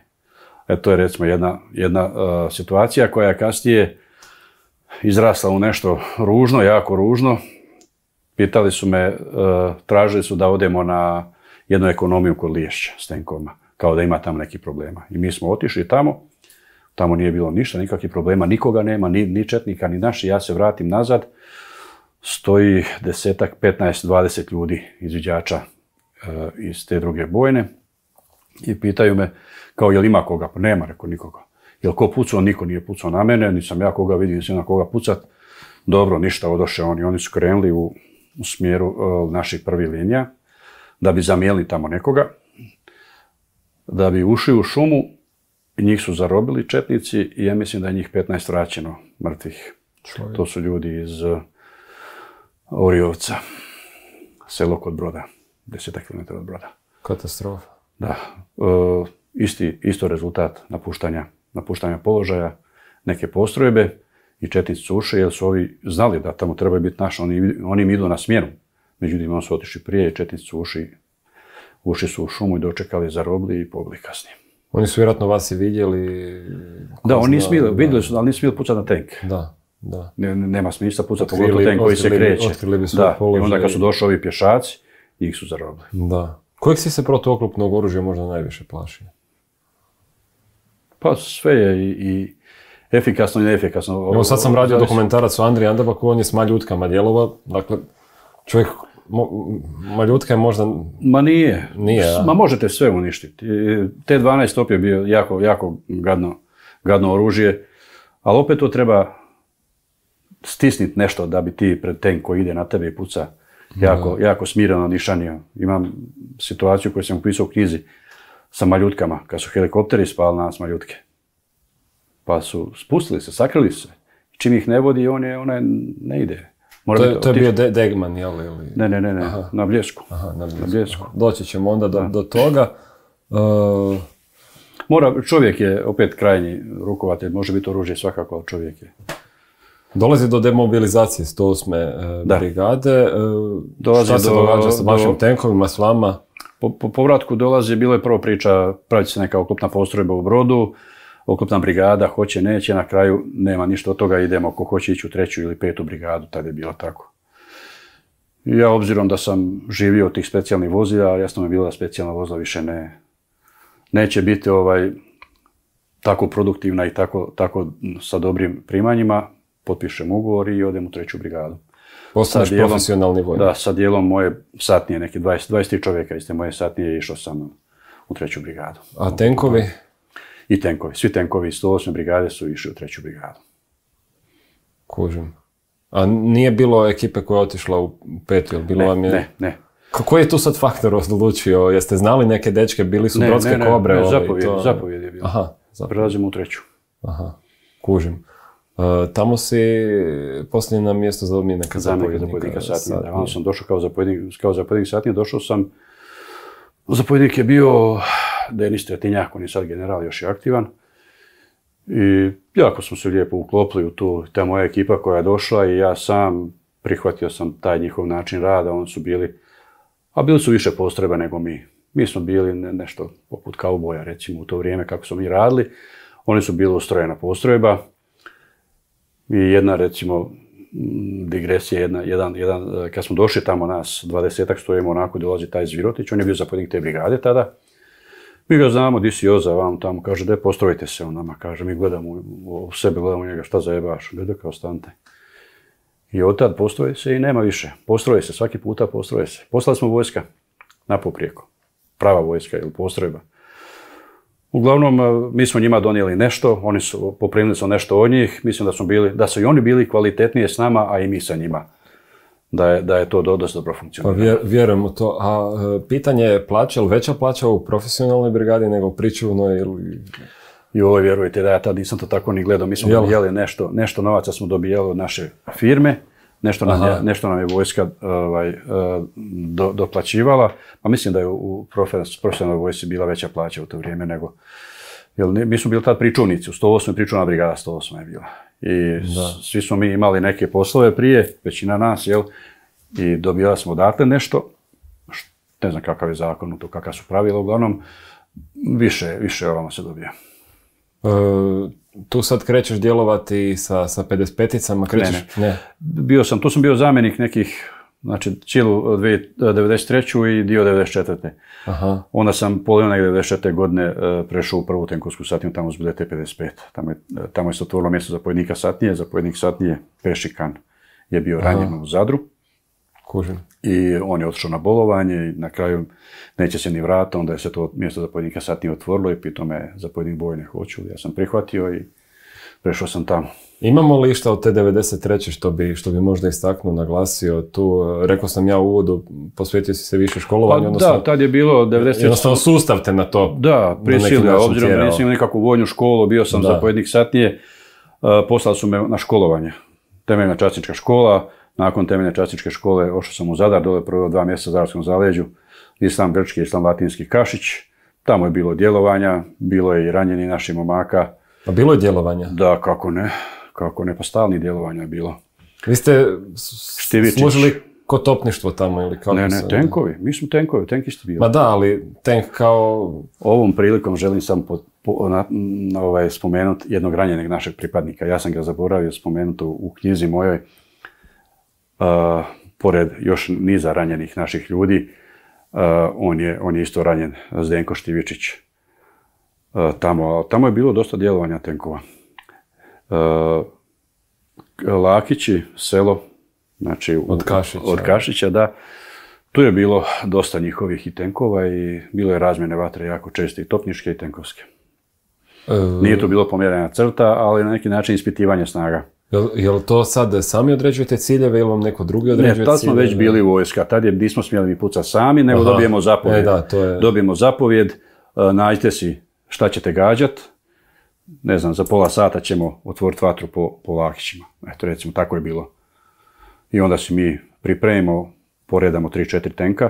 To je recimo jedna situacija koja je kasnije izrasla u nešto ružno, jako ružno. pitali su me, tražili su da odemo na jednu ekonomiju kod Liješća s tenkoma, kao da ima tamo nekih problema. I mi smo otišli tamo nije bilo ništa, nikakvih problema, nikoga nema, ni četnika, ni naši. Ja se vratim nazad, stoji 10, 15, 20 ljudi izviđača iz te druge bojne i pitaju me, kao, jel ima koga? Pa nema, rekao, nikoga. Jel ko pucao? Niko nije pucao na mene, nisam ja koga vidio, nisam na koga pucat. Dobro, ništa, odoše oni su krenuli u smjeru naših prvih linija, da bi zamijenili tamo nekoga, da bi ušli u šumu, njih su zarobili četnici i ja mislim da je njih 15 vraćeno mrtvih. To su ljudi iz Orijovca, selo kod Broda, 10 km od Broda. Katastrofa. Da, isto rezultat napuštanja položaja neke postrojbe i četnici su ušli jer su ovi znali da tamo trebaju biti naši, oni im idu na smjenu. Međutim, oni su otišli prije i četnici su ušli su u šumu i dočekali, zarobili i pobili kasnije. Oni su vjerojatno vas i vidjeli? Da, vidjeli su, ali nisu smjeli pucati na tank. Da. Nema smisla pucati pogotovo tank koji se kreće. Otkrili bi svoj položaj. I onda kad su došli ovi pješaci, njih su zarobili. Da. Kojeg si se protuoklopnog oružja možda najviše plašio? Pa sve je i efikasno i neefikasno. Evo sad sam radio dokumentarac o Andriji Andabaku, on je s maljutkama djelovao, dakle čovjek, maljutka je možda... Ma nije. Ja. Ma možete sve uništiti. T-12 top je bio jako gadno oružje, ali opet to treba stisniti nešto da bi ti pred tank koji ide na tebe i puca jako smireno nišanio. Imam situaciju koju sam upisao u knjizi sa maljutkama, kad su helikopteri spali nas maljutke. Pa su spustili se, sakrili se. Čim ih ne vodi, on ne ide. To je bio Degman, jel? Ne, na Bljesku. Na Bljesku. Doći ćemo onda do toga. Čovjek je opet krajnji rukovatelj, može biti oružje svakako, ali čovjek je. Dolazi do demobilizacije 108. brigade. Šta se događa sa vašim tenkovima, s vama? Po povratku dolazi, bilo je prvo priča, praviti se neka oklopna postrojba u Brodu, oklopna brigada, hoće, neće, na kraju nema ništa od toga, idemo ko hoće ići u 3. ili 5. brigadu, tada je bilo tako. Ja, obzirom da sam živio od tih specijalnih vozila, jasno mi je bilo da specijalna vozila više neće biti tako produktivna i tako sa dobrim primanjima, potpišem ugovor i odem u 3. brigadu. Postaneš profesionalni vojnik. Da, sa dijelom moje satnije, neki 23 čovjeka iz te moje satnije, išao sam u 3. brigadu. A tenkovi? I tenkovi. Svi tenkovi iz 108. brigade su išli u 3. brigadu. Kužim. A nije bilo ekipe koja je otišla u 5. ili bilo vam je... Ne. Koji je tu sad faktor odlučio? Jeste znali neke dečke, bili su brodske kobre? Zapovjed je bilo. Aha. Prelazimo u 3. Aha, kužim. Tamo si posljednji na mjesto zapovjednika satnije. Da, sam došao kao zapovjednik satnije, došao sam, zapovjednik je bio Denis Tretinjak, on je sad general, još je aktivan. I jako smo se lijepo uklopili u ta moja ekipa koja je došla i ja sam prihvatio sam taj njihov način rada, oni su bili su više postrojba nego mi. Mi smo bili nešto poput kauboja, recimo, u to vrijeme kako smo mi radili. Oni su bili ustrojena postrojba. I jedna, recimo, digresija, kad smo došli tamo nas, 20-ak stojimo onako, dolazi taj Zvirotić, on je bio zapovjednik te brigade tada. Mi ga znamo, di si Joza, vam tamo, kaže, daj postrojite se on nama, kaže, mi gledamo u sebe, gledamo njega, šta zajebaš, gleda kao stante. I od tad postroje se i nema više, postroje se, svaki puta postroje se. Poslali smo vojska na poprijeko, prava vojska ili postrojba. Uglavnom, mi smo njima donijeli nešto, poprimili smo nešto od njih, mislim da su i oni bili kvalitetnije s nama, a i mi sa njima. Da je to dosta dobro funkcioniralo. Pa vjerujem u to. A pitanje je plaća, ili veća plaća u profesionalnoj brigadi nego u pričuvnoj ili... Joj, vjerujte da ja tad nisam to tako ni gledao. Mi smo dobijali nešto novaca smo dobijali od naše firme, nešto nam je vojska doplaćivala, pa mislim da je u profesionalnoj vojsci bila veća plaća u to vrijeme nego... Mi smo bili tad pričuvnici, u 108. pričuvna brigada 108. je bila. I svi smo mi imali neke poslove prije, većina nas, i dobijali smo odatle nešto, ne znam kakav je zakon, kakva su pravila, uglavnom, više ovamo se dobija. Tu sad krećeš djelovati sa 55-icama, krećeš? Ne. Tu sam bio zamjenik nekih Znači, cijelu 93. i dio 94. Aha. Onda sam polovina 94. godine prešao u prvu tenkovsku satniju, tamo su bile T-55. Tamo je se otvorilo mjesto zapovjednika satnije. Zapovjednik satnije Pešikan je bio ranjen u Zadru. Kužim. I on je otišao na bolovanje i na kraju neće se ni vrata, onda je se to mjesto zapovjednika satnije otvorilo i pitao me zapovjednik bojne hoću. Ja sam prihvatio i prešao sam tamo. Imamo li išta od te 93. što bi možda istaknuo, naglasio tu? Rekao sam ja u uvodu, posvetio si se više školovanju. Pa odnosno, da, tad je bilo 93. Jednostavno sustav te na to. Da, prisilio, obzirom da nisam imao nikakvu vojnu školu, bio sam zapovjednik satnije, poslali su me na školovanje. Temeljna časnička škola, nakon temeljne časničke škole ošao sam u Zadar, dole prvo 2 mjeseca u Zadarskom zaleđu, Islam grčki, Islam latinski Kašić. Tamo je bilo djelovanja, bilo je i ranjeni naših momaka. A bilo je djelovanja? Da, kako ne, pa stalnih djelovanja je bilo. Vi ste služili kod topništvo tamo ili kako? Ne, tenkovi, mi smo tenkovi, tenkisti bili. Ma da, ali tank kao... Ovom prilikom želim samo spomenuti jednog ranjenog našeg pripadnika. Ja sam ga zaboravio spomenuti u knjizi mojoj, pored još niza ranjenih naših ljudi, on je isto ranjen, Zdenko Štivičić. Tamo je bilo dosta djelovanja tenkova. Lakići, selo, znači od Kašića, da. Tu je bilo dosta njihovih i tenkova i bilo je razmjene vatre jako česte i topničke i tenkovske. Nije to bilo pomjerena crta, ali na neki način ispitivanje snaga. Jel to sad sami određujete ciljeve ili vam neko drugi određuje ciljeve? Ne, tad smo već bili u vojska. Tad nismo smjeli mi pucati sami, nego dobijemo zapovjed. Dobijemo zapovjed, nađite si šta ćete gađat. Ne znam, za pola sata ćemo otvoriti vatru po Lakićima. Eto, recimo, tako je bilo. I onda si mi pripremimo, poredamo 3-4 tenka,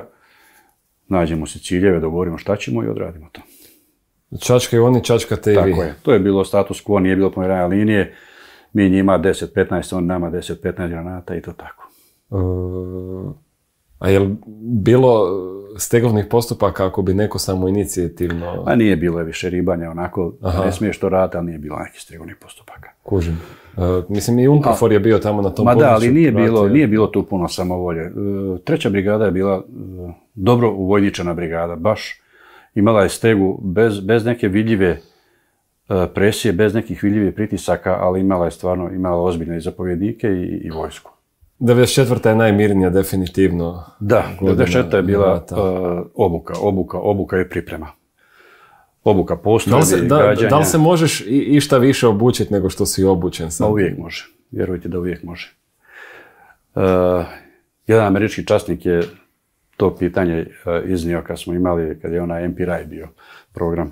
nađemo si ciljeve, dogovorimo šta ćemo i odradimo to. Čačkaju oni, čačkate i vi. Tako je. To je bilo status quo, nije bilo pomjeranja linije. Mi njima 10-15, on nama 10-15 granata i to tako. A je li bilo stegovnih postupaka ako bi neko samo inicijativno... A nije bilo više ribanja, onako, ne smiješ to raditi, ali nije bilo nekih stegovnih postupaka. Kužim. Mislim, i UNPROFOR je bio tamo na tom području. Da, ali nije bilo tu puno samovolje. 3. brigada je bila dobro uvojničena brigada, baš imala je stegu bez neke vidljive presije, bez nekih vidljivih pritisaka, ali imala ozbiljne i zapovjednike i vojsku. 94. je najmirnija, definitivno. Da, 94. je bila obuka i priprema. Obuka postoji, gađanja. Da li se možeš išta više obučiti nego što si obučen sad? Uvijek može, vjerujte da uvijek može. Jedan američki časnik je to pitanje iznio kad je onaj MPRI bio program.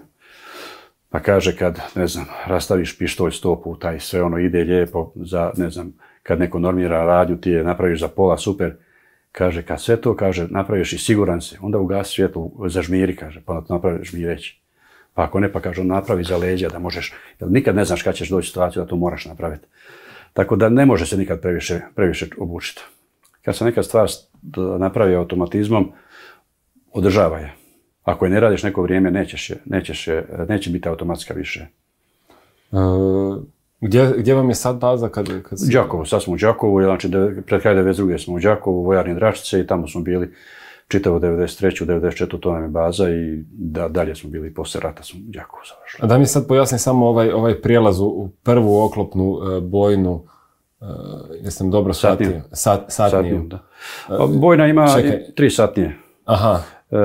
Pa kaže kad, ne znam, rastaviš pištolj 100 puta i sve ono ide lijepo za, ne znam, kad neko normira radnju, ti je napraviš za pola, super. Kaže, kad sve to, kaže, napraviš i siguran si, onda ugasi svjetlo, zažmiri, kaže, pa napraviš žmireći. Pa ako ne, pa kaže, on napravi za leđa da možeš, jer nikad ne znaš kad ćeš doći u situaciju da to moraš napraviti. Tako da ne može se nikad previše obučiti. Kad se neka stvar napravi automatizmom, održava je. Ako je ne radiš neko vrijeme, neće biti automatska više. Gdje vam je sad baza? Đakovo, sad smo u Đakovu, znači pred kraj 92. smo u Đakovu, vojarni Dračice i tamo smo bili čitavo 93. 94. to nam je baza i dalje smo bili, poslije rata smo u Đakovu završili. A da mi sad pojasni samo ovaj prijelaz u prvu oklopnu bojnu, jesam dobro shvatio? Satniju. Da. Bojna ima 3 satnije. Aha.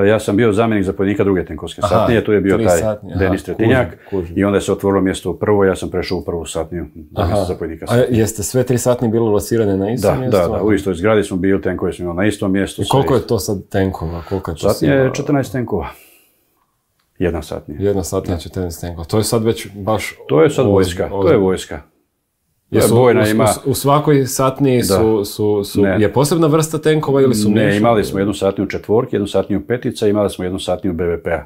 Ja sam bio zamjenik zapovjednika druge tenkovske satnije, tu je bio taj Denis Tretinjak i onda se otvorilo mjesto u prvoj, ja sam prešao u prvu satniju zapovjednika satnije. A jeste sve 3 satnije bile locirane na istom mjestu? Da, u istoj zgradi smo bili, tenkovi smo imali na istom mjestu. I koliko je to sad tenkova? Satnije je 14 tenkova. Jedna satnija. Jedna satnija, 14 tenkova. To je sad već baš... To je sad vojska, to je vojska. U svakoj satniji je posebna vrsta tenkova ili su Ne, imali smo jednu satniju četvorki, jednu satniju petica, imali smo jednu satniju BVP-a.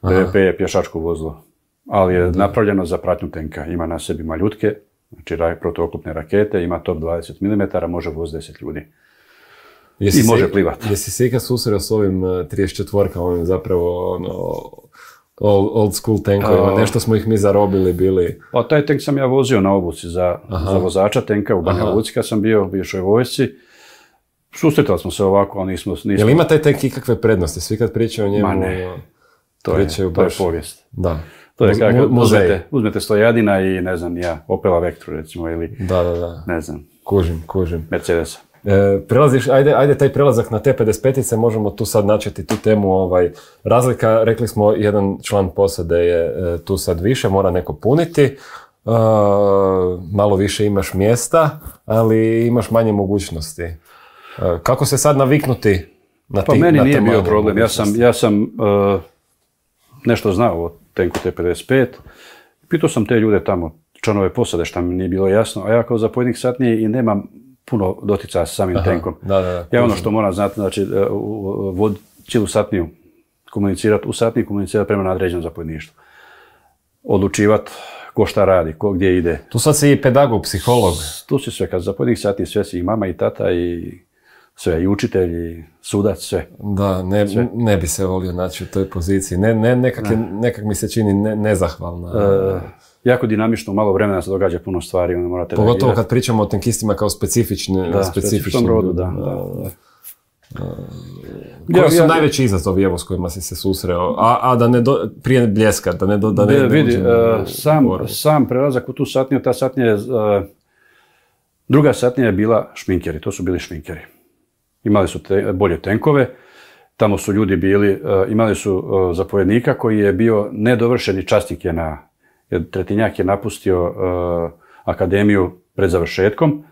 BVP je pješačko vozilo, ali je napravljeno za pratnju tenka. Ima na sebi maljutke, znači protuoklopne rakete, ima top 20 mm, može voz 10 ljudi. I može plivati. Jesi se ikad susreo s ovim 34-kama, ovim zapravo old school tankovima, nešto smo ih mi zarobili bili. Pa taj tank sam ja vozio na obuci za vozača tenka u Banja Luci kad sam bio u bivšoj vojsci. Susretali smo se ovako, ali nismo... Jel ima taj tek ikakve prednosti? Svi kad pričaju o njemu... Ma ne, to je povijest. Da. To je kako uzmete Stojadina i ne znam ja, Opela Vectru recimo ili ne znam. Kužim. Mercedesa. Prelaziš, ajde taj prelazak na te 55-ice, možemo tu sad načeti tu temu. Razlika, rekli smo, jedan član posade je tu sad više, mora neko puniti. Malo više imaš mjesta, ali imaš manje mogućnosti. Kako se sad naviknuti na Pa meni nije bio problem. Ja sam nešto znao o tenku T-55. Pitao sam te ljude tamo, članove posade, što mi nije bilo jasno, a ja kao zapovjednik satnije i nemam puno doticaja sa samim tenkom. Ja ono što moram znati, znači voditi cijelu satniju, komunicirati u satniji, komunicirati prema nadređenom zapovjedništvu. Odlučivati ko šta radi, ko gdje ide. Tu sad si i pedagog, psiholog. Tu si sve, kad zapovjednik satnije, sve si i mama i tata i sve, i učitelj, i sudac, sve. Da, ne bi se volio naći u toj poziciji. Nekak mi se čini nezahvalna. Jako dinamično, malo vremena se događa puno stvari. Pogotovo kad pričamo o tenkistima kao specifičnim rodu, da. Koji su najveći izazovi s kojima si se susreo? A da ne prije Bljeska, da ne vidi, sam prelazak u tu satniju, ta satnija je, druga satnija je bila šminkeri, to su bili šminkeri. Imali su bolje tenkove, tamo su ljudi bili, imali su zapovjednika koji je bio nedovršeni časnik jer Tretinjak je napustio akademiju pred završetkom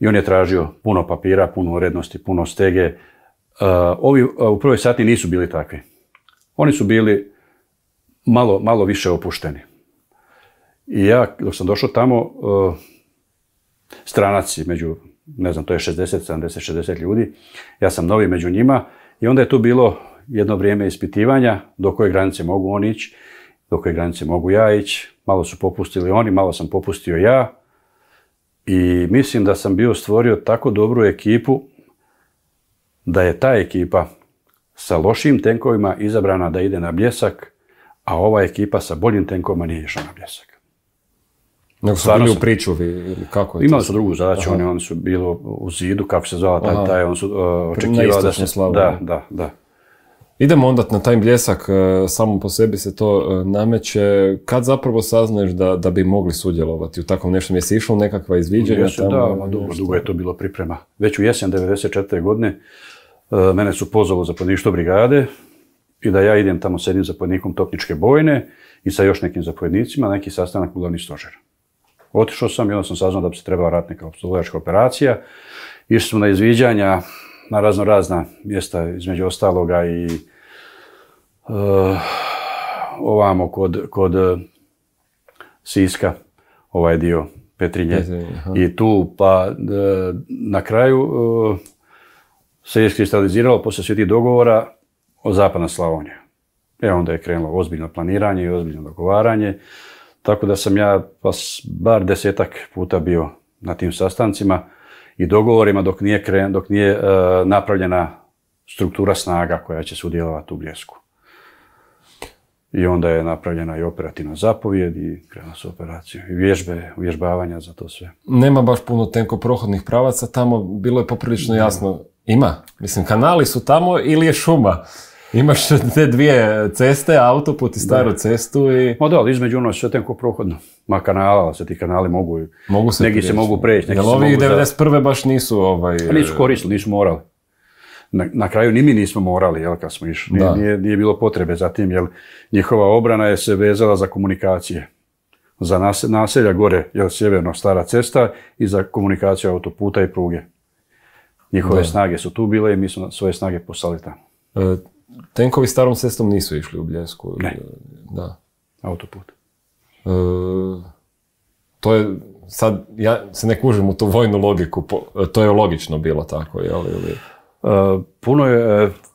i on je tražio puno papira, puno urednosti, puno stege. Ovi u prvoj satniji nisu bili takvi. Oni su bili malo više opušteni. I ja, dok sam došao tamo, stranac među, ne znam, to je 60 ljudi, ja sam novi među njima i onda je tu bilo jedno vrijeme ispitivanja do koje granice mogu oni ići, do koje granice mogu ja ići. Malo su popustili oni, malo sam popustio ja i mislim da sam bio stvorio tako dobru ekipu da je ta ekipa sa lošim tenkovima izabrana da ide na Bljesak, a ova ekipa sa boljim tenkovima nije išla na Bljesak. Nego su bili u pričuvi ili kako je? Imali su drugu zadaću, oni su bili u zidu, kako se zvala taj, oni su očekivali da se... Da. Idemo onda na taj Bljesak, samo po sebi se to nameće. Kad zapravo saznaješ da bi mogli sudjelovati u takvom nešto? Jesi išlo nekakva izviđanja? Dugo je to bilo priprema. Već u jesen 1994. godine mene su pozvali u zapovjedništvo brigade i da ja idem tamo s jednim zapovjednikom topničke bojne i sa još nekim zapovjednicima, neki sastanak u glavni stožer. Otišao sam i onda sam saznao da bi se trebala raditi neka opsluživačka operacija. Išli smo na izviđanja na razna mjesta, između ostaloga i ovamo kod Siska, ovaj dio Petrinje. I tu pa na kraju se iskristaliziralo poslije svih tih dogovora o Zapadna Slavonija. Onda je krenulo ozbiljno planiranje i ozbiljno dogovaranje. Tako da sam ja bar 10-ak puta bio na tim sastancima i dogovorima dok nije napravljena struktura snaga koja će sudjelovati u Bljesku. I onda je napravljena i operativna zapovjed i krenula se operacija. I uvježbavanja za to sve. Nema baš puno tenkoprohodnih pravaca tamo, bilo je poprilično jasno. Ima? Mislim, kanali su tamo ili je šuma? Imaš te dvije ceste, autoput i staru cestu i... Ali između ono sve tenkoprohodno. Ma kanala, se ti kanali mogu neki se mogu preći. Jel ovi 91. baš nisu... Nisu koristili, nisu morali. Na kraju ni mi nismo morali, kad smo išli. Nije bilo potrebe za tim, jer njihova obrana je se vezala za komunikacije. Za naselja gore, sjeverno stara cesta i za komunikaciju autoputa i pruge. Njihove snage su tu bile i mi smo svoje snage poslali tamo. Tenkovi starom cestom nisu išli u Bljesku? Ne. Da. Autoput. To je, sad, ja se ne kužim u tu vojnu logiku, to je logično bilo tako, jel?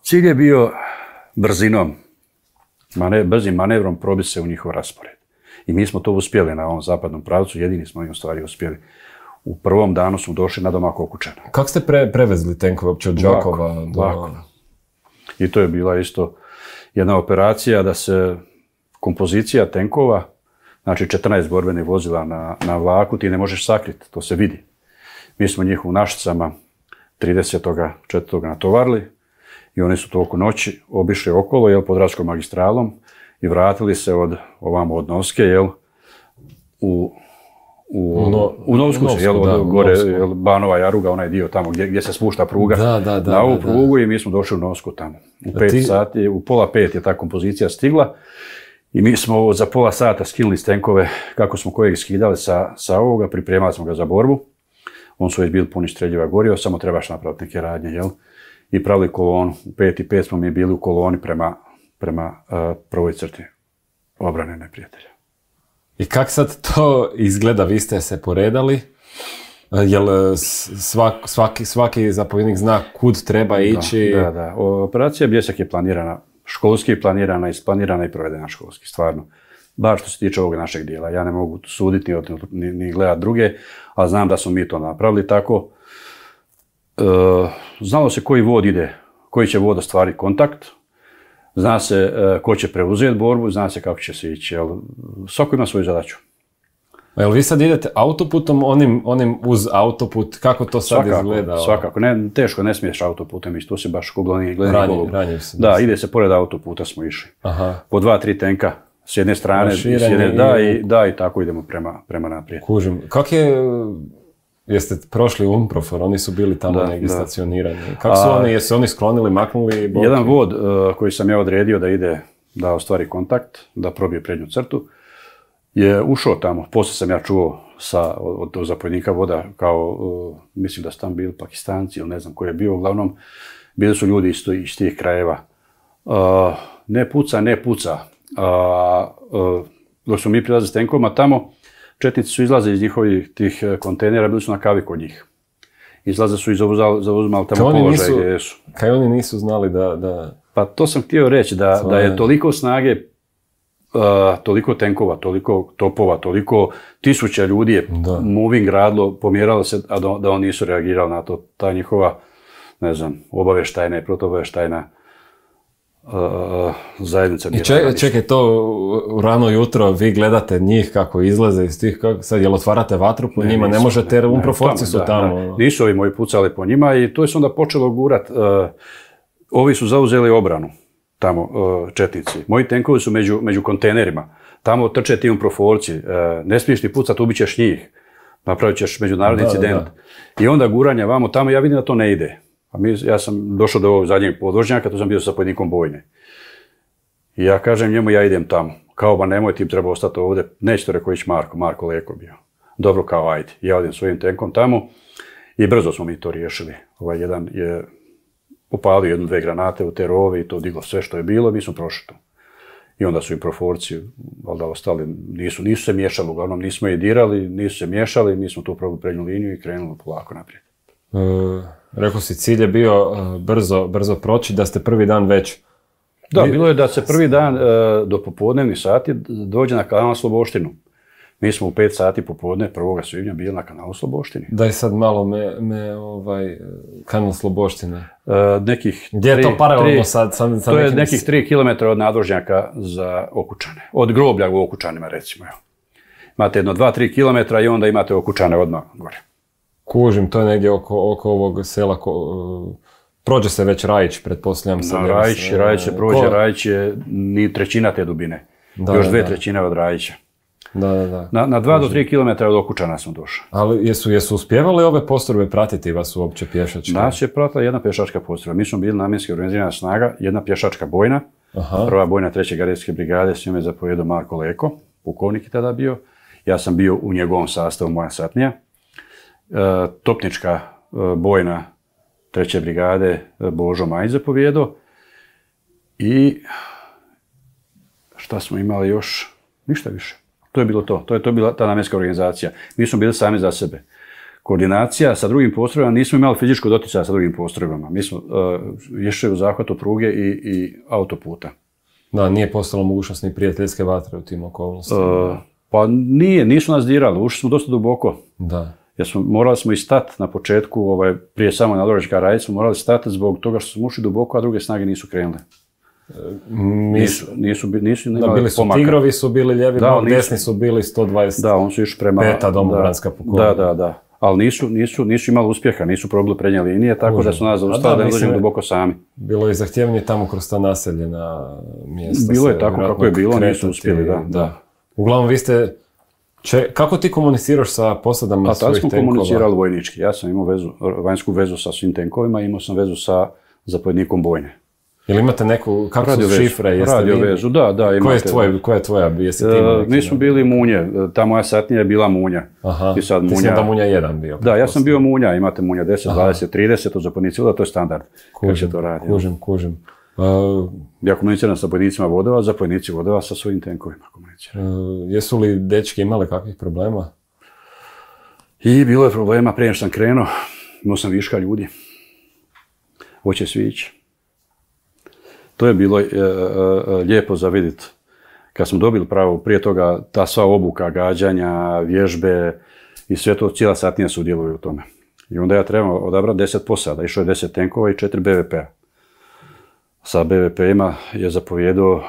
Cilj je bio brzinom, brzim manevrom probiti se u njihov raspored. I mi smo to uspjeli na ovom zapadnom pravcu, jedini smo im u stvari uspjeli. U prvom danu smo došli na domak Okučana. Kako ste prevezli tenkove uopće od Đakova? Lako. I to je bila isto jedna operacija da se kompozicija tenkova, znači 14 borbenih vozila na vlaku, ti ne možeš sakriti, to se vidi. Mi smo njih u Našicama 30.4. natovarili i oni su toliko noći obišli okolo, Podravskom magistralom i vratili se od Novske, u Novsku se, gore Banova Jaruga, onaj dio tamo gdje se spušta pruga na ovu prugu i mi smo došli u Novsku tamo. U 5 sati, u 4:30 je ta kompozicija stigla i mi smo za pola sata skinuli stenkove kako smo kojeg skidali sa ovoga, pripremali smo ga za borbu. On su već bili puni streljiva gorio, samo trebaš napraviti neke radnje, i pravili kolonu. U 5:05 smo mi bili u koloni prema prvoj crti obrane neprijatelja. I kak sad to izgleda? Vi ste se poredali? Jel svaki zapovjednik zna kud treba ići? Da. Operacija Bljesak je planirana, školski planirana, isplanirana i provedena školski, stvarno. Bar što se tiče ovog našeg dijela. Ja ne mogu suditi ni gledati druge, ali znam da smo mi to napravili tako. Znalo se koji vod ide, koji će vod ostvariti kontakt. Zna se ko će preuzeti borbu, zna se kako će se ići. Svako ima svoju zadaću. Jel vi sad idete autoputom, onim uz autoput, kako to sad izgleda? Svakako, teško, ne smiješ autoputem ići, to se baš gledani golub. Ranjiv se. Da, ide se pored autoputa smo išli. Po 2-3 tenka s jedne strane, i tako idemo prema naprijed. Kužim. Jeste prošli UNPROFOR, oni su bili tamo negdje stacionirani. Kako su oni, jesu oni sklonili, maknuli? Jedan vod koji sam ja odredio da ostvari kontakt, da probije prednju crtu, je ušao tamo. Poslije sam ja čuo od zapovjednika voda, mislim da su tam bili Pakistanci ili ne znam ko je bio, uglavnom bili su ljudi iz tih krajeva. Ne puca. Dok smo mi prilazili s tenkovima tamo, četnici su izlaze iz njihovih tih kontejnera, bili su na kavi kod njih. Izlaze su i zauzimali tamo položaj gdje su. Kaj oni nisu znali da... Pa to sam htio reći, da je toliko snage, toliko tenkova, toliko topova, toliko tisuća ljudi je moving radilo, pomjeralo se, a da oni nisu reagirali na to. Ta njihova, ne znam, obavještajna i protuobavještajna zajednica. I čekaj, to u rano jutro vi gledate njih kako izlaze iz tih, sad jel otvarate vatru po njima, ne možete jer UNPROFORci su tamo. Nisu ovi moji pucali po njima i to je se onda počelo gurat. Ovi su zauzeli obranu tamo, četnici. Moji tenkovi su među kontejnerima. Tamo trče ti UNPROFORci. Ne smiješ ti pucat, ubit ćeš njih. Napravit ćeš međunarodni incident. I onda guranja vamo tamo, ja vidim da to ne ide. Ja sam došao do ovog zadnjeg podvožnjaka, tu sam bio sa zapovjednikom bojne. I ja kažem njemu, ja idem tamo. Kao, ba nemoj, ti treba ostati ovdje. Neće to rekao ići Marko Leko bio. Dobro, kao ajde. Ja idem svojim tenkom tamo i brzo smo mi to riješili. Jedan je upalio 1-2 granate u te rove i to diglo sve što je bilo, mi smo prošli to. I onda su i proforci, valjda ostali, nisu se miješali, uglavnom nismo je dirali, nisu se miješali, mi smo tu probali prednju liniju i krenuli polako naprijed. Rekao si, cilj je bio brzo proći, da ste prvi dan već... Da, bilo je da se prvi dan do popodnevnih sati dođe na kanal Sloboštinu. Mi smo u 5 sati popodne 1. svibnja bili na kanalu Sloboštini. Daj sad malo kanal Sloboština. Gdje je to paralelno sad? To je nekih 3 km od nadvožnjaka za Okučane. Od groblja u Okučanima, recimo. Imate jedno 2-3 km i onda imate Okučane odmah gore. Kužim, to je negdje oko ovog sela. Prođe se već Rajić, pretpostavljam se. Rajić se prođe, Rajić je ni trećina te dubine. Još 2/3 od Rajića. Da. Na 2 do 3 km od Okučana smo došli. Ali jesu uspjevali ove postrojbe pratiti vas uopće pješačke? Nas je pratila jedna pješačka postrojba. Mi smo bili namjenski organizirana snaga, jedna pješačka bojna. Prva bojna 3. gardijske brigade, s njome zapovjedao Marko Leko, pukovnik je tada bio. Ja sam bio u njegovom sastavu, moja satnija. Topnička bojna 3. brigade Božo Majić zapovjedao. I šta smo imali još? Ništa više. To je bilo to. To je bila ta namjenska organizacija. Mi smo bili sami za sebe. Koordinacija sa drugim postrojbama, nismo imali fizičko doticaja sa drugim postrojbama. Mi smo išli u zahvatu pruge i autoputa. Da, nije postala mogućnost ni prijateljske vatre u tim okolnostima. Pa nisu nas dirali. Ušli smo dosta duboko. Da. Morali smo i stati na početku, prije samo nadvožnjaka Rajić smo morali stati zbog toga što smo ušli duboko, a druge snage nisu krenule. Nisu imali bili su pomaka. Tigrovi su bili lijevi, desni su bili 120. Da, on su išli prema... Peta domobranska pukovnika. Da. ali nisu imali uspjeha, nisu probili prednje linije, tako da su nas zaustavili da ne dođemo duboko sami. Bilo je zahtjevnije tamo kroz ta naseljena mjesta. Bilo je tako kako je bilo, nisu uspjeli, da. Uglavnom, vi ste... Kako ti komuniciraš sa posadama svojih tenkova? Tad smo komunicirali vojnički. Ja sam imao vanjsku vezu sa svim tenkovima, imao sam vezu sa zapovjednikom bojne. Jel imate neku, kako su šifre? Radio vezu, da. Koja je tvoja? Mi smo bili Munje, ta moja satnija je bila Munja. Aha, ti si onda Munja 1 bio. Da, ja sam bio Munja, imate Munja 10, 20, 30, od zapovjednici vodova, to je standard. Kužim. Ja komuniciram sa zapovjednicima vodova, zapovjednici vodova sa svojim tenkovima komuniciraju. Jesu li dečki imali kakvih problema? I bilo je problema, prije što sam krenuo, imao sam viška ljudi. Hoće svi ići. To je bilo lijepo za vidjeti. Kad smo dobili pravo, prije toga, ta sva obuka, gađanja, vježbe i sve to, cijela satnija sudjeluje u tome. I onda ja trebam odabrati 10 posada, išlo je 10 tenkova i 4 BVP-a. Sa BVP-ima je zapovjedao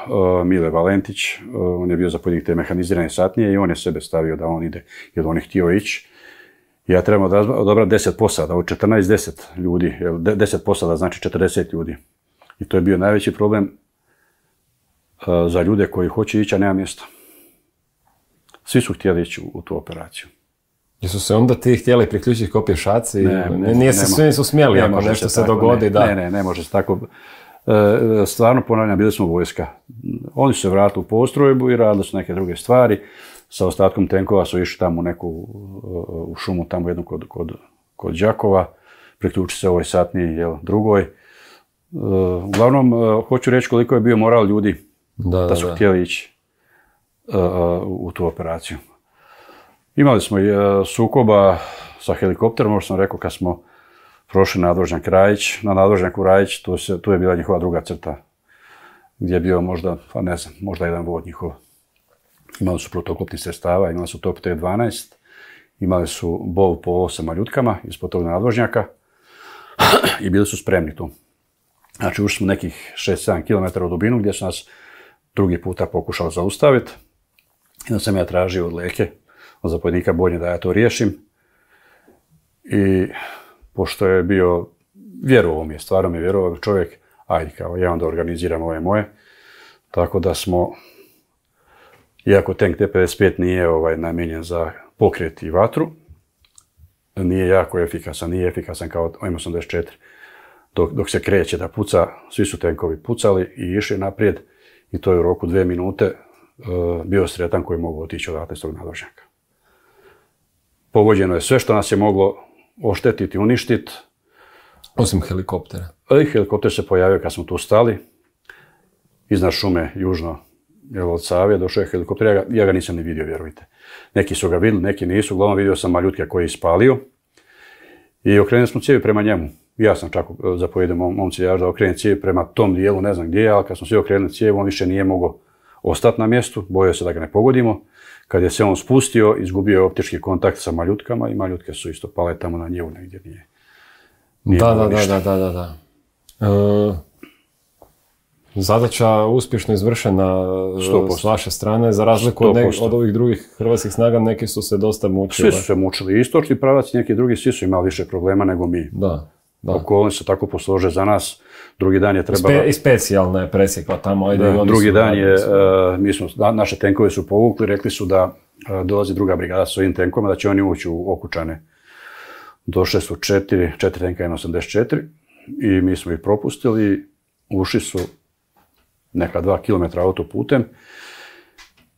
Mile Valentić, on je bio zapovjednik te mehanizirane satnije i on je sebe stavio da on ide, jer on je htio ići. Ja trebam odabrati 10 posada, od 14-10 ljudi, 10 posada znači 40 ljudi. I to je bio najveći problem za ljude koji hoće ići, a nema mjesta. Svi su htjeli ići u tu operaciju. Jesu se onda ti htjeli priključiti kao pješaci? Svi nisu smjeli ako nešto se dogodi, da. Ne može se tako. Stvarno ponavljam, bili smo vojska. Oni su se vratili u postrojbu i radili su neke druge stvari. Sa ostatkom tenkova su išli tamo u šumu, tamo jednu kod Đakova. Priključiti se ovoj satniji, drugoj. Uglavnom, hoću reći koliko je bio moral ljudi da su htjeli ići u tu operaciju. Imali smo i sukoba sa helikopterom, možda sam rekao kad smo prošli nadvožnjak Rajić. Na nadvožnjaku Rajić, tu je bila njihova druga crta, gdje je bio možda jedan vod njihov. Imali su protuoklopnih sredstava, imali su top T-12, imali su bol po 8 maljutkama ispod tog nadvožnjaka i bili su spremni tu. Znači, ušli smo nekih 6-7 km u dubinu gdje su nas drugi puta pokušali zaustaviti. I onda sam ja tražio od Leke, od zapovjednika bojne, da ja to riješim. I pošto je bio, vjerovao mi je, stvarno mi je vjerovao čovjek, ajde kao ja onda organiziram ove moje. Tako da smo, iako tank T-55 nije namijenjen za pokret i vatru, nije jako efikasan, nije efikasan kao M84. Dok se kreće da puca, svi su tenkovi pucali i išli naprijed i to je u roku 2 minute bio sretan koji mogu otići odatle s tog nadvožnjaka. Pogođeno je sve što nas je moglo oštetiti, uništiti. Osim helikoptera. Helikopter se pojavio kad smo tu stali. Iznad šume, južno od Save, došao je helikopter, ja ga nisam ni vidio, vjerujte. Neki su ga vidjeli, neki nisu, uglavnom vidio sam maljutke koji je ispalio. I okrenuli smo cijevi prema njemu. Ja sam čak zapovjedio momci da okrenem cijevi prema tom dijelu, ne znam gdje, ali kad smo svi okrenuli cijevi, on više nije mogao ostati na mjestu, bojao se da ga ne pogodimo. Kad je se on spustio, izgubio je optički kontakt sa maljutkama i maljutke su isto pale tamo na njevu negdje nije. Da. Zadaća uspješno izvršena 100%. S vaše strane, za razliku od ovih drugih hrvatskih snaga, neki su se dosta mučili. Svi su se mučili, istočni pravac i neki drugi, svi su imali više problema nego mi. Da. Okolnosti se tako poslože za nas, drugi dan je trebalo... I specijalna je presjekla tamo. Drugi dan je, naše tenkove su povukli, rekli su da dolazi druga brigada s ovim tenkovima, da će oni ući u Okučane. Došle su 4 tenka N84 i mi smo ih propustili, ušli su neka 2 km autoputem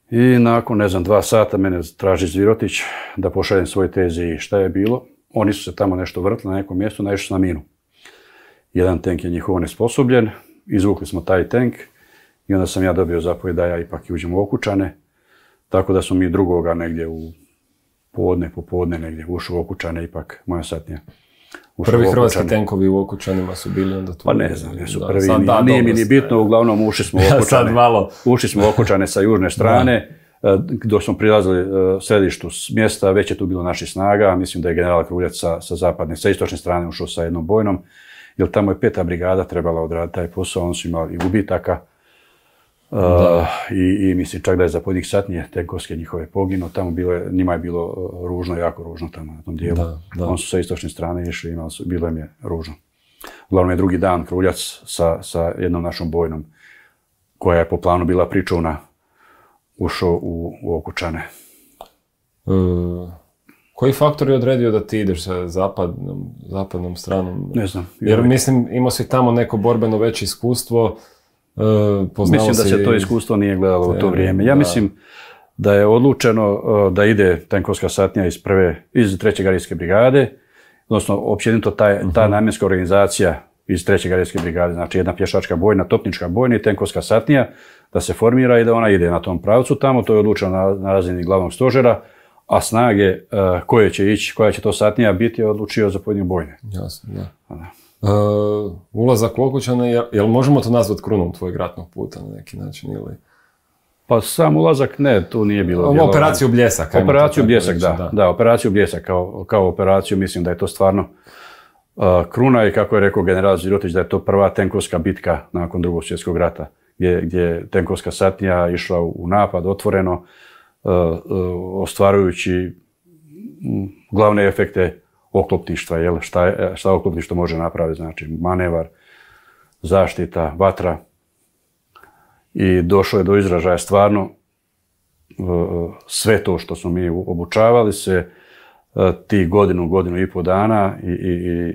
i nakon, 2 sata mene traži Zvirotić da pošaljem svoj TZI. Šta je bilo? Oni su se tamo nešto vrtili na nekom mjestu, naišli su na minu. Jedan tank je njihov nesposobljen, izvukli smo taj tank i onda sam ja dobio zapovjed da ja ipak uđem u Okučane, tako da smo mi drugoga negdje u popodne negdje ušli u Okučane, ipak moja satnija. Prvi hrvatski tenkovi u Okučanima su bili onda tu. Pa ne znam, jesu prvi, nije mi ni bitno, uglavnom ušli smo u Okučane. Ušli smo u Okučane sa južne strane, dok smo prilazili središtu mjesta, već je tu bilo naših snaga, mislim da je general Kruljac sa istočne strane ušao sa jednom bojnom, jer tamo je 5. brigada trebala odraditi taj posao, oni su imali i gubitaka. I mislim čak da je zapovjednik satnije tenkovske njihove poginuo, tamo njima je bilo ružno, jako ružno tamo na tom dijelu. Oni su sa istočne strane išli, bilo im je ružno. Uglavnom je drugi dan Kruljac sa jednom našom bojnom, koja je po planu bila pričuvna, ušao u Okučane. Koji faktor je odredio da ti ideš sa zapadnom stranom? Ne znam. Jer mislim, imao si tamo neko borbeno veće iskustvo. Mislim da se to iskustvo nije gledalo u to vrijeme. Ja mislim da je odlučeno da ide tenkovska satnija iz 3. gardijske brigade, odnosno općenito ta namjenska organizacija iz 3. gardijske brigade, znači jedna pješačka bojna, topnička bojna i tenkovska satnija, da se formira i da ona ide na tom pravcu tamo. To je odlučeno na razini glavnog stožera, a snage koje će ići, koja će to satnija biti, je odlučio zapovjednik bojne. Jasno, da. Ulazak u Okučane, jel možemo to nazvati krunom tvojeg ratnog puta na neki način ili? Pa sam ulazak ne, tu nije bilo. Operaciju Bljesak. Operaciju Bljesak, da. Operaciju Bljesak kao operaciju, mislim da je to stvarno kruna i kako je rekao general Zirotić, da je to prva tenkovska bitka nakon Drugog svjetskog rata, gdje je tenkovska satnija išla u napad otvoreno, ostvarujući glavne efekte oklopništva, šta oklopništvo može napraviti, znači manevar, zaštita, vatra. I došlo je do izražaja stvarno sve to što smo mi obučavali se ti godinu i pol dana i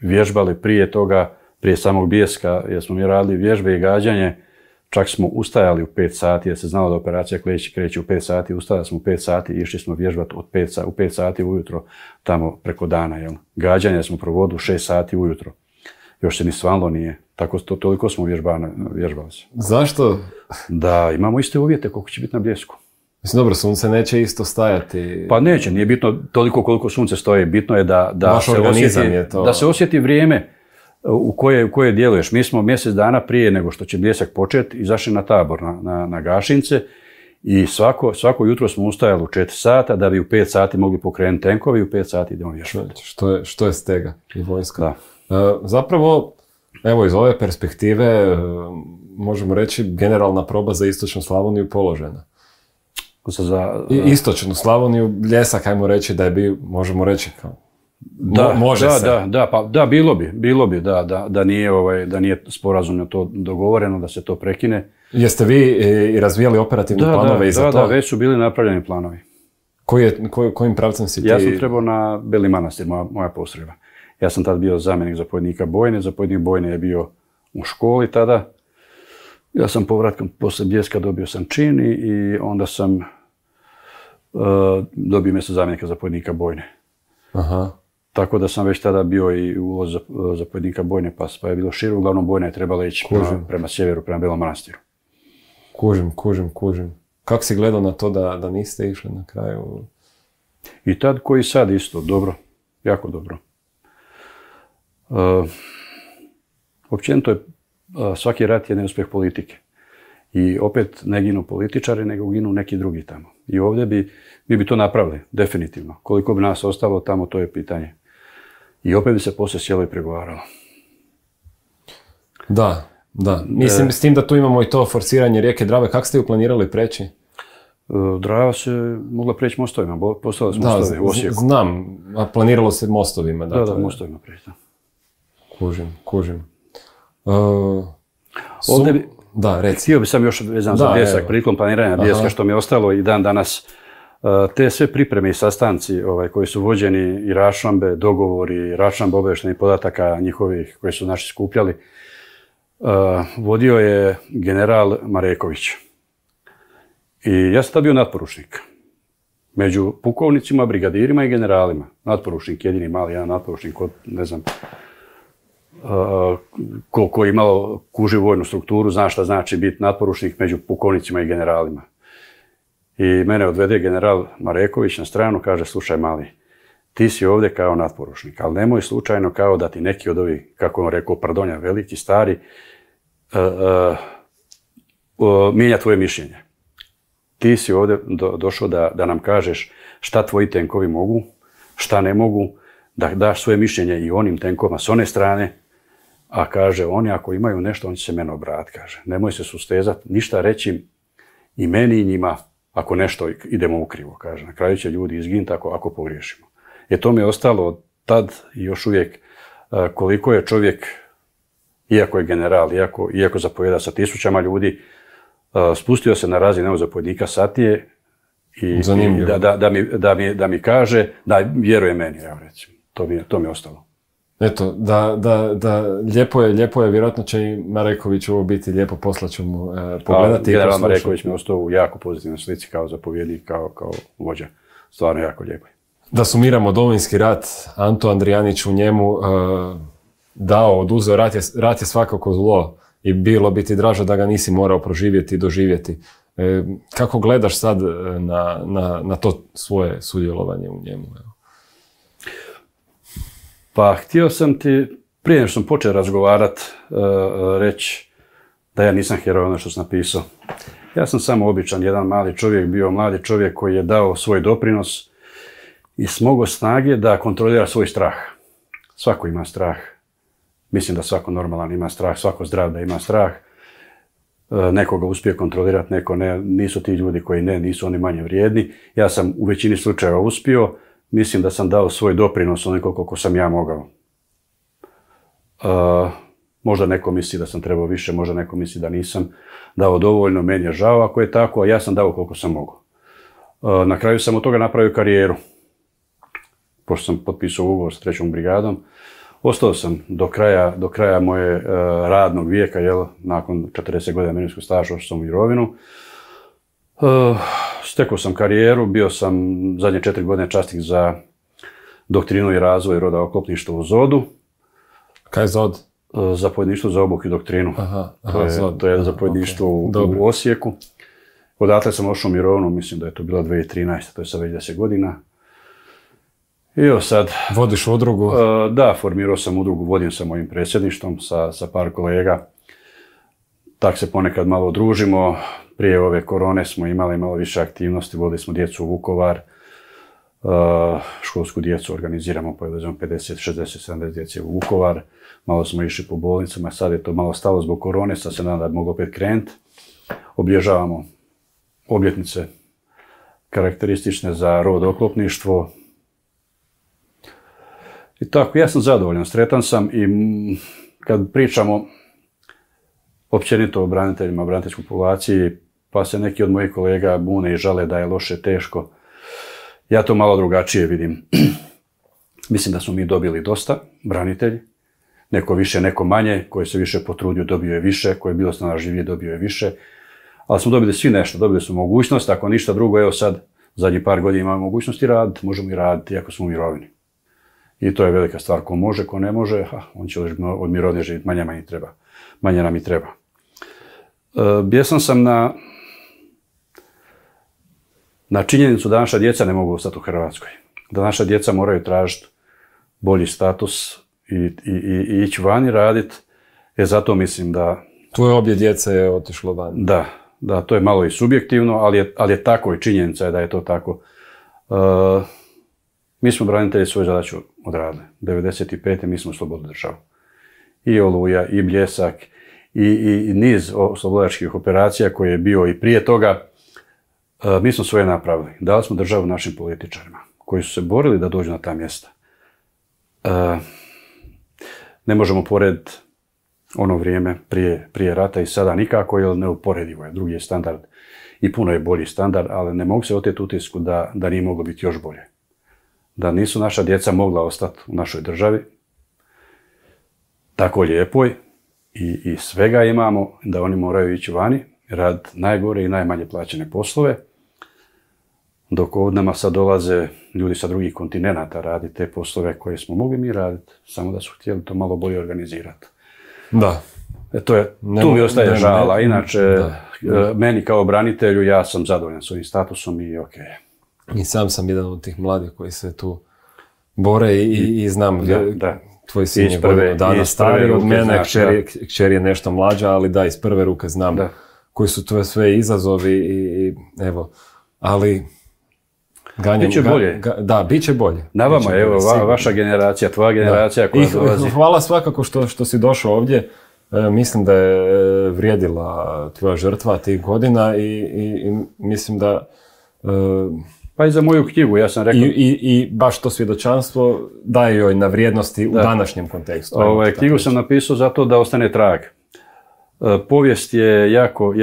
vježbali prije toga, prije samog Bljeska, jer smo mi radili vježbe i gađanje. Čak smo ustajali u 5 sati, jer se znalo da operacija kreće u 5 sati, ustajali smo u 5 sati i išli smo vježbati u 5 sati ujutro tamo preko dana. Jel? Gađanje smo provodili u 6 sati ujutro. Još se ni svanlo nije. Toliko smo vježbali se. Zašto? Da imamo iste uvjete koliko će biti na Bljesku. Mislim, dobro, sunce neće isto stajati. Pa neće, nije bitno toliko koliko sunce stoji. Bitno je da se osjeti vrijeme u koje djeluješ. Mi smo mjesec dana prije nego što će Bljesak početi izašli na tabor, na Gašince i svako jutro smo ustajali u 4 sata da bi u 5 sati mogli pokrenuti tenkovi i u 5 sati idemo vježbati. Što je stega i vojska. Zapravo, evo iz ove perspektive možemo reći generalna proba za istočnu Slavoniju položena. Istočnu Slavoniju, Bljesak, ajmo reći da je bio, možemo reći kao bilo bi da nije sporazumno to dogovoreno, da se to prekine. Jeste vi i razvijali operativne planove i za to? Da, već su bili napravljeni planovi. Kojim pravcem si ti? Ja sam trebao na Beli Manastir, moja postrojba. Ja sam tad bio zamjenik zapovjednika bojne, zapovjednik bojne je bio u školi tada. Ja sam povratkom poslije Bljeska dobio sam čin i onda sam dobio mjesto zamjenika zapovjednika bojne. Aha. Tako da sam već tada bio i uvoz zapovjednika bojne, pa je bilo šire. Uglavnom bojna je trebala ići prema sjeveru, prema Belom Manastiru. Kužim. Kako si gledao na to da niste išli na kraju? I tad koji sad isto, dobro, jako dobro. Općenito je svaki rat je neuspjeh politike. I opet ne ginu političari, nego ginu neki drugi tamo. I ovdje mi bi to napravili, definitivno. Koliko bi nas ostalo tamo, to je pitanje. I opet bi se poslije sjelo i pregovaralo. Da. Mislim s tim da tu imamo i to forsiranje rijeke Drave. Kako ste ju planirali preći? Drava se mogla preći mostovima, postavili smo mostove u Osijeku. Znam, a planiralo se mostovima. Da, mostovima preći. Kužim. Ovdje bi... Da, reci. Htio bi sam još vezan za Bljesak, prilikom planiranja Bljeska, što mi je ostalo i dan danas. Te sve pripreme i sastanci koji su vođeni i raščlambe, dogovori, raščlambe obavještajnih podataka njihovih koji su naši skupljali, vodio je general Mareković. I ja sam tad bio natporučnik. Među pukovnicima, brigadirima i generalima. Natporučnik, jedini mali jedan natporučnik od, ne znam, ko je imalo kuži vojnu strukturu, zna šta znači biti natporučnik među pukovnicima i generalima. I mene odvede general Mareković na stranu, kaže, slušaj mali, ti si ovdje kao natporučnik, ali nemoj slučajno kao da ti neki od ovih, kako je on rekao, pardonja, veliki, stari, mijenja tvoje mišljenje. Ti si ovdje došao da nam kažeš šta tvoji tenkovi mogu, šta ne mogu, da daš svoje mišljenje i onim tenkovima s one strane, A kaže, oni ako imaju nešto, oni će se mene obratiti, kaže. Nemoj se sustezati, ništa reći i meni i njima, ako nešto idemo ukrivo, kaže. Na kraju će ljudi izginuti ako pogriješimo. To mi je ostalo od tad i još uvijek koliko je čovjek, iako je general, iako zapovjeda sa 1000 ljudi, spustio se na razinu zapovjednika satnije i da mi kaže da vjeruje meni, evo recimo. To mi je ostalo. Eto, lijepo je, vjerojatno će i Mareković ovo biti lijepo, poslaću mu pogledati. General Mareković mi je ostao u jako pozitivnoj slici kao zapovjednik, kao vođa. Stvarno jako lijepo. Da sumiramo Domovinski rat, Anto Andrijanić u njemu oduzeo, rat je svakako zlo i bilo bi ti draže da ga nisi morao proživjeti i doživjeti. Kako gledaš sad na to svoje sudjelovanje u njemu? Pa htio sam ti, prije nego što sam počeo razgovarati, reći da ja nisam heroj ono što sam napisao. Ja sam samo običan, jedan mali čovjek, bio mladi čovjek koji je dao svoj doprinos i smogao snage da kontrolira svoj strah. Svako ima strah. Mislim da svako normalan ima strah, svako zdrav da ima strah. Neko ga uspije kontrolirati, neko ne. Nisu ti ljudi koji nisu oni manje vrijedni. Ja sam u većini slučajeva uspio. Mislim da sam dao svoj doprinos onoliko koliko sam ja mogao. Možda neko misli da sam trebao više, možda neko misli da nisam dao dovoljno, meni je žao ako je tako, a ja sam dao koliko sam mogao. Na kraju sam od toga napravio karijeru. Pošto sam potpisao ugovor s 3. brigadom, ostao sam do kraja moje radnog vijeka, nakon 40 godina mirovinskog staža otišao sam u mirovinu. Stekao sam karijeru, bio sam zadnje 4 godine časnik za doktrinu i razvoj roda oklopništva u ZOD-u. Kaj je ZOD? Zapovjedništvo za obuku i doktrinu. To je zapovjedništvo u Osijeku. Odatle sam ošao u mirovinu, mislim da je to bila 2013. To je sad već 10 godina. I evo sad... Vodiš udrugu? Da, formirao sam udrugu, vodim sa mojim predsjedništvom, sa par kolega. Tak se ponekad malo družimo. Prije ove korone smo imali malo više aktivnosti, vodili smo djecu u Vukovar. Školsku djecu organiziramo, povezujemo 50, 60, 70 djece u Vukovar. Malo smo išli po bolnicama, sad je to malo stalo zbog korone, sad se nadam da mogu opet krenuti. Obilježavamo obljetnice karakteristične za rod oklopništvo. I tako, ja sam zadovoljan, sretan sam i kad pričamo općenito o braniteljima, braniteljskoj populaciji, pa se neki od mojih kolega bune i žale da je loše, teško. Ja to malo drugačije vidim. Mislim da smo mi dobili dosta branitelji. Neko više, neko manje. Koji se više potrudio, dobio je više. Koji je bilo snalažljivije, dobio je više. Ali smo dobili svi nešto. Dobili smo mogućnost. Ako ništa drugo, evo sad, zadnjih par godina imamo mogućnosti raditi. Možemo i raditi, iako smo u mirovini. I to je velika stvar. Ko može, ko ne može, on će od mirovine živjeti. Manje nam i treba. Bijesan sam na činjenicu da naša djeca ne mogu ostati u Hrvatskoj. Da naša djeca moraju tražiti bolji status i ići vani raditi. Zato mislim da... Tvoje obje djece je otišlo vani. Da, to je malo i subjektivno, ali je tako i činjenica je da je to tako. Mi smo branitelji svoju zadaću odradili. 1995. mi smo slobodnu državu. I Oluja, i Bljesak, i niz oslobodačkih operacija koje je bio i prije toga. Mi smo svoje napravili. Dali smo državu našim političarima koji su se borili da dođu na ta mjesta. Ne možemo porediti ono vrijeme prije rata i sada nikako, jer neuporedivo je. Drugi je standard i puno je bolji standard, ali ne mogu se oteti utisku da nije moglo biti još bolje. Da nisu naša djeca mogla ostati u našoj državi tako lijepoj i svega imamo, da oni moraju ići vani, raditi najgore i najmanje plaćene poslove, dok ovdje nama sad dolaze ljudi sa drugih kontinenata raditi te poslove koje smo mogli mi raditi, samo da su htjeli to malo bolje organizirati. Da. Tu mi ostaje žala, inače meni kao branitelju ja sam zadovoljan s ovim statusom i ok. I sam sam jedan od tih mladih koji se tu bore i znam, tvoj sin je godinu dana stariji od mene, kćer je nešto mlađa, ali da, iz prve ruke znam koji su to sve izazovi i evo, ali Biće bolje. Da, bit će bolje. Na vama, evo, vaša generacija, tvoja generacija koja dolazi. Hvala svakako što si došao ovdje. Mislim da je vrijedila tvoja žrtva tih godina i mislim da... Pa i za moju knjigu, ja sam rekao... I baš to svjedočanstvo daje joj na vrijednosti u današnjem kontekstu. Knjigu sam napisao zato da ostane trag. Povijest je jako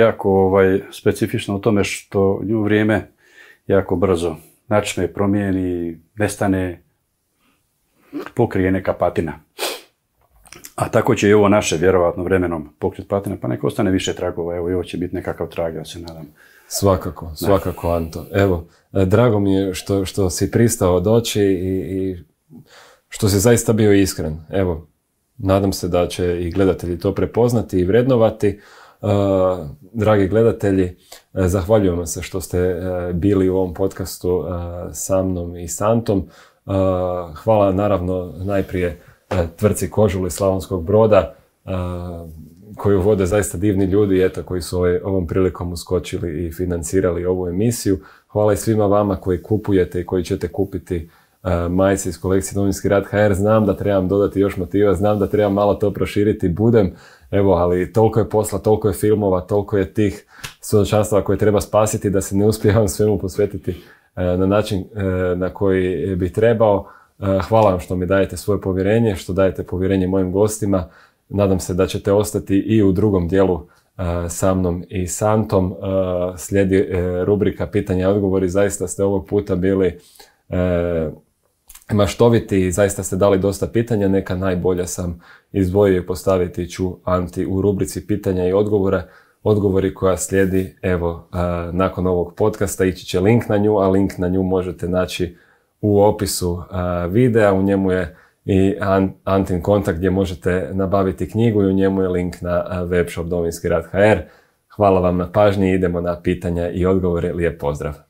specifična u tome što nju vrijeme jako brzo načne, promijeni, nestane, pokrije neka patina. A tako će i ovo naše, vjerovatno, vremenom pokriti patina, pa neka ostane više tragova. Evo, i ovo će biti nekakav trag, ja se nadam. Svakako, Anto. Evo, drago mi je što si pristao doći i što si zaista bio iskren. Evo, nadam se da će i gledatelji to prepoznati i vrednovati. Dragi gledatelji, zahvaljujem vam se što ste bili u ovom podcastu sa mnom i s Antom. Hvala naravno najprije tvrtci Kožul iz Slavonskog Broda, koju vode zaista divni ljudi, koji su ovom prilikom uskočili i financirali ovu emisiju. Hvala i svima vama koji kupujete i koji ćete kupiti majice iz kolekcije Domovinski rat HR. Znam da trebam dodati još motiva, znam da trebam malo to proširiti, budem, ali toliko je posla, toliko je filmova, toliko je tih svjedočanstava koje treba spasiti da se ne uspijevam svemu posvetiti na način na koji bi trebao. Hvala vam što mi dajete svoje povjerenje, što dajete povjerenje mojim gostima. Nadam se da ćete ostati i u drugom dijelu sa mnom i s Antom. Slijedi rubrika pitanja i odgovori. Zaista ste ovog puta bili maštoviti i zaista ste dali dosta pitanja. Neka najbolja sam izdvojio i postaviti ću Anti u rubrici pitanja i odgovori koja slijedi. Evo, nakon ovog podcasta ići će link na nju, a link na nju možete naći u opisu videa. U njemu je i Antin kontakt gdje možete nabaviti knjigu i u njemu je link na webshop Domovinski rat HR. Hvala vam na pažnji, idemo na pitanja i odgovore. Lijep pozdrav!